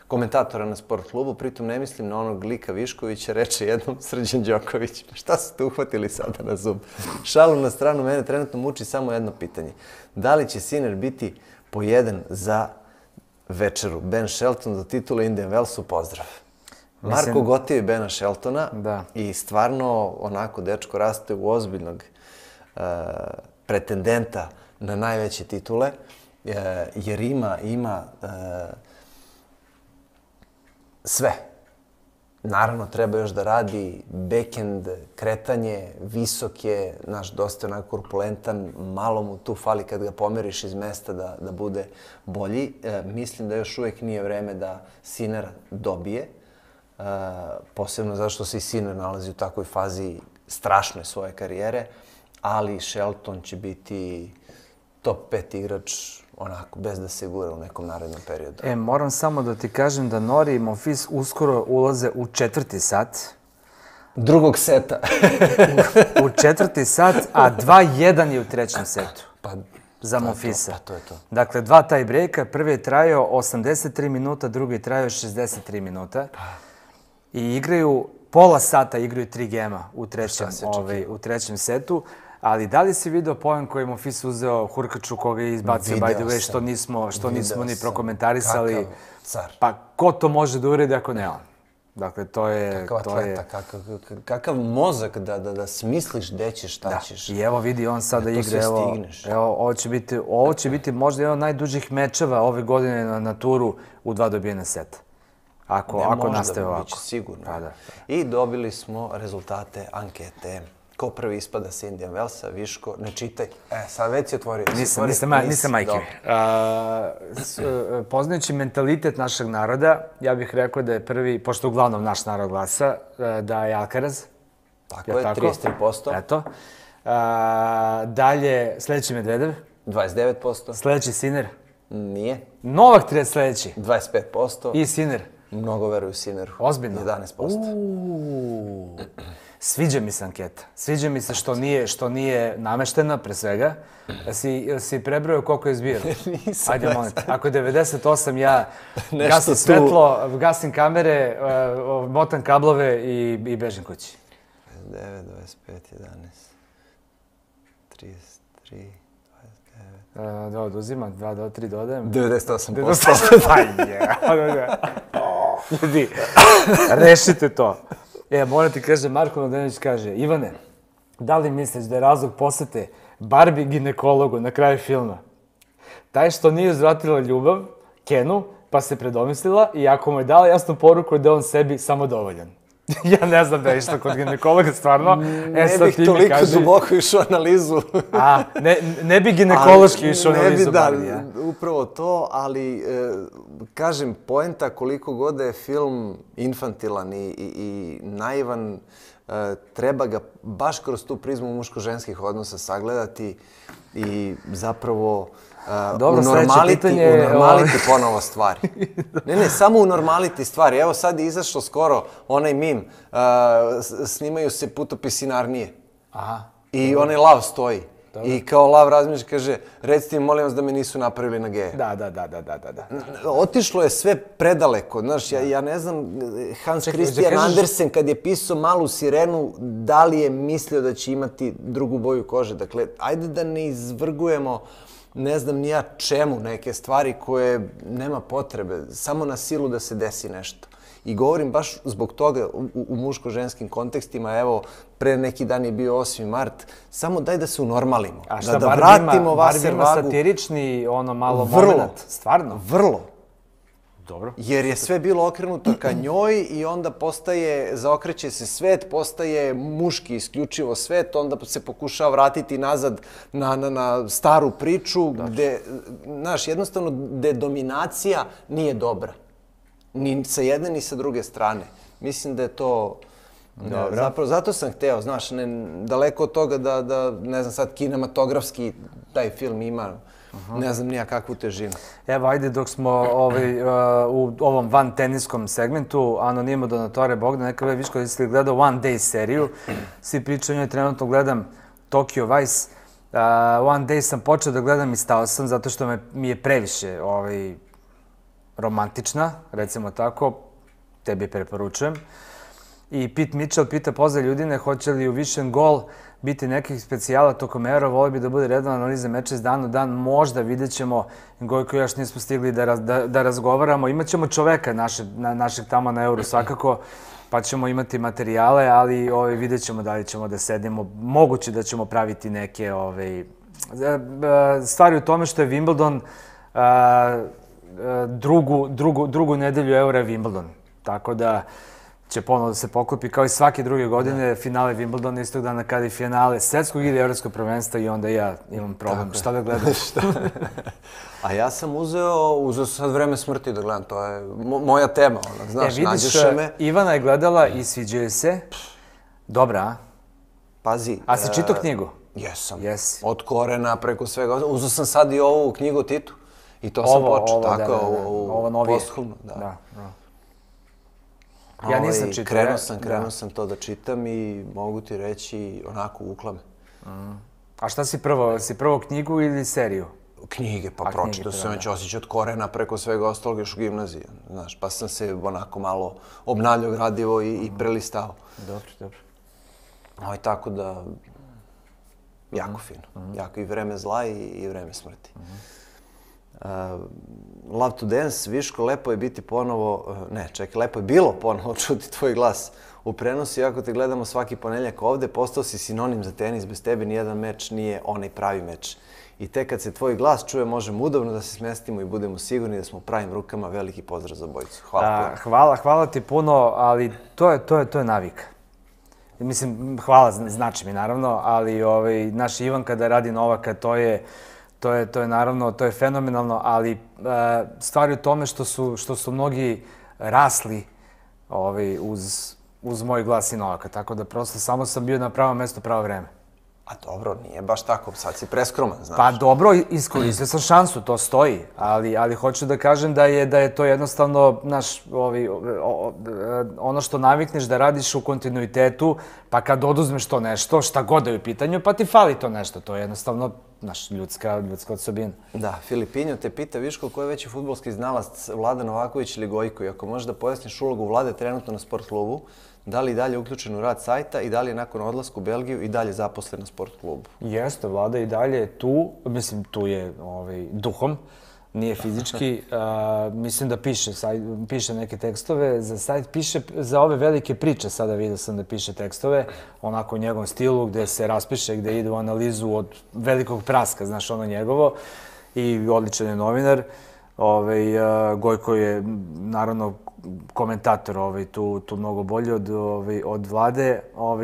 komentatora na sport klubu, pritom ne mislim na onog Lika Viškovića, reče jednom Srđan Đoković. Šta su te uhvatili sada na zub? Šalu na stranu, mene trenutno muči samo jedno pitanje. Da li će Sinner biti po 1 za večeru? Ben Shelton do titule Indian Wellsu, pozdrav. Marko gotivi Bena Sheltona i stvarno onako dečko raste u ozbiljnog pretendenta na najveće titule, jer ima sve. Naravno, treba još da radi backhand, kretanje, visok je, dosta onako korpulentan, malo mu tu fali kad ga pomeriš iz mesta da bude bolji. Mislim da još uvijek nije vreme da Sinner dobije, posebno zato što se i Sinner nalazi u takvoj fazi strašnoj svoje karijere, ali Shelton će biti top 5 igrač onako, bez da se gura u nekom narednom periodu. Moram samo da ti kažem da Nori i Monfils uskoro ulaze u 4. sat. Drugog seta. U 4. sat, a 2-1 je u 3. setu. Za Monfilsa. To je to. Dakle, 2 tie breaka. Prvi je trajao 83 minuta, drugi je trajao 63 minuta. I igraju, pola sata igraju 3 gema u 3. setu. Ali da li si vidio poen koji je Monfils uzeo Hurkaču koga je izbacio, by the way, što nismo ni prokomentarisali? Kakav car. Pa ko to može da uredi ako ne on? Dakle, to je... Kakav atleta, kakav mozak da smisliš gde ćeš, šta ćeš. I evo vidi, on sada igra, evo, ovo će biti možda jedan od najdužih mečeva ove godine na turu u 2 dobijene seta. Ako nastave ovako. Biće sigurno. I dobili smo rezultate ankete. Ko prvi ispada sa Indian Wellsa, Viško, ne čitaj. Sad već si otvorio. Nisam majke. Poznajući mentalitet našeg naroda, ja bih rekao da je prvi, pošto uglavnom naš narod glasa, da je Alcaraz. Tako je, 33%. Eto. Dalje, sledeći Medvedev. 29%. Sledeći Sinner. Nije. Novak sledeći. 25%. I Sinner. Mnogo veruju Sinneru. Ozbiljno? 11%. Sviđa mi se anketa. Sviđa mi se što nije nameštena, pre svega. Si prebrojao koliko je zbijeno? Nisam. Ajde, molim te. Ako je 98, ja gasim svetlo, gasim kamere, motam kablove i bežim kući. 9, 25, 11, 33... Da oduzimam, 2 do 3 dodajem. 98%. Ljudi, rešite to. Moram ti kaže, Marko Mladenović kaže, Ivane, da li misliš da je razlog posete Barbie ginekologu na kraju filma? Taj što nije uzvratila ljubav, Kenu, pa se predomislila i ako mu je dala jasnu poruku da je on sebi samodovoljan. Ja ne znam da je išla kod ginekologa, stvarno. Ne bih toliko duboko išao analizu. Ne bi ginekološki išao analizu Barbie. Ne bi, upravo to, ali kažem, poenta koliko god je film infantilan i naivan, treba ga baš kroz tu prizmu muško-ženskih odnosa sagledati i zapravo unormaliti ponovo stvari. Ne, samo unormaliti stvari. Evo sad je izašlo skoro onaj mim, snimaju se putopisi Narnije. I onaj lav stoji. I kao lav razmišlja, kaže, recite mi, molim vas da me nisu napravili na geje. Da. Otišlo je sve predaleko. Znaš, ja ne znam, Hans Christian Andersen kad je pisao Malu sirenu, da li je mislio da će imati drugu boju kože. Dakle, ajde da ne izvrgujemo ne znam ni ja čemu neke stvari koje nema potrebe, samo na silu da se desi nešto. I govorim baš zbog toga u muško-ženskim kontekstima, evo, pre neki dan je bio 8. mart, samo daj da se unormalimo. A šta, Barbie ima satirični, ono malo moment? Stvarno? Vrlo. Dobro. Jer je sve bilo okrenuto ka njoj i onda zaokreće se svet, postaje muški isključivo svet, onda se pokušava vratiti nazad na staru priču, gde, znaš, jednostavno, gde dominacija nije dobra. Ni sa jedne, ni sa druge strane. Mislim da je to... Zapravo, zato sam hteo, znaš, daleko od toga da, ne znam sad, kinematografski taj film ima, ne znam nija kakvu težinu. Evo, ajde, dok smo u ovom van teniskom segmentu, Anonimo Donatore Bogdan, neka vidiš kada si gledao One Day seriju, svi pričaju o njoj, trenutno gledam Tokyo Vice. One Day sam počeo da gledam i stao sam, zato što mi je previše romantična, recimo tako, tebi preporučujem. I Pete Mitchell pita, pozdrav ljudine, hoće li u Vision Goal biti nekih specijala tokom Eura, voli bi da bude redovna analiza meča iz dana u dan, možda vidjet ćemo, Gojko još nismo stigli da razgovaramo, imat ćemo čoveka našeg tamo na Euru svakako, pa ćemo imati materijale, ali vidjet ćemo da li ćemo da sedimo, moguće da ćemo praviti neke stvari u tome što je Wimbledon drugu nedelju Eura je Wimbledon, tako da će ponovno da se poklopi kao i svake druge godine, finale Wimbledona istog dana kada je finale svetskog ili evropskog prvenstva i onda ja imam problem. Šta da gledam? A ja sam uzeo sad Vreme smrti da gledam, to je moja tema, znaš, nađeš me. Vidiš, Ivana je gledala i sviđaju se. Dobra, a? Pazi. A si čitao knjigu? Jesam. Od korena preko svega. Uzeo sam sad i ovu knjigu o Titu. I to sam počeo, tako, u posthumno. Da. Ja nisam čitao. Krenuo sam to da čitam i mogu ti reći onako uklame. A šta si prvo? Si prvo knjigu ili seriju? Knjige, pa pročitao sam već Osjećaj od korena preko svega ostalog još u gimnaziji. Znaš, pa sam se onako malo obnavljao gradivo i prelistao. Dobro. Tako da, jako fino. Jako i Vreme zla i Vreme smrti. Love to Dance, Viško, lepo je biti ponovo, lepo je bilo ponovo čuti tvoj glas u prenosu, iako te gledamo svaki ponedjeljak ovde, postao si sinonim za tenis, bez tebe nijedan meč nije onaj pravi meč. I tek kad se tvoj glas čuje, možemo udobno da se smestimo i budemo sigurni da smo u pravim rukama. Veliki pozdrav za obojicu. Hvala ti puno, ali to je navika. Mislim, hvala znači mi naravno, ali naš Ivan kada radi Novaka, to je naravno, to je fenomenalno, ali stvar je u tome što su mnogi rasli uz moj glas i Novaka, tako da prosto samo sam bio na pravo mesto, pravo vreme. A dobro, nije baš tako, sad si preskroman, znaš. Pa dobro, iskoristio sam šansu, to stoji, ali hoću da kažem da je to jednostavno, znaš, ono što navikneš da radiš u kontinuitetu, pa kad oduzmeš to nešto, šta god da je u pitanju, pa ti fali to nešto, to je jednostavno, znaš, ljudska osobina. Da, Filipinjo te pita, Viško, ko je veći fudbalski znalac, Vlada Novaković ili Gojko? I ako možeš da pojasniš ulogu Vlade trenutno na sport klubu, da li je dalje uključen u rad sajta i da li je nakon odlaska u Belgiju i dalje zaposlen na sport klubu? Jeste, Vlada i dalje je tu, mislim, tu je duhom, nije fizički. Mislim da piše neke tekstove za sajt, piše za ove velike priče, sada vidio sam da piše tekstove, onako u njegovom stilu, gde se raspiše, gde ide u analizu od velikog praska, znaš, ono njegovo, i odličan je novinar. Gojko je, naravno, komentator tu mnogo bolji od Vlade,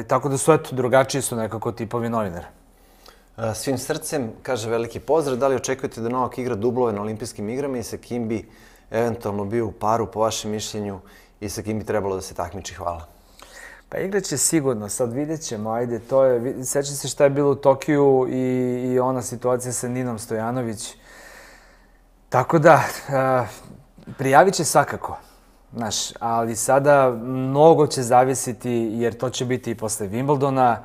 tako da su, eto, drugačiji su nekako tipovi novinara. Svim srcem, kaže veliki pozdrav, da li očekujete da Novak igra dublove na olimpijskim igrama i sa kim bi eventualno bio u paru, po vašem mišljenju, i sa kim bi trebalo da se takmiči? Hvala. Pa igraće sigurno, sad vidjet ćemo, ajde, to je, sećam se šta je bilo u Tokiju i ona situacija sa Ninom Stojanović. Tako da, prijavit će svakako, znaš, ali sada mnogo će zavisiti, jer to će biti i posle Wimbledona,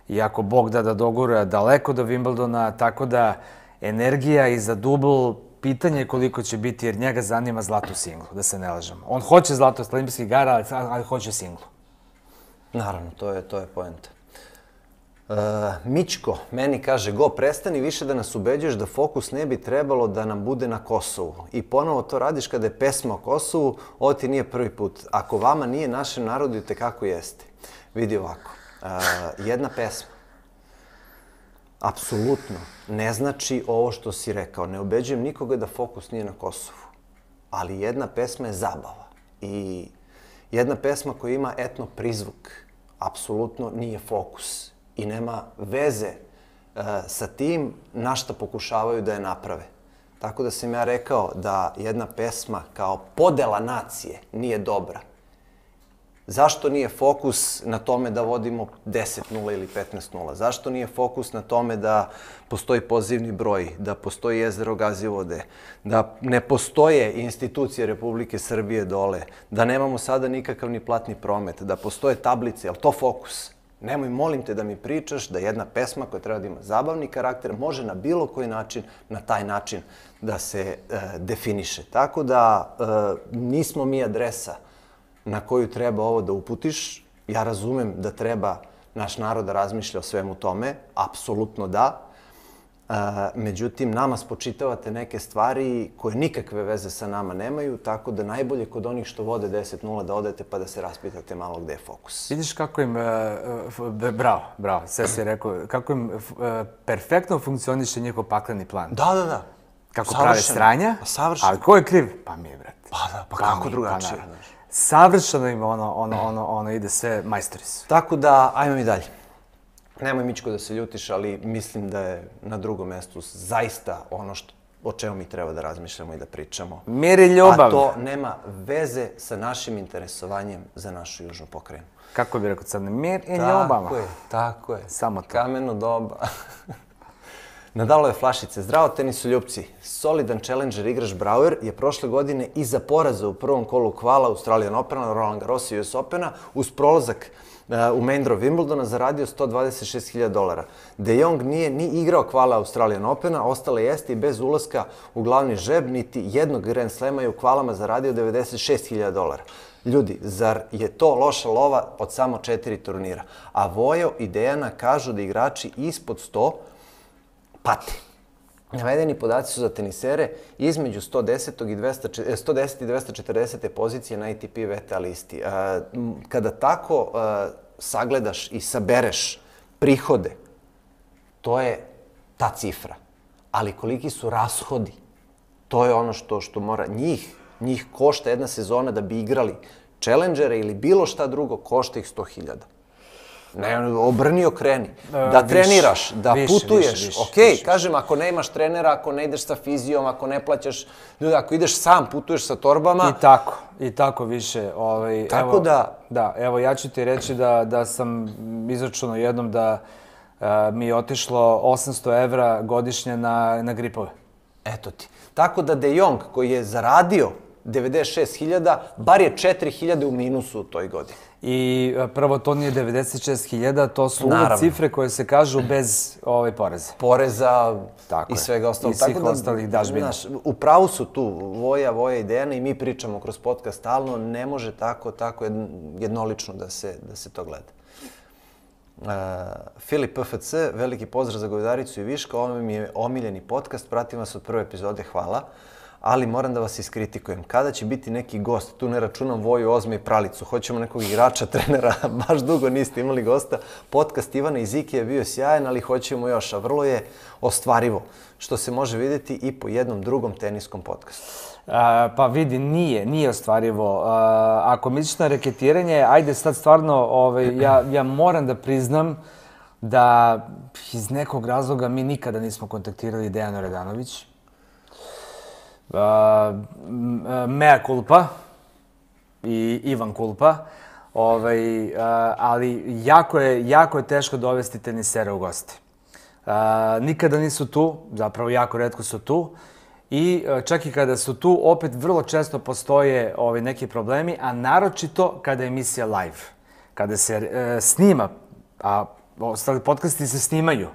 i ako Bog da dogura daleko do Wimbledona, tako da energija i za dubl, pitanje je koliko će biti, jer njega zanima zlato u singlu, da se ne lažemo. On hoće zlato s olimpijskih igara, ali hoće singlu. Naravno, to je poenta. Mićko meni kaže, go, prestani više da nas ubeđuješ da fokus ne bi trebalo da nam bude na Kosovu. I ponovo to radiš kada je pesma o Kosovu, ovo ti nije prvi put. Ako vama nije, našem narodu i tekako jeste. Vidi ovako, jedna pesma, apsolutno, ne znači ovo što si rekao. Ne ubeđujem nikoga da fokus nije na Kosovu. ali jedna pesma je zabava. I jedna pesma koja ima etno prizvuk apsolutno nije fokus i nema veze sa tim na šta pokušavaju da je naprave. Tako da sam ja rekao da jedna pesma kao podela nacije nije dobra. Zašto nije fokus na tome da vodimo 10-0 ili 15-0? Zašto nije fokus na tome da postoji pozivni broj, da postoji jezero Gazivode, da ne postoje institucije Republike Srbije dole, da nemamo sada nikakav ni platni promet, da postoje tablice, je li to fokus? Nemoj, molim te da mi pričaš da jedna pesma koja treba da ima zabavni karakter može na bilo koji način, na taj način da se definiše. Tako da nismo mi adresa na koju treba ovo da uputiš. Ja razumem da treba naš narod da razmišlja o svemu tome, apsolutno da. Međutim, nama spočitavate neke stvari koje nikakve veze sa nama nemaju, tako da najbolje kod onih što vode 10-0 da odete pa da se raspitate malo gde je fokus. Vidiš kako im, bravo, sve si rekao, kako im perfektno funkcioniše njihov pakleni plan. Da. Kako prave sranja, ali ko je kriv? Pa mi, brate. Pa kako drugačije? Savršeno im ono ide sve majstori su. Tako da, ajmo mi dalje. Nemoj, Mičko, da se ljutiš, ali mislim da je na drugom mestu zaista ono o čemu mi treba da razmišljamo i da pričamo. Mir i ljubav. A to nema veze sa našim interesovanjem za našu južnu pokrajinu. Kako bi rekao sad, mir i ljubav. Tako je. Samo to. Kameno doba. Nadalove flašice. Zdravo, tenisoljupci. Solidan challenger igrač Brauer je prošle godine iza poraza u prvom kolu kvala Australian Opena, Roland Garros i US Opena uz prolazak u main draw Wimbledona zaradio $126.000. De Jong nije ni igrao kvala Australian Opena, ostale jeste i bez ulaska u glavni žreb, niti jednog Grand Slema je u kvalama zaradio $96.000. Ljudi, zar je to loša lova od samo 4 turnira? A Vojo i Dejana kažu da igrači ispod 100 pate. Navedeni podaci su za tenisere između 110 i 240. pozicije na ATP VTA listi. Kada tako sagledaš i sabereš prihode, to je ta cifra. Ali koliki su rashodi, to je ono što mora njih košta jedna sezona da bi igrali challengere ili bilo šta drugo, košta ih 100.000. Ne, obrni okreni. Da treniraš, da putuješ. Ok, kažem, ako ne imaš trenera, ako ne ideš sa fizijom, ako ne plaćaš ljudi, ako ideš sam, putuješ sa torbama. I tako više. Tako da... Da, evo ja ću ti reći da sam izračunao jednom da mi je otišlo 800 evra godišnje na gripove. Eto ti. Tako da De Jong, koji je zaradio 96.000, bar je 4.000 u minusu u toj godini. I prvo, to nije 96.000, to su cifre koje se kažu bez poreza. Poreza i svega ostalog. I svih ostalih dažbina. U pravu su tu Voja i Dejana i mi pričamo kroz podcast stalno, ne može tako jednolično da se to gleda. Filip PFC, veliki pozdrav za Govedaricu i Viška, ovo mi je omiljeni podcast, pratim vas od prve epizode, hvala. Ali moram da vas iskritikujem. Kada će biti neki gost, tu ne računam Voju, Ozme i Pralicu, hoćemo nekog igrača, trenera, baš dugo niste imali gosta. Podcast Ivana i Ziki je bio sjajan, ali hoćemo još, a vrlo je ostvarivo, što se može vidjeti i po jednom drugom teniskom podcastu. Pa vidi, nije ostvarivo. Ako misliš na reketiranje, ajde sad stvarno, ja moram da priznam da iz nekog razloga mi nikada nismo kontaktirali Dejanu Radanović. Mea culpa i Ivan culpa, ali jako je teško dovesti tenisere u goste. Nikada nisu tu, zapravo jako retko su tu i čak i kada su tu, opet vrlo često postoje neki problemi, a naročito kada je emisija live. Kada se snima, a ostali podcasti se snimaju.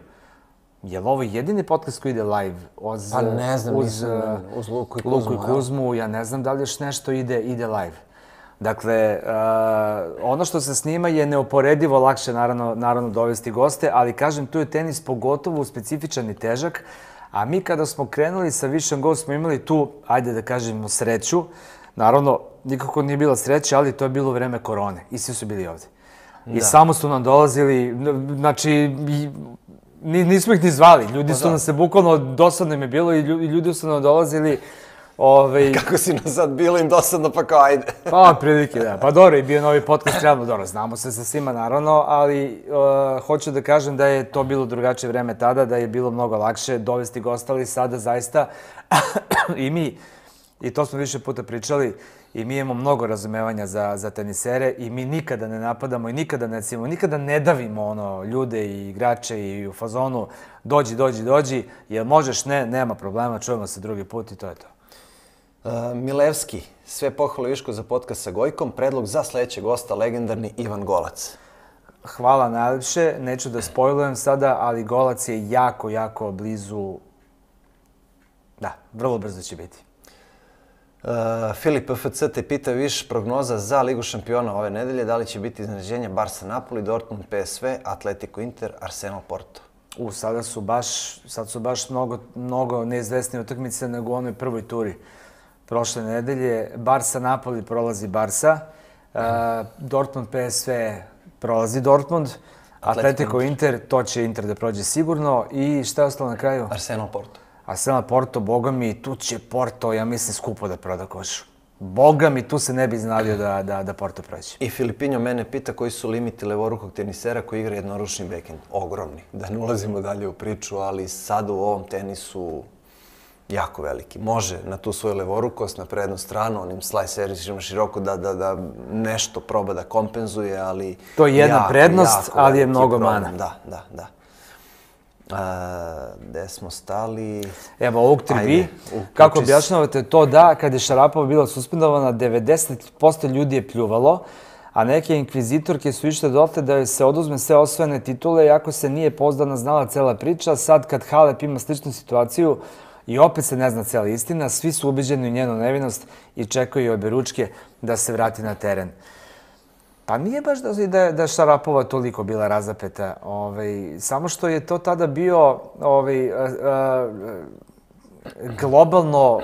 Je li ovo jedini podcast koji ide live? Pa ne znam, uz Luku i Kuzmu. Ja ne znam da li još nešto ide live. Dakle, ono što se snima je neoporedivo lakše naravno dovesti goste, ali kažem, tu je tenis pogotovo specifičan i težak, a mi kada smo krenuli sa Vision Go smo imali tu, ajde da kažemo, sreću. Naravno, nikako nije bila sreća, ali to je bilo vreme korone i svi su bili ovde. I samo su nam dolazili, znači... Nismo ih ni zvali, ljudi su nam se bukvalno, dosadno im je bilo i ljudi su nam dolazili Kako si nas sad bilo im dosadno, pa kao ajde. Pa, prilike, da. Pa dobro, i bio novi podcast, realno dobro, znamo se sa svima, naravno, ali hoću da kažem da je to bilo drugačije vreme tada, da je bilo mnogo lakše dovesti gosta, ali sada zaista i mi, i to smo više puta pričali, i mi imamo mnogo razumevanja za tenisere i mi nikada ne napadamo i nikada ne cimo, nikada ne davimo ljude i igrače i u fazonu dođi, jel možeš, ne, nema problema, čujemo se drugi put i to je to. Milevski, sve pohvale Viško za podcast sa Gojkom, predlog za sledećeg gosta, legendarni Ivan Golac. Hvala najlepše, neću da spojlujem sada, ali Golac je jako, jako blizu, da, vrlo brzo će biti. Filip FC te pita Viš, prognoza za Ligu šampiona ove nedelje, da li će biti iznenađenje Barsa Napoli, Dortmund PSV, Atletico Inter, Arsenal Porto? Sad su baš mnogo neizvesnije utakmice nego u onoj prvoj turi prošle nedelje. Barsa Napoli prolazi Barsa, Dortmund PSV prolazi Dortmund, Atletico Inter, to će Inter da prođe sigurno i šta je ostalo na kraju? Arsenal Porto. Arsenal Porto, boga mi, tu će Porto, ja mislim, skupo da proda koš. Boga mi, tu se ne bi iznalio da Porto prođe. I Filipinjo mene pita koji su limiti levorukog tenisera koji igra jednoručni backhand. Ogromni. Da ne ulazimo dalje u priču, ali sad u ovom tenisu jako veliki. Može na tu svoju levorukost, na prednu stranu, onim slice servisima široko da nešto proba da kompenzuje, ali... To je jedna prednost, ali je mnogo mana. Da. Gde smo stali? Evo, ovog 3B. Kako objašnjavate to da, kad je Šarapova bila suspendovana, 90% ljudi je pljuvalo, a neke inkvizitorke su išle dotle da joj se oduzme sve osvojene titule, iako se nije pouzdano znala cela priča. Sad, kad Halep ima sličnu situaciju i opet se ne zna cela istina, svi su ubeđeni u njenu nevinost i čekaju oberučke da se vrati na teren. Pa nije baš da Šarapova toliko bila razapeta, samo što je to tada bio globalno,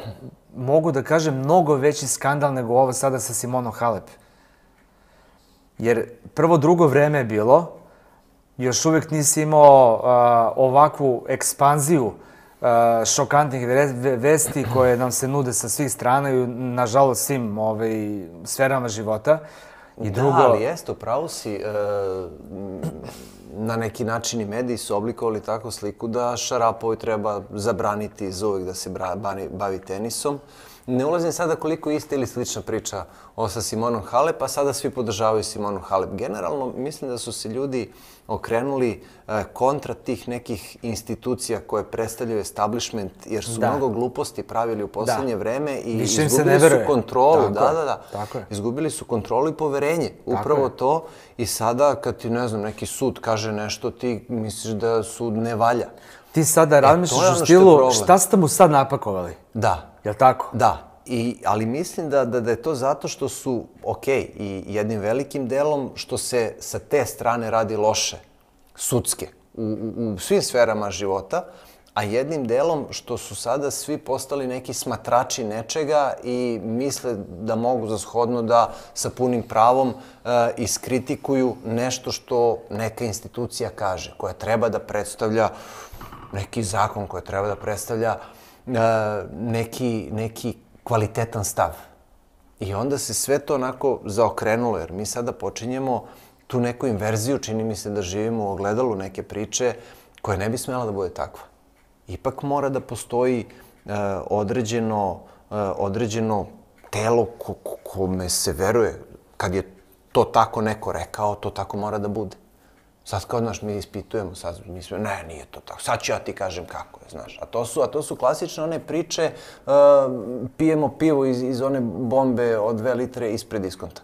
mogu da kažem, mnogo veći skandal nego ovo sada sa Simonom Halep. Jer prvo drugo vreme je bilo, još uvijek nisi imao ovakvu ekspanziju šokantnih vesti koje nam se nude sa svih strana i nažalost svim sferama života. Da, ali jeste, upravo si, na neki način i mediji su oblikovali takvu sliku da Šarapovoj treba zabraniti zauvek da se bavi tenisom. Ne ulazim sada koliko je ista ili slična priča sa Simonom Halep, a sada svi podržavaju Simonu Halep. Generalno, mislim da su se ljudi okrenuli kontra tih nekih institucija koje predstavljaju establishment, jer su mnogo gluposti pravili u poslednje vreme i izgubili su kontrolu. Izgubili su kontrolu i poverenje. Upravo to. I sada, kad ti, ne znam, neki sud kaže nešto, ti misliš da sud ne valja. Ti sada razmišljaš u stilu, šta ste mu sad napakovali? Da. Jel' tako? Da. Ali mislim da je to zato što su, i jednim velikim delom, što se sa te strane radi loše, sudske, u svim sferama života, a jednim delom što su sada svi postali neki smatrači nečega i misle da mogu za shodno da sa punim pravom iskritikuju nešto što neka institucija kaže, koja treba da predstavlja neki zakon, koja treba da predstavlja neki kvalitetan stav. I onda se sve to onako zaokrenulo, jer mi sada počinjemo tu neku inverziju, čini mi se da živimo u ogledalu neke priče koja ne bi smela da bude takva. Ipak mora da postoji određeno telo kome se veruje. Kad je to tako neko rekao, to tako mora da bude. Sad kao, znaš, mi ispitujemo, sad mislimo, ne, nije to tako, sad ću ja ti kažem kako je, znaš. A to su klasične one priče, pijemo pivo iz one bombe od 2 litre ispred diskonta.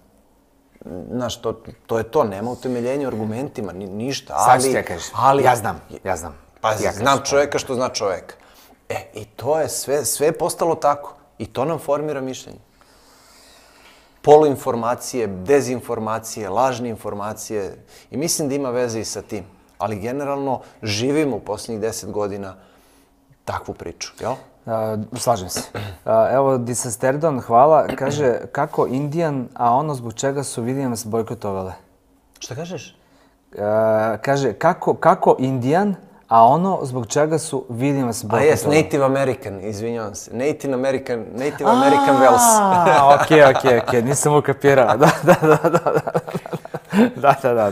Znaš, to je to, nema utemeljenja u argumentima, ništa, ali... Sad ću ti ja kažem, ja znam. Pazi, znam čoveka što zna čoveka. I to je sve postalo tako. I to nam formira mišljenje. Poluinformacije, dezinformacije, lažne informacije. I mislim da ima veze i sa tim. Ali generalno živimo u posljednjih 10 godina takvu priču, jel? Slažem se. Evo, Disasterdon, hvala. Kaže, kako Indijan, a ono zbog čega su Williams bojkotovale? Šta kažeš? Kaže, kako Indijan, a ono zbog čega su vidimo se bojkotovali. A jes, Native American, izvinjavam se. Native American Wells. Okej, nisam ukapirao. Da,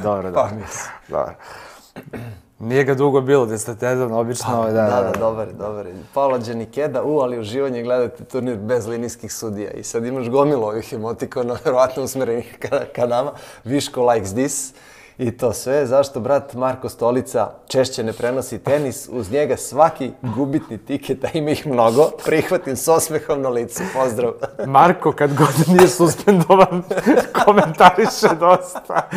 dobro. Pa mislim. Dobro. Nije ga dugo bilo, desetedavno, obično. Da, dobar. Paola Đenikeda, ali uživanje gledate turnir bez linijskih sudija. I sad imaš gomilu ovih emotikona, verovatno usmerenih ka nama. Viško likes this. I to sve, zašto brat Marko Stolica češće ne prenosi tenis, uz njega svaki gubitni tiket, a ima ih mnogo, prihvatim s osmehom na licu. Pozdrav. Marko, kad god nije suspendovan, komentariše dosta.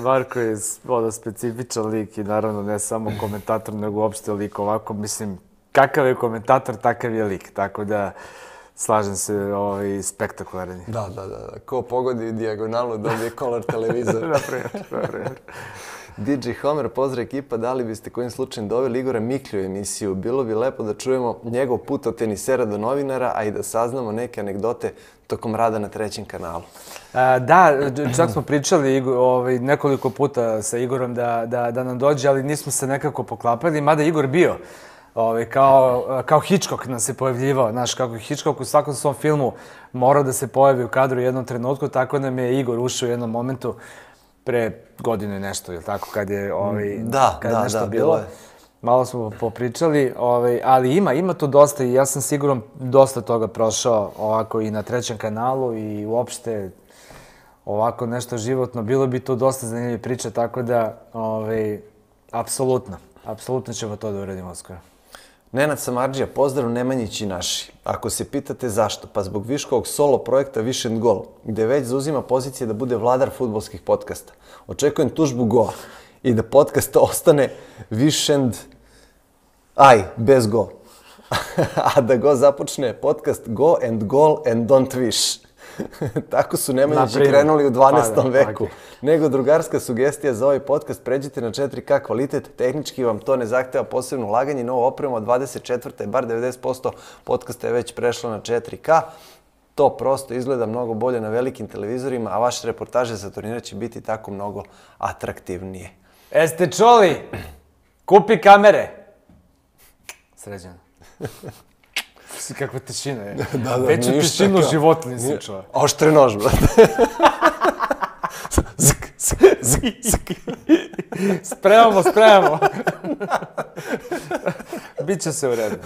Marko je specifičan lik i naravno ne samo komentator, nego uopšte lik ovako. Mislim, kakav je komentator, takav je lik, tako da slažem se, spektakularan. Da. Ko pogodi dijagonalu, dobije Color televizor. Naprimjer. DJ Homer, pozdrav ekipa, da li biste kojim slučajem doveli Igora Miklju u emisiju? Bilo bi lepo da čujemo njegov put od tenisera do novinara, a i da saznamo neke anegdote tokom rada na trećem kanalu. Da, čak smo pričali nekoliko puta sa Igorom da nam dođe, ali nismo se nekako poklapali, mada Igor bio. Kao Hitchcock nam se pojavljivao, znaš, kako je Hitchcock u svakom svom filmu morao da se pojavi u kadru u jednom trenutku, tako nam je Igor ušao u jednom momentu pre godinu i nešto, ili tako, kad je nešto bilo. Malo smo popričali, ali ima to dosta i ja sam siguran dosta toga prošao ovako i na trećem kanalu i uopšte ovako nešto životno. Bilo bi to dosta zanimljive priče, tako da, apsolutno ćemo to da uradimo skoro. Nenad Samardžija, pozdrav Nemanjići naši. Ako se pitate zašto, pa zbog Viškovog solo projekta Wish and Goal, gde već zauzima pozicije da bude vladar fudbalskih podcasta. Očekujem tužbu Goa i da podcast ostane Wish and bez Go. A da Go započne podcast Go and Goal and Don't Wish. Tako su Nemanjići krenuli u 12. veku. Nego drugarska sugestija za ovaj podcast, pređite na 4K kvalitet, tehnički vam to ne zahteva posebno ulaganje, novo opremo od 24. bar 90% podcasta je već prešlo na 4K. To prosto izgleda mnogo bolje na velikim televizorima, a vaše reportaže za turnire će biti tako mnogo atraktivnije. Jeste čuli? Kupi kamere! Sređeno. Kakva tišina je. Veću tišinu u životu nisam čuo. Oštre nož, brate. Spremamo. Biće se u redu.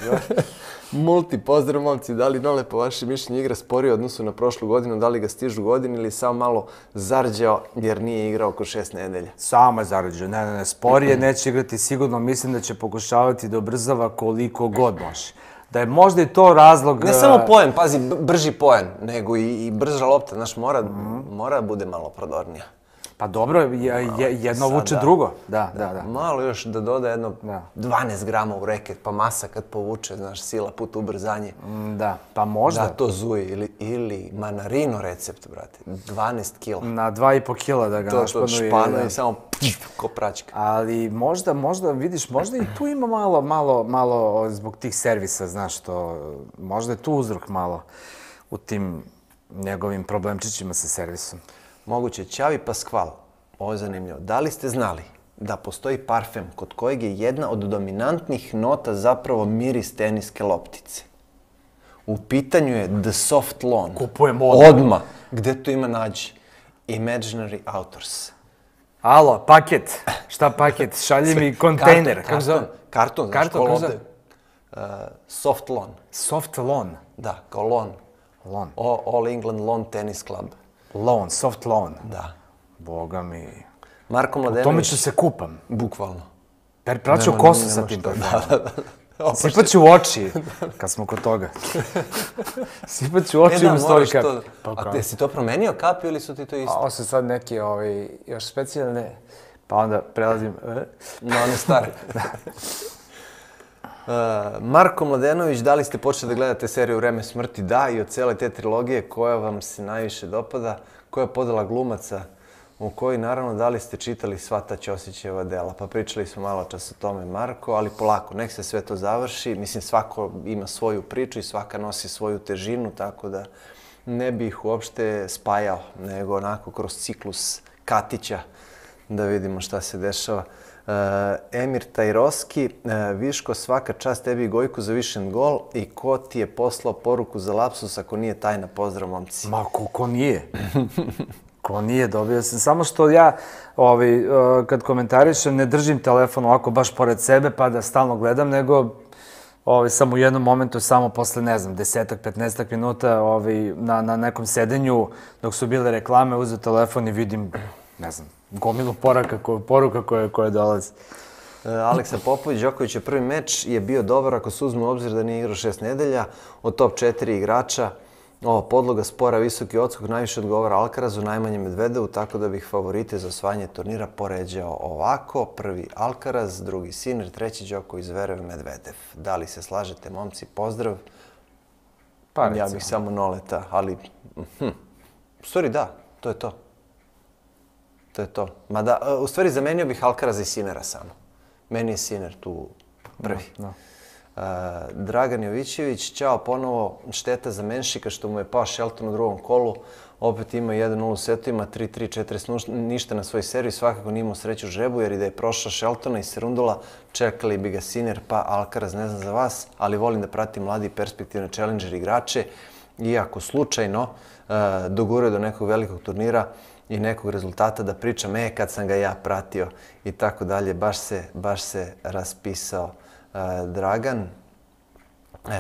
Multi, pozdrav momci, da li Nole po vašem mišljenju igra sporije u odnosu na prošlu godinu, da li ga stižu godine ili samo malo zarđao jer nije igrao oko 6 nedelja? Samo je zarđao, ne, sporije neće igrati sigurno, mislim da će pokušavati da ubrzava koliko god može. Da je možda i to razlog... Ne samo poen, pazi, brži poen, nego i brža lopta, znaš, mora da bude malo prodornija. Pa dobro, jedno vuče drugo. Da. Malo još da doda jedno 12 grama u reket, pa masa kad povuče, znaš, sila put ubrzanje. Da, pa možda. Da to zuji, ili manarino recept, brate, 12 kila. Na 2,5 kila da ga našpanu. To špano i samo ko praćka. Ali možda, vidiš, možda i tu ima malo zbog tih servisa, znaš, možda je tu uzrok malo u tim njegovim problemčićima sa servisom. Moguće, Ćavi Paskval, ovo je zanimljivo. Da li ste znali da postoji parfem kod kojeg je jedna od dominantnih nota zapravo miris teniske loptice? U pitanju je The Soft Lawn. Kupujemo odmah. Odmah. Gde to ima nađi? Imaginary Authors. Alo, paket. Šta paket? Šalji mi kontejner. Karton, znaš, ko lopte. Soft Lawn. Soft Lawn? Da, kao lawn. Lawn. All England Lawn Tennis Club. Lawn, soft lawn. Da. Boga mi. Marko Mladenović. U tome ću se kupam. Bukvalno. Praću kosu sa tim parfumom. Sipaću u oči, kad smo kod toga. Sipaću u oči i mi stoji kap. A ti si to promenio kapi ili su ti to isto? Ovo su sad neke još specijalne, pa onda prelazim. Na one stare. Marko Mladenović, da li ste počeli da gledate seriju Vreme smrti? Da, i od cele te trilogije koja vam se najviše dopada, koja je podela glumaca, u kojoj naravno da li ste čitali sva ta Ćosićeva dela. Pa pričali smo malo čas o tome, Marko, ali polako, nek se sve to završi. Mislim, svako ima svoju priču i svaka nosi svoju težinu, tako da ne bih ih uopšte spajao, nego onako kroz ciklus Katića, da vidimo šta se dešava. Emir Tajroski, Viško, svaka čast tebi i Gojku za višen gol i ko ti je poslao poruku za lapsus ako nije tajna? Pozdrav, momci. Ma, ko nije? Ko nije, dobio sam. Samo što ja, kad komentarišem, ne držim telefon ovako baš pored sebe pa da stalno gledam, nego samo u jednom momentu, samo posle, ne znam, 10-15 minuta na nekom sedenju, dok su bile reklame, uzeo telefon i vidim, ne znam, gomilu poruka koje dolaze. Aleksa Popović, Đoković je prvi meč je bio dobar ako se uzme u obzir da nije igrao 6 nedelja. Od top 4 igrača, podloga spora, visoki odskok, najviše odgovara Alcarazu, najmanje Medvedevu, tako da bih favorite za osvajanje turnira poređao ovako. Prvi Alcaraz, drugi Sinner, treći Đoković, Zverev, Medvedev. Da li se slažete, momci? Pozdrav. Ja bih samo Noleta, ali... U stvari da, to je to. To je to. Mada, u stvari zamenio bih Alcaraza i Sinnera samo. Meni je Sinner tu prvi. Dragan Jovićević, ćao ponovo, šteta za Menšika što mu je pao Shelton u drugom kolu. Opet ima 1-0 u setovima, 3-3, 40 ništa na svoj seriji. Svakako nije imao sreću žrebu jer i da je prošao Sheltona i Serundula, čekali bi ga Sinner pa Alcaraz, ne znam za vas, ali volim da pratim mladi i perspektivne challenger igrače. Iako slučajno doguraju do nekog velikog turnira i nekog rezultata da pričam, kad sam ga ja pratio i tako dalje, baš se raspisao Dragan.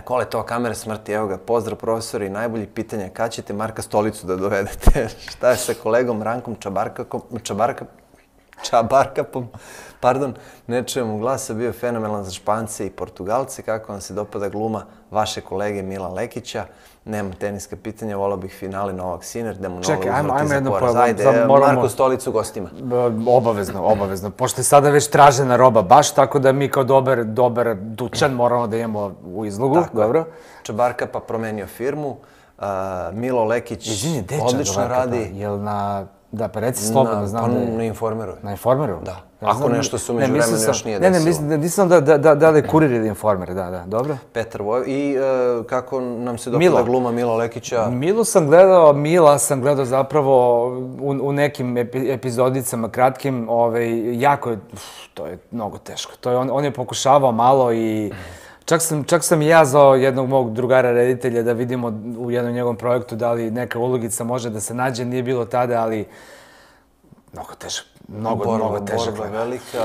Kole to kamere smrti, evo ga, pozdrav profesori, najbolji pitanja, kad ćete Marka Stolicu da dovedete? Šta je sa kolegom Rankom Čabarkapom? Pardon, ne čujem mu glasa, bio je fenomenalan za Špance i Portugalce. Kako vam se dopada gluma vaše kolege Milan Lekića? Nema teniska pitanja, volao bih finale Novak Sinner, da mu novo uzvrati za poraz. Ajde, Marko Stolicu gostima. Obavezno. Pošto je sada već tražena roba baš, tako da mi kao dobar dućan moramo da imamo u izlogu. Dobro. Čabarkapa promenio firmu, Milo Lekić odlično radi. Jel na... Da, pa reci slobodno, znam da je... Na Informeru. Na Informeru? Da. Ako nešto se umeđu vremena još nije desilo. Ne, nisam da je kurir ili Informer, da, dobro. Petar Vojvović. I kako nam se dopada gluma Mila Lekića? Mila sam gledao zapravo u nekim epizodicama kratkim, jako je, to je mnogo teško. On je pokušavao malo i... Čak sam i ja zvao jednog mog drugara reditelja da vidimo u jednom njegovom projektu da li neka ulogica može da se nađe. Nije bilo tada, ali mnogo težak. Mnogo težak. Borba velika.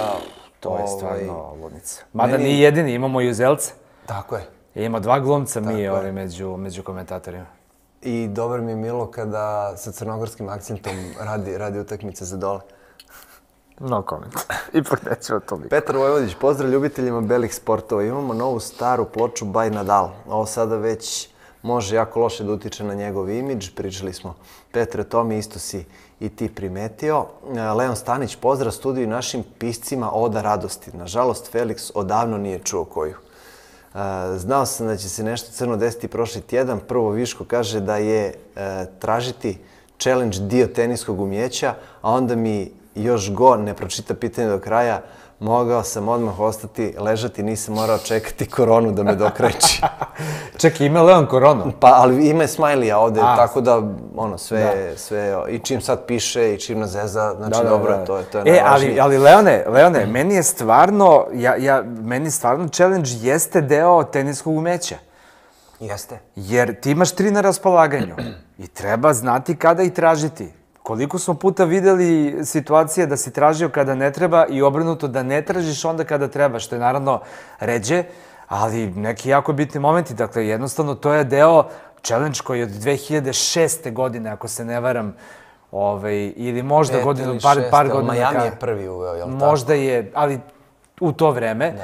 To je stvarno ludnica. Mada nije jedini, imamo i Uzelce. Tako je. Ima 2 glumca među komentatorima. I dobar mi je Milo kada sa crnogorskim akcentom radi utakmice za dole. No comment. Ipak nećemo to biti. Petar Vojvodić, pozdrav ljubiteljima belih sportova. Imamo novu staru ploču by Nadal. Ovo sada već može jako loše da utiče na njegov imidž. Pričali smo, Petre, to mi isto si i ti primetio. Leon Stanić, pozdrav studiju i našim piscima Oda radosti. Nažalost, Felix odavno nije čuo koju. Znao sam da će se nešto crno desiti prošli tjedan. Prvo Viško kaže da je tražiti challenge dio teniskog umjeća, a onda mi još ne pročita pitanje do kraja, mogao sam odmah ostati, ležati, nisam morao čekati koronu da me dokreći. Čekaj, ima Leon koronu? Pa, ali ima je smajlija ovde, tako da, sve, i čim sad piše, i čim nas zeza, znači dobro, to je najvažnije. Ali Leone, meni stvarno challenge jeste deo teniskog umeća. Jeste. Jer ti imaš 3 na raspolaganju i treba znati kada i tražiti. Koliko smo puta videli situacije da si tražio kada ne treba i obrnuto da ne tražiš onda kada treba, što je naravno ređe, ali neki jako bitni momenti. Dakle, jednostavno to je deo challenge koji je od 2006. godine, ako se ne varam, ili možda par godina. Miami je prvi uveo, jel tako? Možda je, ali u to vreme.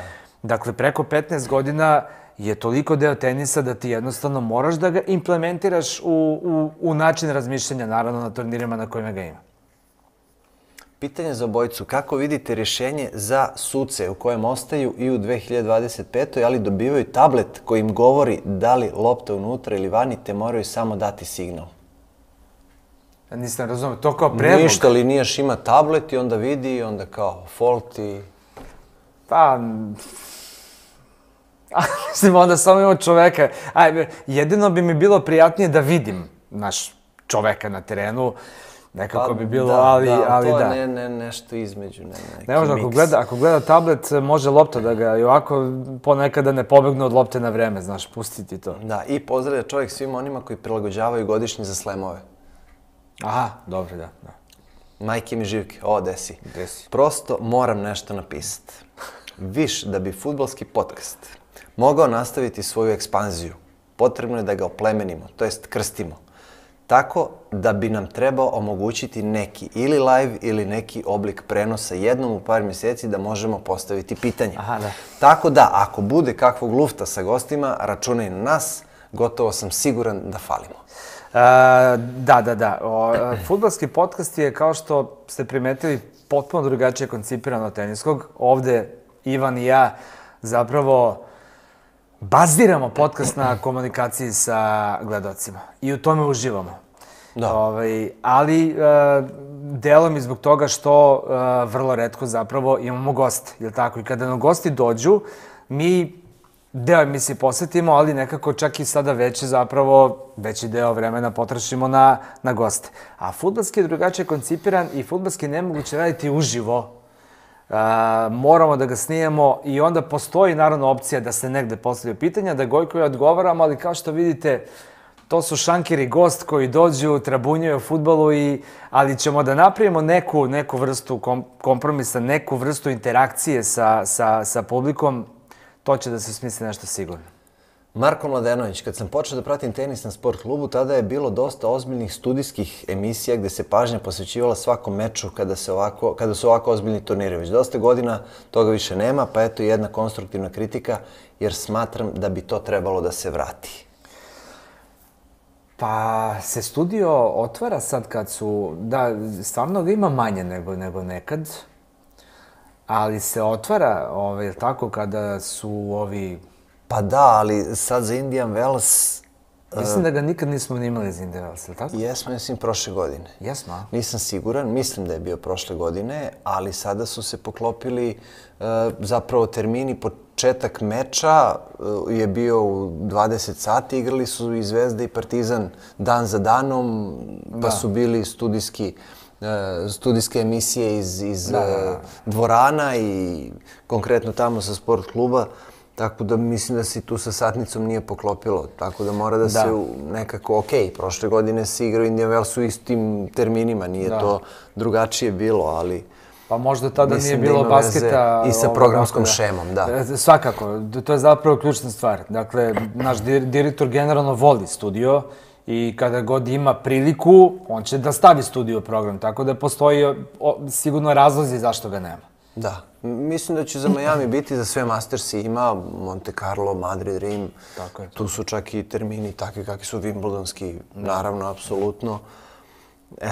Dakle, preko 15 godina je toliko deo tenisa da ti jednostavno moraš da ga implementiraš u način razmišljanja, naravno na turnirima na kojima ga ima. Pitanje za obojicu. Kako vidite rješenje za suce u kojem ostaju i u 2025. ali dobivaju tablet koji im govori da li lopta unutra ili vani, te moraju samo dati signal? Nisam razumio, to kao predlog? Ništa, linijaš ima tablet i onda vidi i onda kao fault i... Pa... Mislim, onda samo imamo čoveka. Jedino bi mi bilo prijatnije da vidim naš čoveka na terenu, Nekako bi bilo, ali da. To je nešto između, neki ne može, ako gleda tablet, može lopta da ga i ovako ponekada ne pobegne od lopte na vreme, znaš, pustiti to. Da, i pozdravlja čovjek svima onima koji prilagođavaju godišnji za slemove. Aha, dobro, da. Majke mi živke, desi. Desi. Prosto moram nešto napisati. Viš, da bi fudbalski podcast mogao nastaviti svoju ekspanziju, potrebno je da ga oplemenimo, to jest krstimo. Tako da bi nam trebao omogućiti neki ili live ili neki oblik prenosa jednom u par mjeseci da možemo postaviti pitanje. Aha, da. Tako da, ako bude kakvog lufta sa gostima, računaj na nas, gotovo sam siguran da falimo. Da. Fudbalski podcast je, kao što ste primetili, potpuno drugačije koncipiran od teniskog. Ovde Ivan i ja zapravo baziramo podcast na komunikaciji sa gledalcima i u tome uživamo. Da. Ali delom i zbog toga što vrlo retko zapravo imamo goste, jel tako? I kada nam gosti dođu, mi deo emisije posvetimo, ali nekako čak i sada veći deo vremena potrošimo na goste. A fudbalski je drugačije koncipiran i fudbalski je nemoguće raditi uživo. Moramo da ga snijemo i onda postoji naravno opcija da se negde postavljaju pitanja, da Gojko i odgovaramo, ali kao što vidite, to su šankeri gost koji dođu, trabunjaju o fudbalu, ali ćemo da napravimo neku vrstu kompromisa, neku vrstu interakcije sa publikom, to će da se smisli nešto sigurno. Marko Mladenović, kad sam počeo da pratim tenis na sport klubu, tada je bilo dosta ozbiljnih studijskih emisija gde se pažnja posvećivala svakom meču kada su ovako ozbiljni turniri. Već dosta godina toga više nema, pa eto jedna konstruktivna kritika, jer smatram da bi to trebalo da se vrati. Pa se studio otvara sad kad su, da, stvarno ga ima manje nego nekad, ali se otvara, tako, kada su ovi... Pa da, ali sad za Indian Wells... Mislim da ga nikad nismo imali za Indian Wells, ili tako? Jesmo, mislim, prošle godine. Jesmo, a? Nisam siguran, mislim da je bio prošle godine, ali sada su se poklopili zapravo termini. Početak meča je bio u 20 sati, igrali su i Zvezda i Partizan dan za danom, pa su bili studijske emisije iz dvorana i konkretno tamo sa sport kluba. Tako da mislim da se tu sa satnicom nije poklopilo, tako da mora da se nekako, prošle godine se igrao Indian Wells u istim terminima, nije to drugačije bilo, ali... Pa možda tada nije bilo basketa... I sa programskom šemom, da. Svakako, to je zapravo ključna stvar. Dakle, naš direktor generalno voli studio i kada god ima priliku, on će da stavi studio program, tako da postoji sigurno razlozi zašto ga nema. Da, mislim da će za Miami biti za sve Mastersi, ima Monte Carlo, Madrid, Rim, tu su čak i termini takvi kakvi su Wimbledonski, naravno, apsolutno.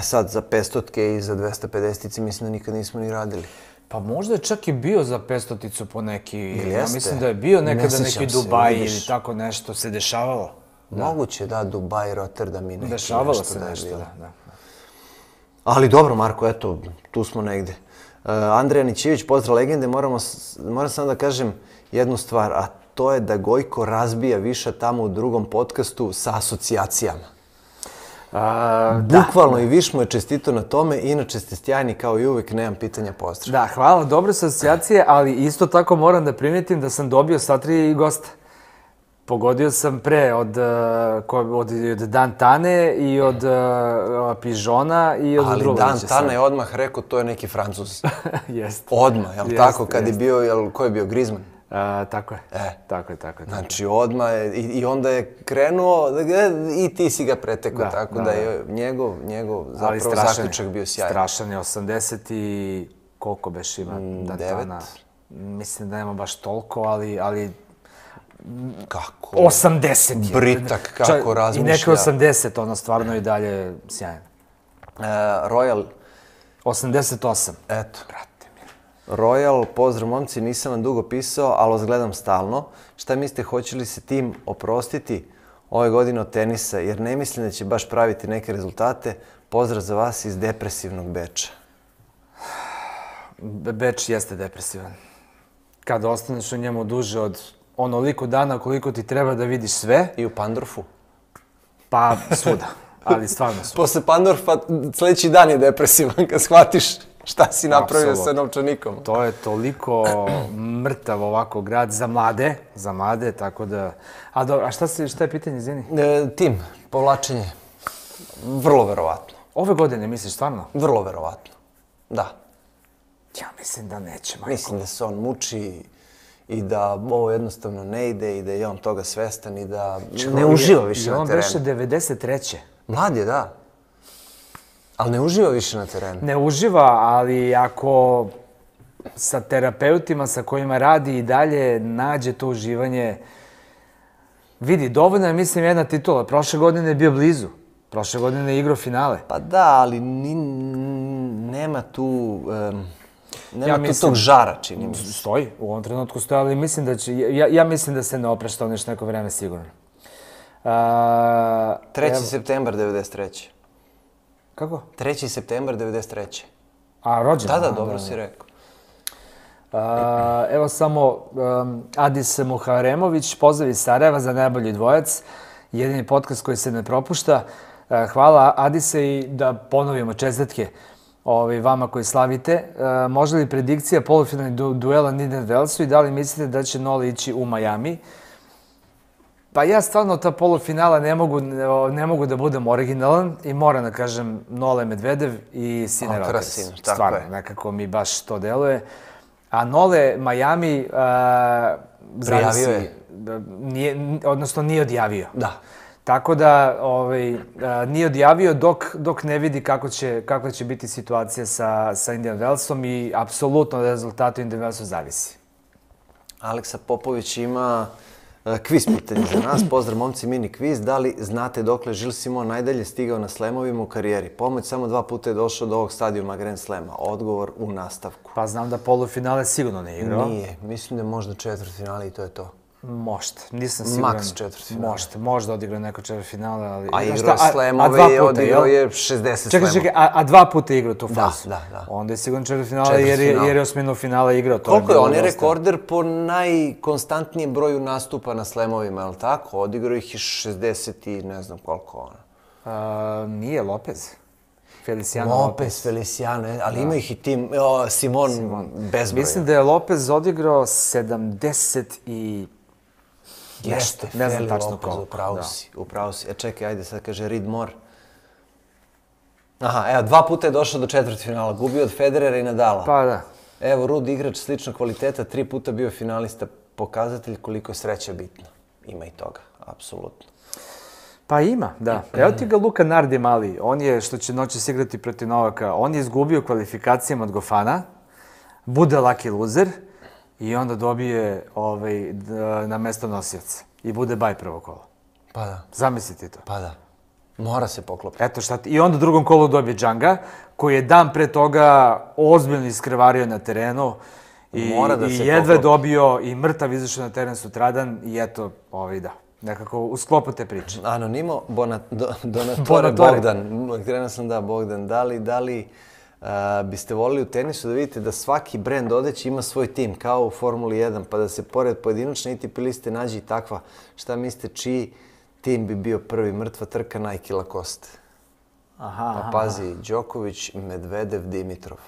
Sad za 500-tke i za 250-tici mislim da nikad nismo ni radili. Pa možda je čak i bio za 500-ticu po neki, ja mislim da je bio nekada neki Dubaj ili tako nešto se dešavalo. Moguće, da, Dubaj, Rotterdam i neki nešto. Dešavalo se nešto, da. Ali dobro, Marko, eto, tu smo negde. Andreja Nićević, pozdrav legende, moram samo da kažem jednu stvar, a to je da Gojko razbija više tamo u drugom podcastu sa asocijacijama. Bukvalno i Viš mu je čestito na tome, inače ste sjajni kao i uvek, nemam pitanja, pozdrav. Da, hvala, dobre su asocijacije, ali isto tako moram da primetim da sam dobio sva 3 gosta. Pogodio sam pre od Dantane i od Pižona i od Drulovića. Ali Dantana je odmah rekao, to je neki Francuz. Jeste. Odmah, jel tako? Kad je bio, ko je bio, Griezmann? Tako je. Tako je. Znači odmah i onda je krenuo i ti si ga pretekao, tako da je njegov zapravo zaključak bio sjajan. Strašan je, 80 i koliko beš ima Dantana? 9. Mislim da nema baš toliko, ali... Kako? 80 je. Britak, kako razmišlja. I neke 80, ono stvarno i dalje sjajan. Royal. 88. Eto. Royal, pozdrav momci, nisam vam dugo pisao, ali vas gledam stalno. Šta mislite, hoće li se tim oprostiti ove godine od tenisa, jer ne mislim da će baš praviti neke rezultate. Pozdrav za vas iz depresivnog Beča. Beč jeste depresivan. Kada ostaneš u njemu duže od onoliko dana koliko ti treba da vidiš sve. I u Pandorfu? Pa svuda. ali stvarno su. Posle Pandorfa sledeći dan je depresivan kad shvatiš šta si napravio sa novčanikom. To je toliko mrtav ovako grad za mlade, tako da... A dobro, a šta je pitanje, izvini? Tim, povlačenje. Vrlo verovatno. Ove godine, misliš, stvarno? Vrlo verovatno, da. Ja mislim da neće, majko. Mislim da se on muči i da ovo jednostavno ne ide i da je on toga svestan i da ne uživa više na terenu. On beše 93. Mlad je, da. Ali ne uživa više na terenu. Ne uživa, ali ako sa terapeutima sa kojima radi i dalje nađe to uživanje, vidi, dovoljno je, mislim, jedna titula. Prošle godine je bio blizu. Prošle godine je igrao finale. Pa da, ali nema tu... Nema tu tog žara, čini mi se. Stoji, u ovom trenutku stoji, ali mislim da će... Ja mislim da se ne oprašta on još neko vreme, sigurno. 3. septembar 93. Kako? 3. septembar 93. A, rođen? Da, dobro si rekao. Evo samo Adis Muharemović, pozdrav iz Sarajeva za najbolji dvojac. Jedini podcast koji se ne propušta. Hvala Adise i da ponovimo čestitke vama koji slavite. Može li predikcija polufinalnih duela Indian Wellsu i da li mislite da će Nole ići u Miami? Pa ja stvarno ta polufinala ne mogu da budem originalan i moram da kažem Nole Medvedev i Sinner Otters. Stvarno, nekako mi baš to deluje. A Nole Miami prijavio je. Odnosno nije odjavio. Da. Tako da nije odjavio dok ne vidi kako će biti situacija sa Indian Wellsom i apsolutno od rezultata Indian Wellsu zavisi. Aleksa Popović ima kviz pitanje za nas. Pozdrav momci, mini kviz. Da li znate dokle Gilles Simon najdalje stigao na slemovima u karijeri? Pomoć samo 2 puta je došao do ovog stadijuma Grand Slema. Odgovor u nastavku. Pa znam da polufinale sigurno ne igrao. Nije. Mislim da je možda četvrtfinale i to je to. Možda, nisam siguran. Maks četvrtfinale. možda odigrao neko četvrtfinale, ali... A igrao slemove i odigrao je 60 slemova. Čekaj, a 2 puta igrao tu fazu? Da. Onda je sigurno četvrtfinale jer je osminu finale igrao. Koliko je? On je rekorder po najkonstantnijem broju nastupa na slemovima, je li tako? Odigrao ih je 60 i ne znam koliko ona. Nije, Lopez. Feliciano Feliciano, ali ima ih i tim Simon bezbroja. Mislim da je Lopez odigrao 70 i... Jeste, Feli Lopez, upravo si. Čekaj, ajde, sad kaže Reed Moore. Aha, evo, 2 puta je došao do četvrtfinala, gubio od Federera i Nadala. Pa da. Evo, Rud igrač sličnog kvaliteta, 3 puta bio finalista, pokazatelj koliko je sreća bitna. Ima i toga, apsolutno. Pa ima, da. Evo ti ga Luka Nardi mali, on je, što će noćas igrati protiv Novaka, on je izgubio kvalifikacijama od Gofana, bude lucky loser, i onda dobije na mesto nosioca. I bude baj prvo kolo. Pa da. Zamislite to. Pa da. Mora se poklopiti. Eto šta ti. I onda u drugom kolu dobije Džanga, koji je dan pre toga ozbiljno iskrvario na terenu. I jedva dobio i mrtav izašao na teren sutradan. I eto, da. Nekako u sklopu te priče. Anonimo Donatore Bogdan. Krenuo sam Bogdan. Da li biste volili u tenisu da vidite da svaki brend odeće ima svoj tim, kao u Formuli 1, pa da se pored pojedinačne ATP liste nađe i takva. Šta mislite, čiji tim bi bio prvi? Mrtva trka Nike Lacoste. Pa pazi, Đoković, Medvedev, Dimitrov.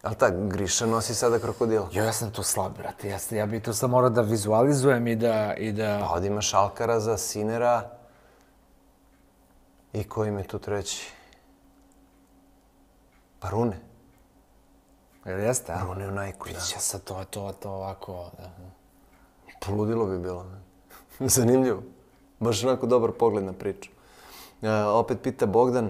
Ali tak, Griša nosi sada krokodila. Ja sam tu slab, brate. Ja bi to sad morao da vizualizujem i da... Pa ovdje imaš Alcaraza, Sinera i koji mi je tu treći? Pa Rune. Jel jeste, a? Rune u Nike-u, da. Biće sad to ovako... Poludilo bi bilo. Zanimljivo. Baš onako dobar pogled na priču. Opet pita Bogdan,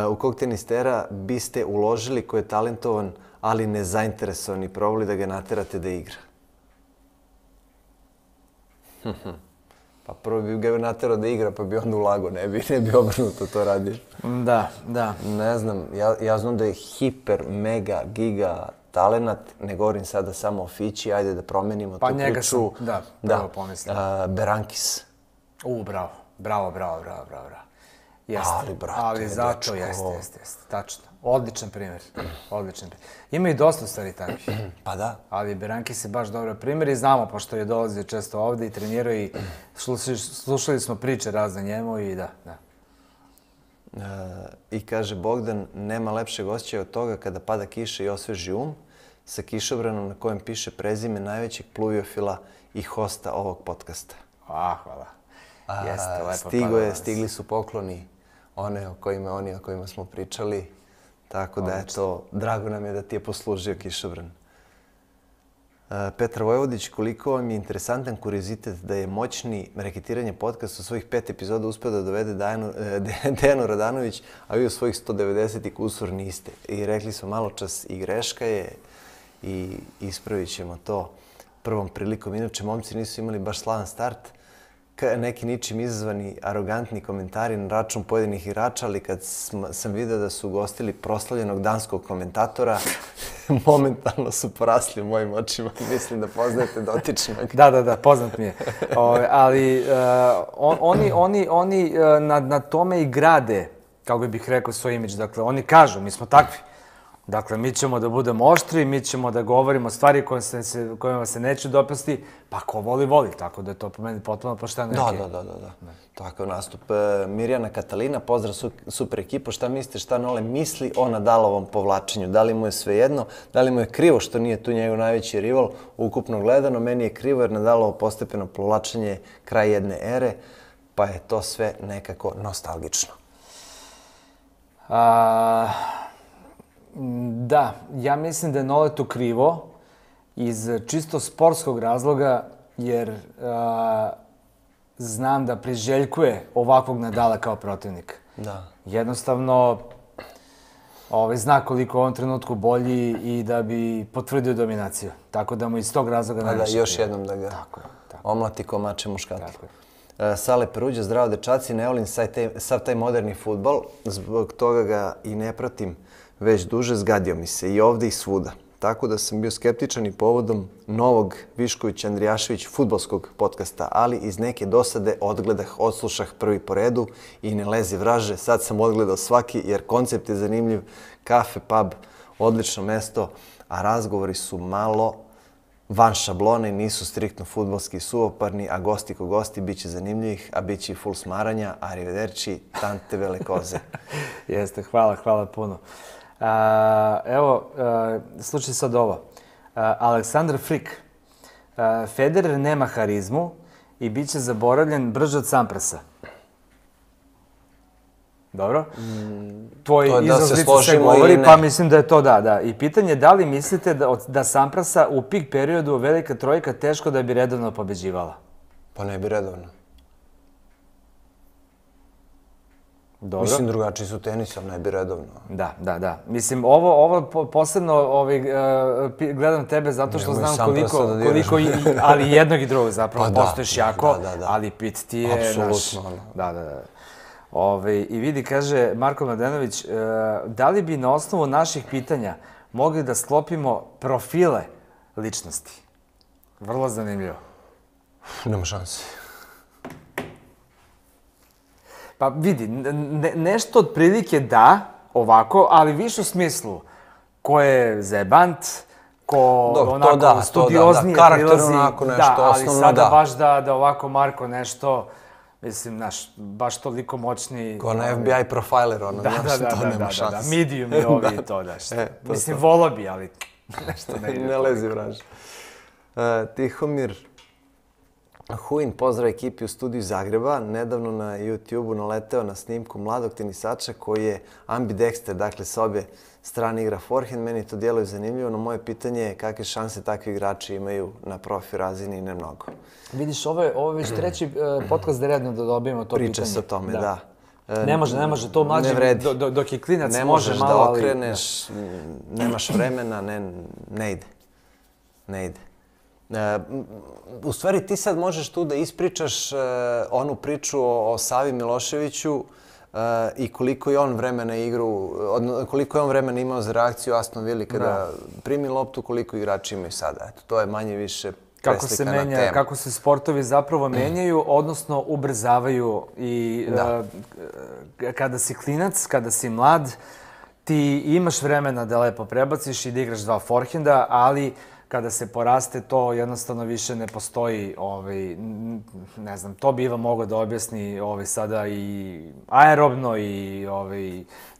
u kog tenistera biste uložili koji je talentovan, ali nezainteresovan i probali da ga naterate da igra? Pa prvo bi ga naterao da igra, pa bi onda ulagao, ne bi obrnuto to radio. Da. Ne znam, ja znam da je hiper, mega, giga talenat, ne govorim sada samo o Fići, ajde da promenimo tu priču. Pa njega sam, prvo pomislio. Berankis. Bravo. Jeste. Ali, brate, ali zato jeste. Tačno. Odličan primjer. Ima i dosta stvari takvih. Pa da. Ali Berankis je baš dobar primjer i znamo, pošto je dolazio često ovde i trenirao i slušali smo priče razne njemu i da. I kaže Bogdan, nema lepšeg osjećaja od toga kada pada kiša i osveži sa kišobranom na kojem piše prezime najvećeg pluviofila i hosta ovog podcasta. Hvala. Jeste, lepo Stigli su pokloni o kojima smo pričali. Tako da, eto, drago nam je da ti je poslužio kišobran. Petar Vojvodić, koliko vam je interesantan kuriozitet da je moćni reketiranje podcasta u svojih 5 epizoda uspeo da dovede Dejanu Radanović, a vi u svojih 190 i kusur niste. I rekli smo malo čas i greška je i ispravit ćemo to prvom prilikom. Inače, momci nisu imali baš slavan start. Neki ničim izazvani, arogantni komentari na račun pojedinih igrača, ali kad sam vidio da su ugostili proslavljenog danskog komentatora, momentalno su porasli u mojim očima. Mislim da poznajete dotičnog. Da, poznat mi je. Ali oni na tome i grade, kako bih rekao, svoj imidž. Dakle, oni kažu, mi smo takvi. Dakle, mi ćemo da budemo oštri, mi ćemo da govorimo stvari kojima se neće dopasti, pa ko voli. Tako da je to po meni potpuno pošteno. Da. Takav nastup. Mirjana Katalina, pozdrav super ekipo. Šta mislite, šta Nole misli o Nadalovom povlačenju? Da li mu je svejedno? Da li mu je krivo što nije tu njegov najveći rival? Ukupno gledano, meni je krivo jer Nadalovo postepeno povlačenje je kraj jedne ere, pa je to sve nekako nostalgično. Da, ja mislim da je Noletu krivo iz čisto sportskog razloga, jer znam da priželjkuje ovakvog Nadala kao protivnik. Da. Jednostavno, zna koliko u ovom trenutku bolji i da bi potvrdio dominaciju. Tako da mu iz tog razloga najviše krivo. Da, još jednom da ga omlati ko mače muškati. Sale Peruđa, zdravo dečaci, ne volim sav taj moderni fudbal, zbog toga ga i ne pratim već duže, zgadio mi se i ovde i svuda. Tako da sam bio skeptičan i povodom novog Višković-Andrijašević fudbalskog podcasta, ali iz neke dosade odslušah prvi po redu i ne lezi vraže. Sad sam odgledao svaki jer koncept je zanimljiv, kafe, pub, odlično mesto, a razgovori su malo van šablone i nisu striktno fudbalski suvoparni, a gosti ko gosti bit će zanimljivih, a bit će i full smaranja, arrivederci, tante vele koze. Jeste, hvala puno. Evo, slušaj sad ovo. Aleksandar Frik. Federer nema harizmu i bit će zaboravljen brže od Samprasa. Dobro? Tvoj izrazlica se govori, pa mislim da je to da. I pitanje je da li mislite da Samprasa u pik periodu velika trojka teško da bi redovno pobeđivala? Pa ne bi redovno. Dobro. Mislim, drugačiji su tenis, ali ne bi redovno. Da. Mislim, ovo posebno gledam tebe zato što znam koliko, ali jednog i drugog zapravo, postoješ jako, ali pit ti je naš. Apsolutno. Da. I vidi, kaže Marko Mladenović, da li bi na osnovu naših pitanja mogli da sklopimo profile ličnosti? Vrlo zanimljivo. Nema šanse. Pa vidi, nešto otprilike da, ovako, ali više u smislu ko je zajebant, ko onako studioznije prilazi. Da, ali sada baš da ovako Marko nešto, mislim, znaš, baš toliko moćni... Ko na FBI profiler, ono, znaš, to nema šanse. Da, medium i ovi i to, daš. Mislim, volao bi, ali nešto ne ide. Ne lezi vraž. Tihomir Huin, pozdrav ekipi u studiju Zagreba. Nedavno na YouTube-u naleteo na snimku mladog tenisača koji je ambidexter, dakle sa obje strane igra forehand. Meni to djeluje zanimljivo, no moje pitanje je kakve šanse takvi igrači imaju na profi razini i ne mnogo. Vidiš, ovo je već treći podcast da redno da dobijemo to pitanje. Priča se o tome, da. Ne može, to mlađi dok je klinac može malo, ali... Ne možeš da okreneš, nemaš vremena, ne ide. U stvari ti sad možeš tu da ispričaš onu priču o Savi Miloševiću i koliko je on vremena koliko je on vremena imao za reakciju Aston Villa kada primi loptu, koliko igrači imaju sada. Eto, to je manje više kako se sportovi zapravo menjaju, odnosno ubrzavaju i kada si klinac, kada si mlad, ti imaš vremena da lepo prebaciš i da igraš 2 forehenda, ali kada se poraste, to jednostavno više ne postoji, ne znam, to bi Iva mogao da objasni sada i aerobno i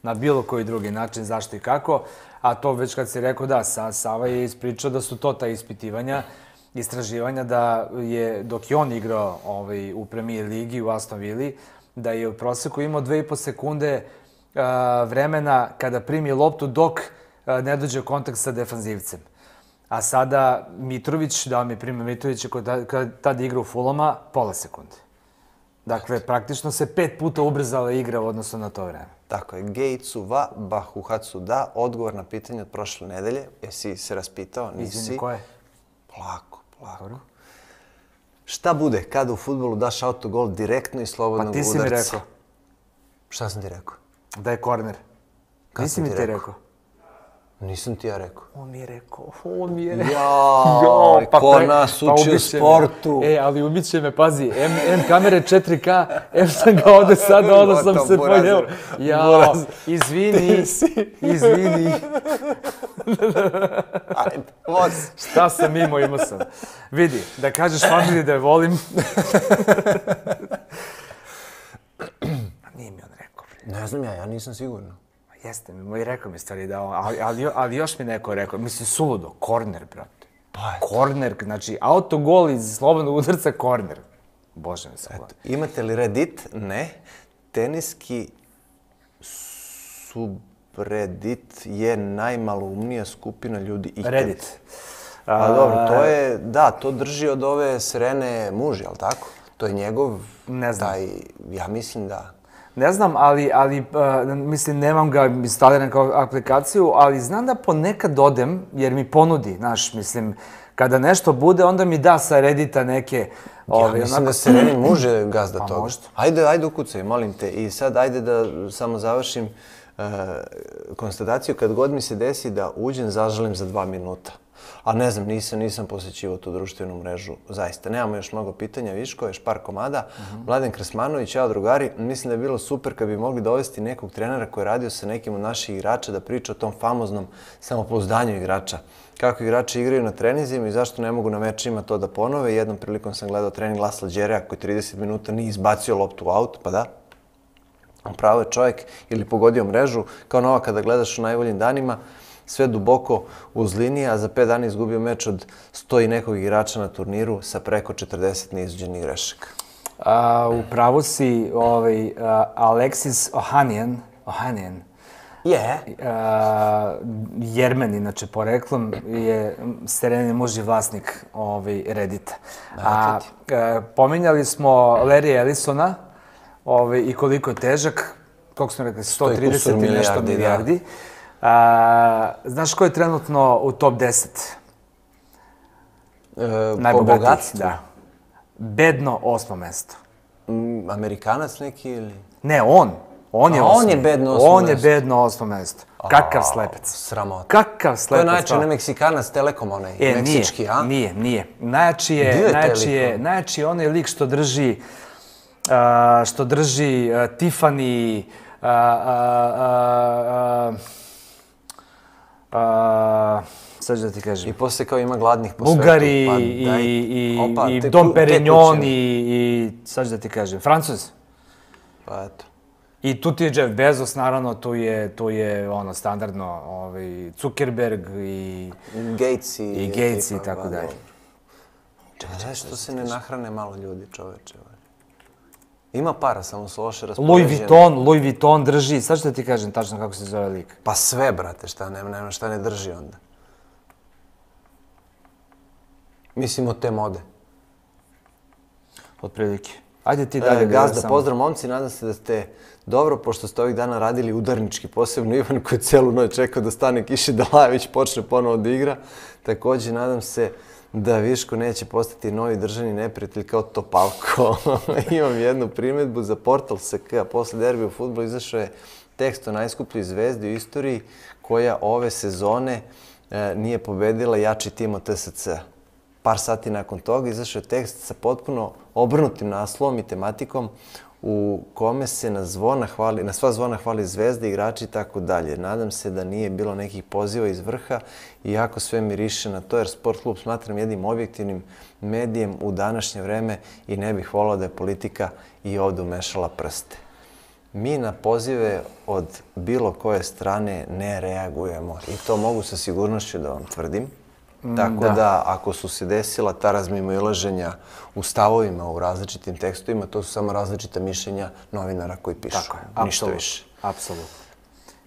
na bilo koji drugi način, zašto i kako. A to već kad si rekao, da, Sava je ispričao da su to ta istraživanja, da je, dok je on igrao u Premier ligi u Aston Villi, da je u proseku imao 2,5 sekunde vremena kada primi loptu dok ne dođe u kontakt sa defanzivcem. A sada Mitrović, da mi prime Mitrovića kada tada igra u Fulama, pola sekunde. Dakle, praktično se 5 puta ubrzala igra u odnosu na to vreme. Tako je. Geicu va, bahuhacu da. Odgovor na pitanje od prošle nedelje. Jesi se raspitao? Nisi. Izvini, ko je? Polako. Šta bude kada u fudbalu daš autogol direktno iz slobodnog udarca? Pa ti si mi rekao. Šta sam ti rekao? Da je korner. Nisi mi ti rekao? Nisam ti ja rekao. On mi je rekao. Jao, ko nas uči u sportu. Ali ubit će me, pazi, M kamere 4K, M sam ga ovde sada, onda sam se pojel. Jao, izvini. Ajde, voz. Šta sam imao sam. Vidi, da kažeš familiji da je volim. Nije mi on rekao. Ne znam ja nisam sigurno. Jeste mi, rekao mi stvari da ali još mi neko rekao, mislim, suludo, korner, brate. Korner, znači, autogol iz slobodnog udarca, korner. Bože mi se hvala. Imate li Reddit? Ne. Teniski subreddit je najmaloumnija skupina ljudi ikad. Reddit. Pa dobro, to je, da, to drži od ove Serene muž, jel tako? To je njegov, ne znam. Ja mislim da. Ne znam, ali mislim, nemam ga instaliran kao aplikaciju, ali znam da ponekad odem, jer mi ponudi, znaš, mislim, kada nešto bude, onda mi da sa Reddita neke... Ja mislim da Sereni može gazda toga. Pa možda. Ajde ukucaj, molim te. I sad ajde da samo završim konstataciju. Kad god mi se desi da uđem, zažalim za 2 minuta. A ne znam, nisam posjećivao tu društvenu mrežu, zaista. Nemamo još mnogo pitanja, Viško, još par komada. Mladen Krsmanović, čao drugari, mislim da je bilo super kad bi mogli dovesti nekog trenera koji je radio sa nekim od naših igrača da priča o tom famoznom samopouzdanju igrača. Kako igrači igraju na treninzima i zašto ne mogu na mečima to da ponove. Jednom prilikom sam gledao trening Lasla Đereja koji 30 minuta nije izbacio loptu u aut, pa da. Pravo je čovjek ili pogodio mrežu, kao nova kada gledaš u najboljim danima, sve duboko uz linije, a za 5 dana izgubio meč od 100 i nekog igrača na turniru sa preko 40 neizđenih grešaka. U pravu si, Alexis Ohanian, Jermen, inače poreklom, je Serenin muž i vlasnik Reddita. Pominjali smo Larry Ellisona i koliko je težak, koliko smo rekli, 130 i nešto milijardi. Znaš ko je trenutno u top 10? Po bogatstvu? Da. Bedno 8. mesto. Amerikanac neki ili? Ne, on. On je bedno 8. mesto. On je bedno 8. mesto. Kakav slepec. Sramota. Kakav slepec. To je najjači onaj Meksikanac Telekom, onaj meksički, a? Nije. Najjači je onaj lik što drži Tiffany, sad da ti kažem. I posle kao ima gladnih po svetu. Bugari i Dom Perignon i sad da ti kažem, Francuz. Pa eto. I tu ti je Jeff Bezos, naravno, tu je ono standardno Zuckerberg i Gates i tako dalje. Čekaj, što se ne nahrane malo ljudi, čoveče. Ima para, samo su loše raspoređene. Louis Vuitton drži, sad ću da ti kažem tačno kako se zove lik. Pa sve, brate, šta ne drži onda. Mislim od te mode. Otprilike. Ajde ti dalje. Gazda, pozdrav momci, nadam se da ste dobro, pošto ste ovih dana radili udarnički, posebno Ivan koji je celu noć čekao da stane kiši, da Lajević počne ponovo da igra. Također, nadam se da Viško neće postati novi državni neprijatelj kao Topalko. Imam jednu primjedbu za portal SK. Posle derbija u fudbalu izašao je tekst o najskupljoj zvezdi u istoriji koja ove sezone nije pobedila jači tim od TSC. par sati nakon toga izašao je tekst sa potpuno obrnutim naslovom i tematikom u kome se na sva zvona hvali zvezde, igrači i tako dalje. Nadam se da nije bilo nekih poziva iz vrha, iako sve miriše na to, jer Sport klub smatram jednim objektivnim medijem u današnje vreme i ne bih volao da je politika i ovdje umešala prste. Mi na pozive od bilo koje strane ne reagujemo i to mogu sa sigurnošću da vam tvrdim. Tako da, ako su se desila ta razmimoilaženja u stavovima, u različitim tekstovima, to su samo različita mišljenja novinara koji pišu. Tako je, ništa više. Apsolutno.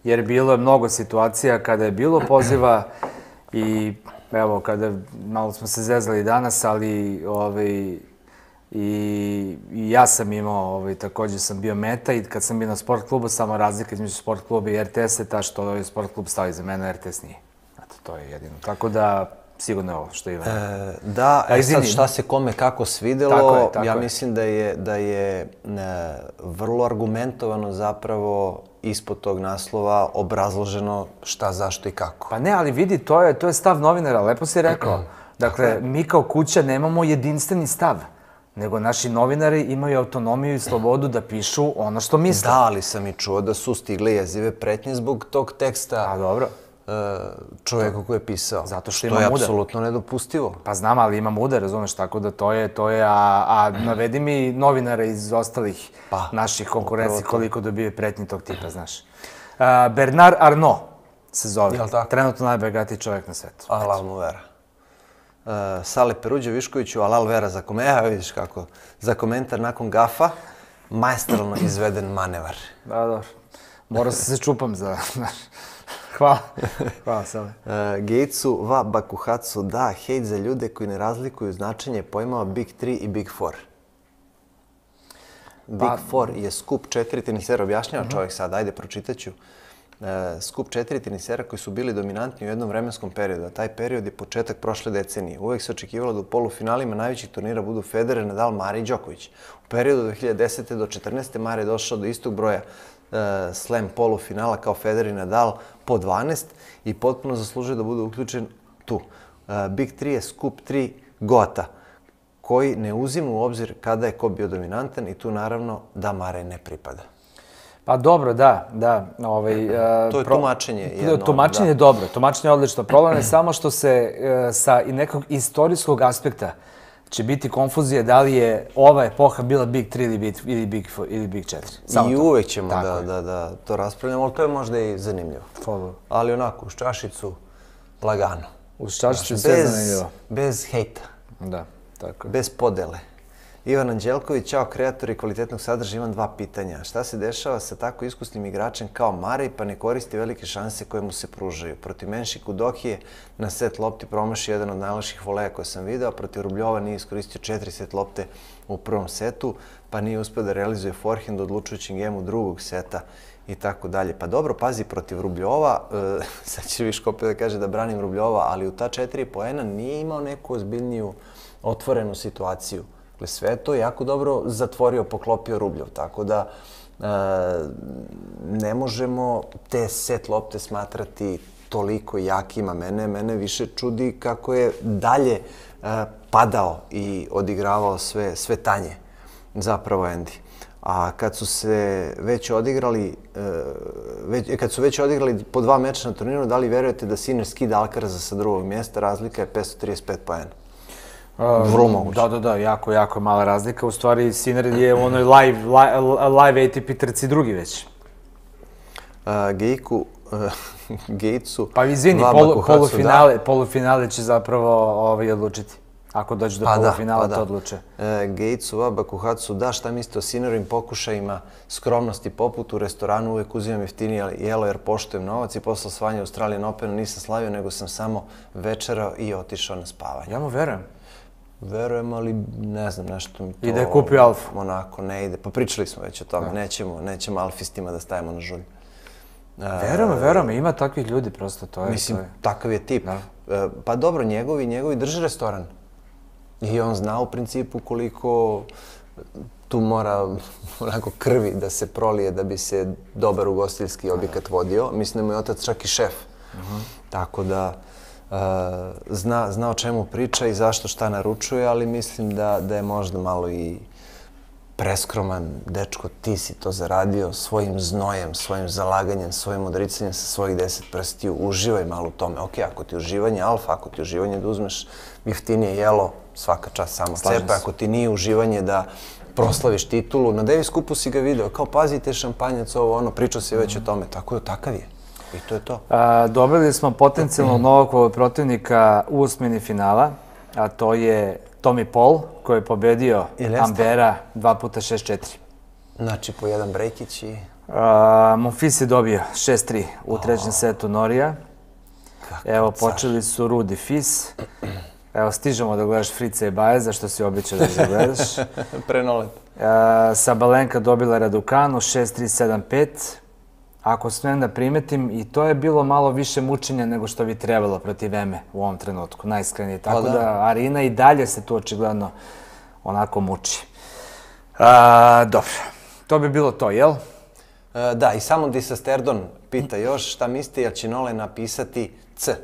Jer bilo je mnogo situacija kada je bilo poziva i evo, kada malo smo se zezali danas, ali i ja sam imao, također sam bio meta i kad sam bio na Sport klubu, samo razlika između Sport kluba i RTS je ta što je Sport klub stao iza mene, a RTS nije. Eto, to je jedino. Tako da, sigurno je ovo što Ivan. Da, sad šta se kome kako svidelo, ja mislim da je vrlo argumentovano zapravo ispod tog naslova obrazloženo šta, zašto i kako. Pa ne, ali vidi, to je stav novinara, lepo si rekao. Dakle, mi kao kuća nemamo jedinstveni stav, nego naši novinari imaju autonomiju i slobodu da pišu ono što misle. Da, ali sam i čuo da su stigle jezive pretnje zbog tog teksta. A dobro. Čovjeka koji je pisao. Zato što ima muda. Što je apsolutno nedopustivo. Pa znam, ali ima muda, razumeš, tako da to je, a navedi mi novinara iz ostalih naših konkurenci koliko dobije pretnji tog tipa, znaš. Bernard Arnault se zove. Trenutno najbogatiji čovjek na svetu. Alal mu vera. Sale Peruđe Viškoviću, alal vera za komentar, vidiš kako, za komentar nakon gafa, maestralno izveden manevar. Da, dobro. Morao sam se čupam za, znaš. Hvala. Hvala, Sale. Gatesu, va Bakuhatsu, da, hejt za ljude koji ne razlikuju značenje pojmova Big 3 i Big 4. Big 4 je skup 4 tenisera, objašnjava čovjek sad, ajde, pročitaću. Skup 4 tenisera koji su bili dominantni u jednom vremenskom periodu, a taj period je početak prošle decenije. Uvijek se očekivalo da u polufinalima najvećih turnira budu Federer, Nadal, Mare i Đoković. U periodu od 2010. do 2014. Mare je došao do istog broja slam polufinala kao Federer i Nadal po 12 i potpuno zaslužuje da bude uključen tu. Big 3 je skup 3 gota koji ne uzima u obzir kada je ko bio dominantan i tu naravno da Mare ne pripada. Pa dobro, da. To je tumačenje jedno. Tumačenje je dobro, tumačenje je odlično. Problem je samo što se sa i nekog istorijskog aspekta će biti konfuzija da li je ova epoha bila Big 3 ili Big 4. I uvek ćemo da to raspravljamo, ali to je možda i zanimljivo. Ali onako, uz čašicu, lagano. Uz čašicu sve zanimljivo. Bez hejta. Da, tako je. Bez podele. Ivan Anđelković, čao kreatori kvalitetnog sadržaja, imam 2 pitanja. Šta se dešava sa tako iskusnim igračem kao Marej pa ne koristi velike šanse koje mu se pružaju? Protiv Menšiku Dokije na set lopti promaši jedan od najloših voleja koje sam video, a protiv Rubljova nije iskoristio 4 set lopte u prvom setu, pa nije uspio da realizuje forehand u odlučujućem gemu drugog seta i tako dalje. Pa dobro, pazi, protiv Rubljova, sad će Viško opet da kaže da branim Rubljova, ali u ta 4 poena nije imao neku ozbiljniju otvorenu situaciju. Sve to jako dobro zatvorio, poklopio Rubljov, tako da ne možemo te set lopte smatrati toliko jakima. Mene više čudi kako je dalje padao i odigravao sve tanje, zapravo Andy. A kad su se već odigrali, po 2 meča na turniru, da li verujete da Sinner skida Alcaraza sa drugog mjesta? Razlika je 535 poena. Vrlo moguće. Da, jako mala razlika. U stvari, Sinner je u onoj live ATP trci drugi već. Gatesu... Pa izvini, polufinale će zapravo odlučiti. Ako dođe do polufinala, to odluče. Gatesu, Bakuhatsu, da, šta mislite o Sinnerovim pokušajima skromnosti poput u restoranu, uvijek uzimam jeftinije jelo jer poštujem novac i posle osvajanja Australian Opena nisam slavio, nego sam samo večerao i otišao na spavanje. Ja mu verujem. Verujem, ali ne znam, nešto mi to... I da je kupio Alfu. Onako, ne ide. Pa pričali smo već o tome, nećemo alfistima da stavimo na žulj. Verujem, ima takvih ljudi prosto, to je... Mislim, takav je tip. Pa dobro, njegovi drže restoran. I on zna u principu koliko tu mora onako krvi da se prolije da bi se dobar ugostiteljski objekat vodio. Mislim da mu je otac čak i šef. Tako da... zna o čemu priča i zašto šta naručuje, ali mislim da je možda malo i preskroman. Dečko, ti si to zaradio svojim znojem, svojim zalaganjem, svojim odricanjem sa svojih 10 prstiju. Uživaj malo u tome. Ok, ako ti uživanje alfa, ako ti uživanje da uzmeš jeftinije jelo, svaka čast samo cepa. Ako ti nije uživanje da proslaviš titulu, na Davis Cupu si ga video, kao pazite šampanjac, ovo ono, pričao si već o tome, tako je, takav je. I to je to. Dobili smo potencijalno novog protivnika u osmini finala, a to je Tommy Paul, koji je pobedio Ambera 2x6-4. Znači, po jedan brekić i... Monfils je dobio 6-3 u trećem setu Norija. Evo, počeli su Rudi Fis. Evo, stižemo da gledaš Frica i Baeza, što si običao da gledaš. Prenolet. Sabalenka dobila Raducanu 6-3-7-5. Ako smijem da primetim, i to je bilo malo više mučenja nego što bi trebalo protiv Eme u ovom trenutku, najiskrenije. Tako da Arina i dalje se tu očigledno onako muči. Dobro, to bi bilo to, jel? Da, i samo Disasterdon pita još šta mislite, jel će Nole napisati C?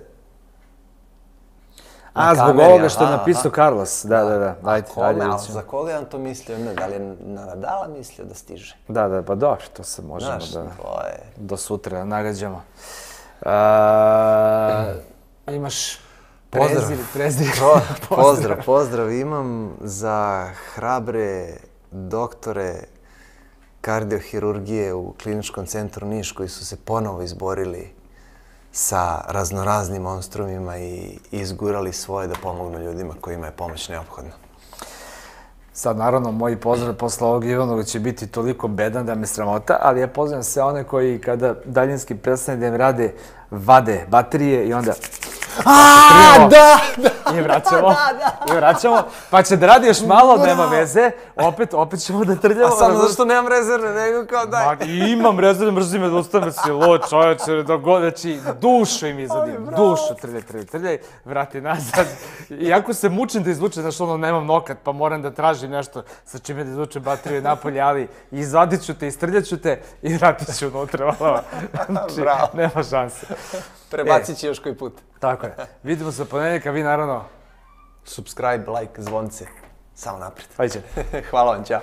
Zbog ovoga što je napisao Carlos. Da. Ajde, za koga je on to mislio? Ne, da li je na Nadala mislio da stiže? Da, pa dobro, to se možemo do sutra nagađamo. Imaš prezir? Pozdrav imam za hrabre doktore kardiohirurgije u Kliničkom centru Niš koji su se ponovo izborili sa raznoraznim monstrumima i izgurali svoje da pomognu ljudima kojima je pomoć neophodna. Sad, naravno, moji pozdrav posle ovog Ivanoga će biti toliko bedan da me sramota, ali ja pozdravam sve one koji kada daljinski prestane da im rade, vade baterije i onda... I vraćamo, pa će da radi još malo, nema veze, opet ćemo da trljamo. A samo zašto nemam rezervne, nego kao daj. Imam rezervne, mrzim me da ustane si lo, čovječe, znači dušu im izadim, dušu, trljaj, vrati nazad. Iako se mučim da izvučem, znaš ono, nemam nokat, pa moram da tražim nešto sa čime da izvučem bateriju napolje, ali izvadit ću te, istrljat ću te i vratit ću unutra. Znači, nema šanse. Prebacit će još koji put. Tako je. Vidimo se ponedjeljka, vi naravno... Subscribe, like, zvonce. Samo naprijed. Ajde. Hvala vam, ćao.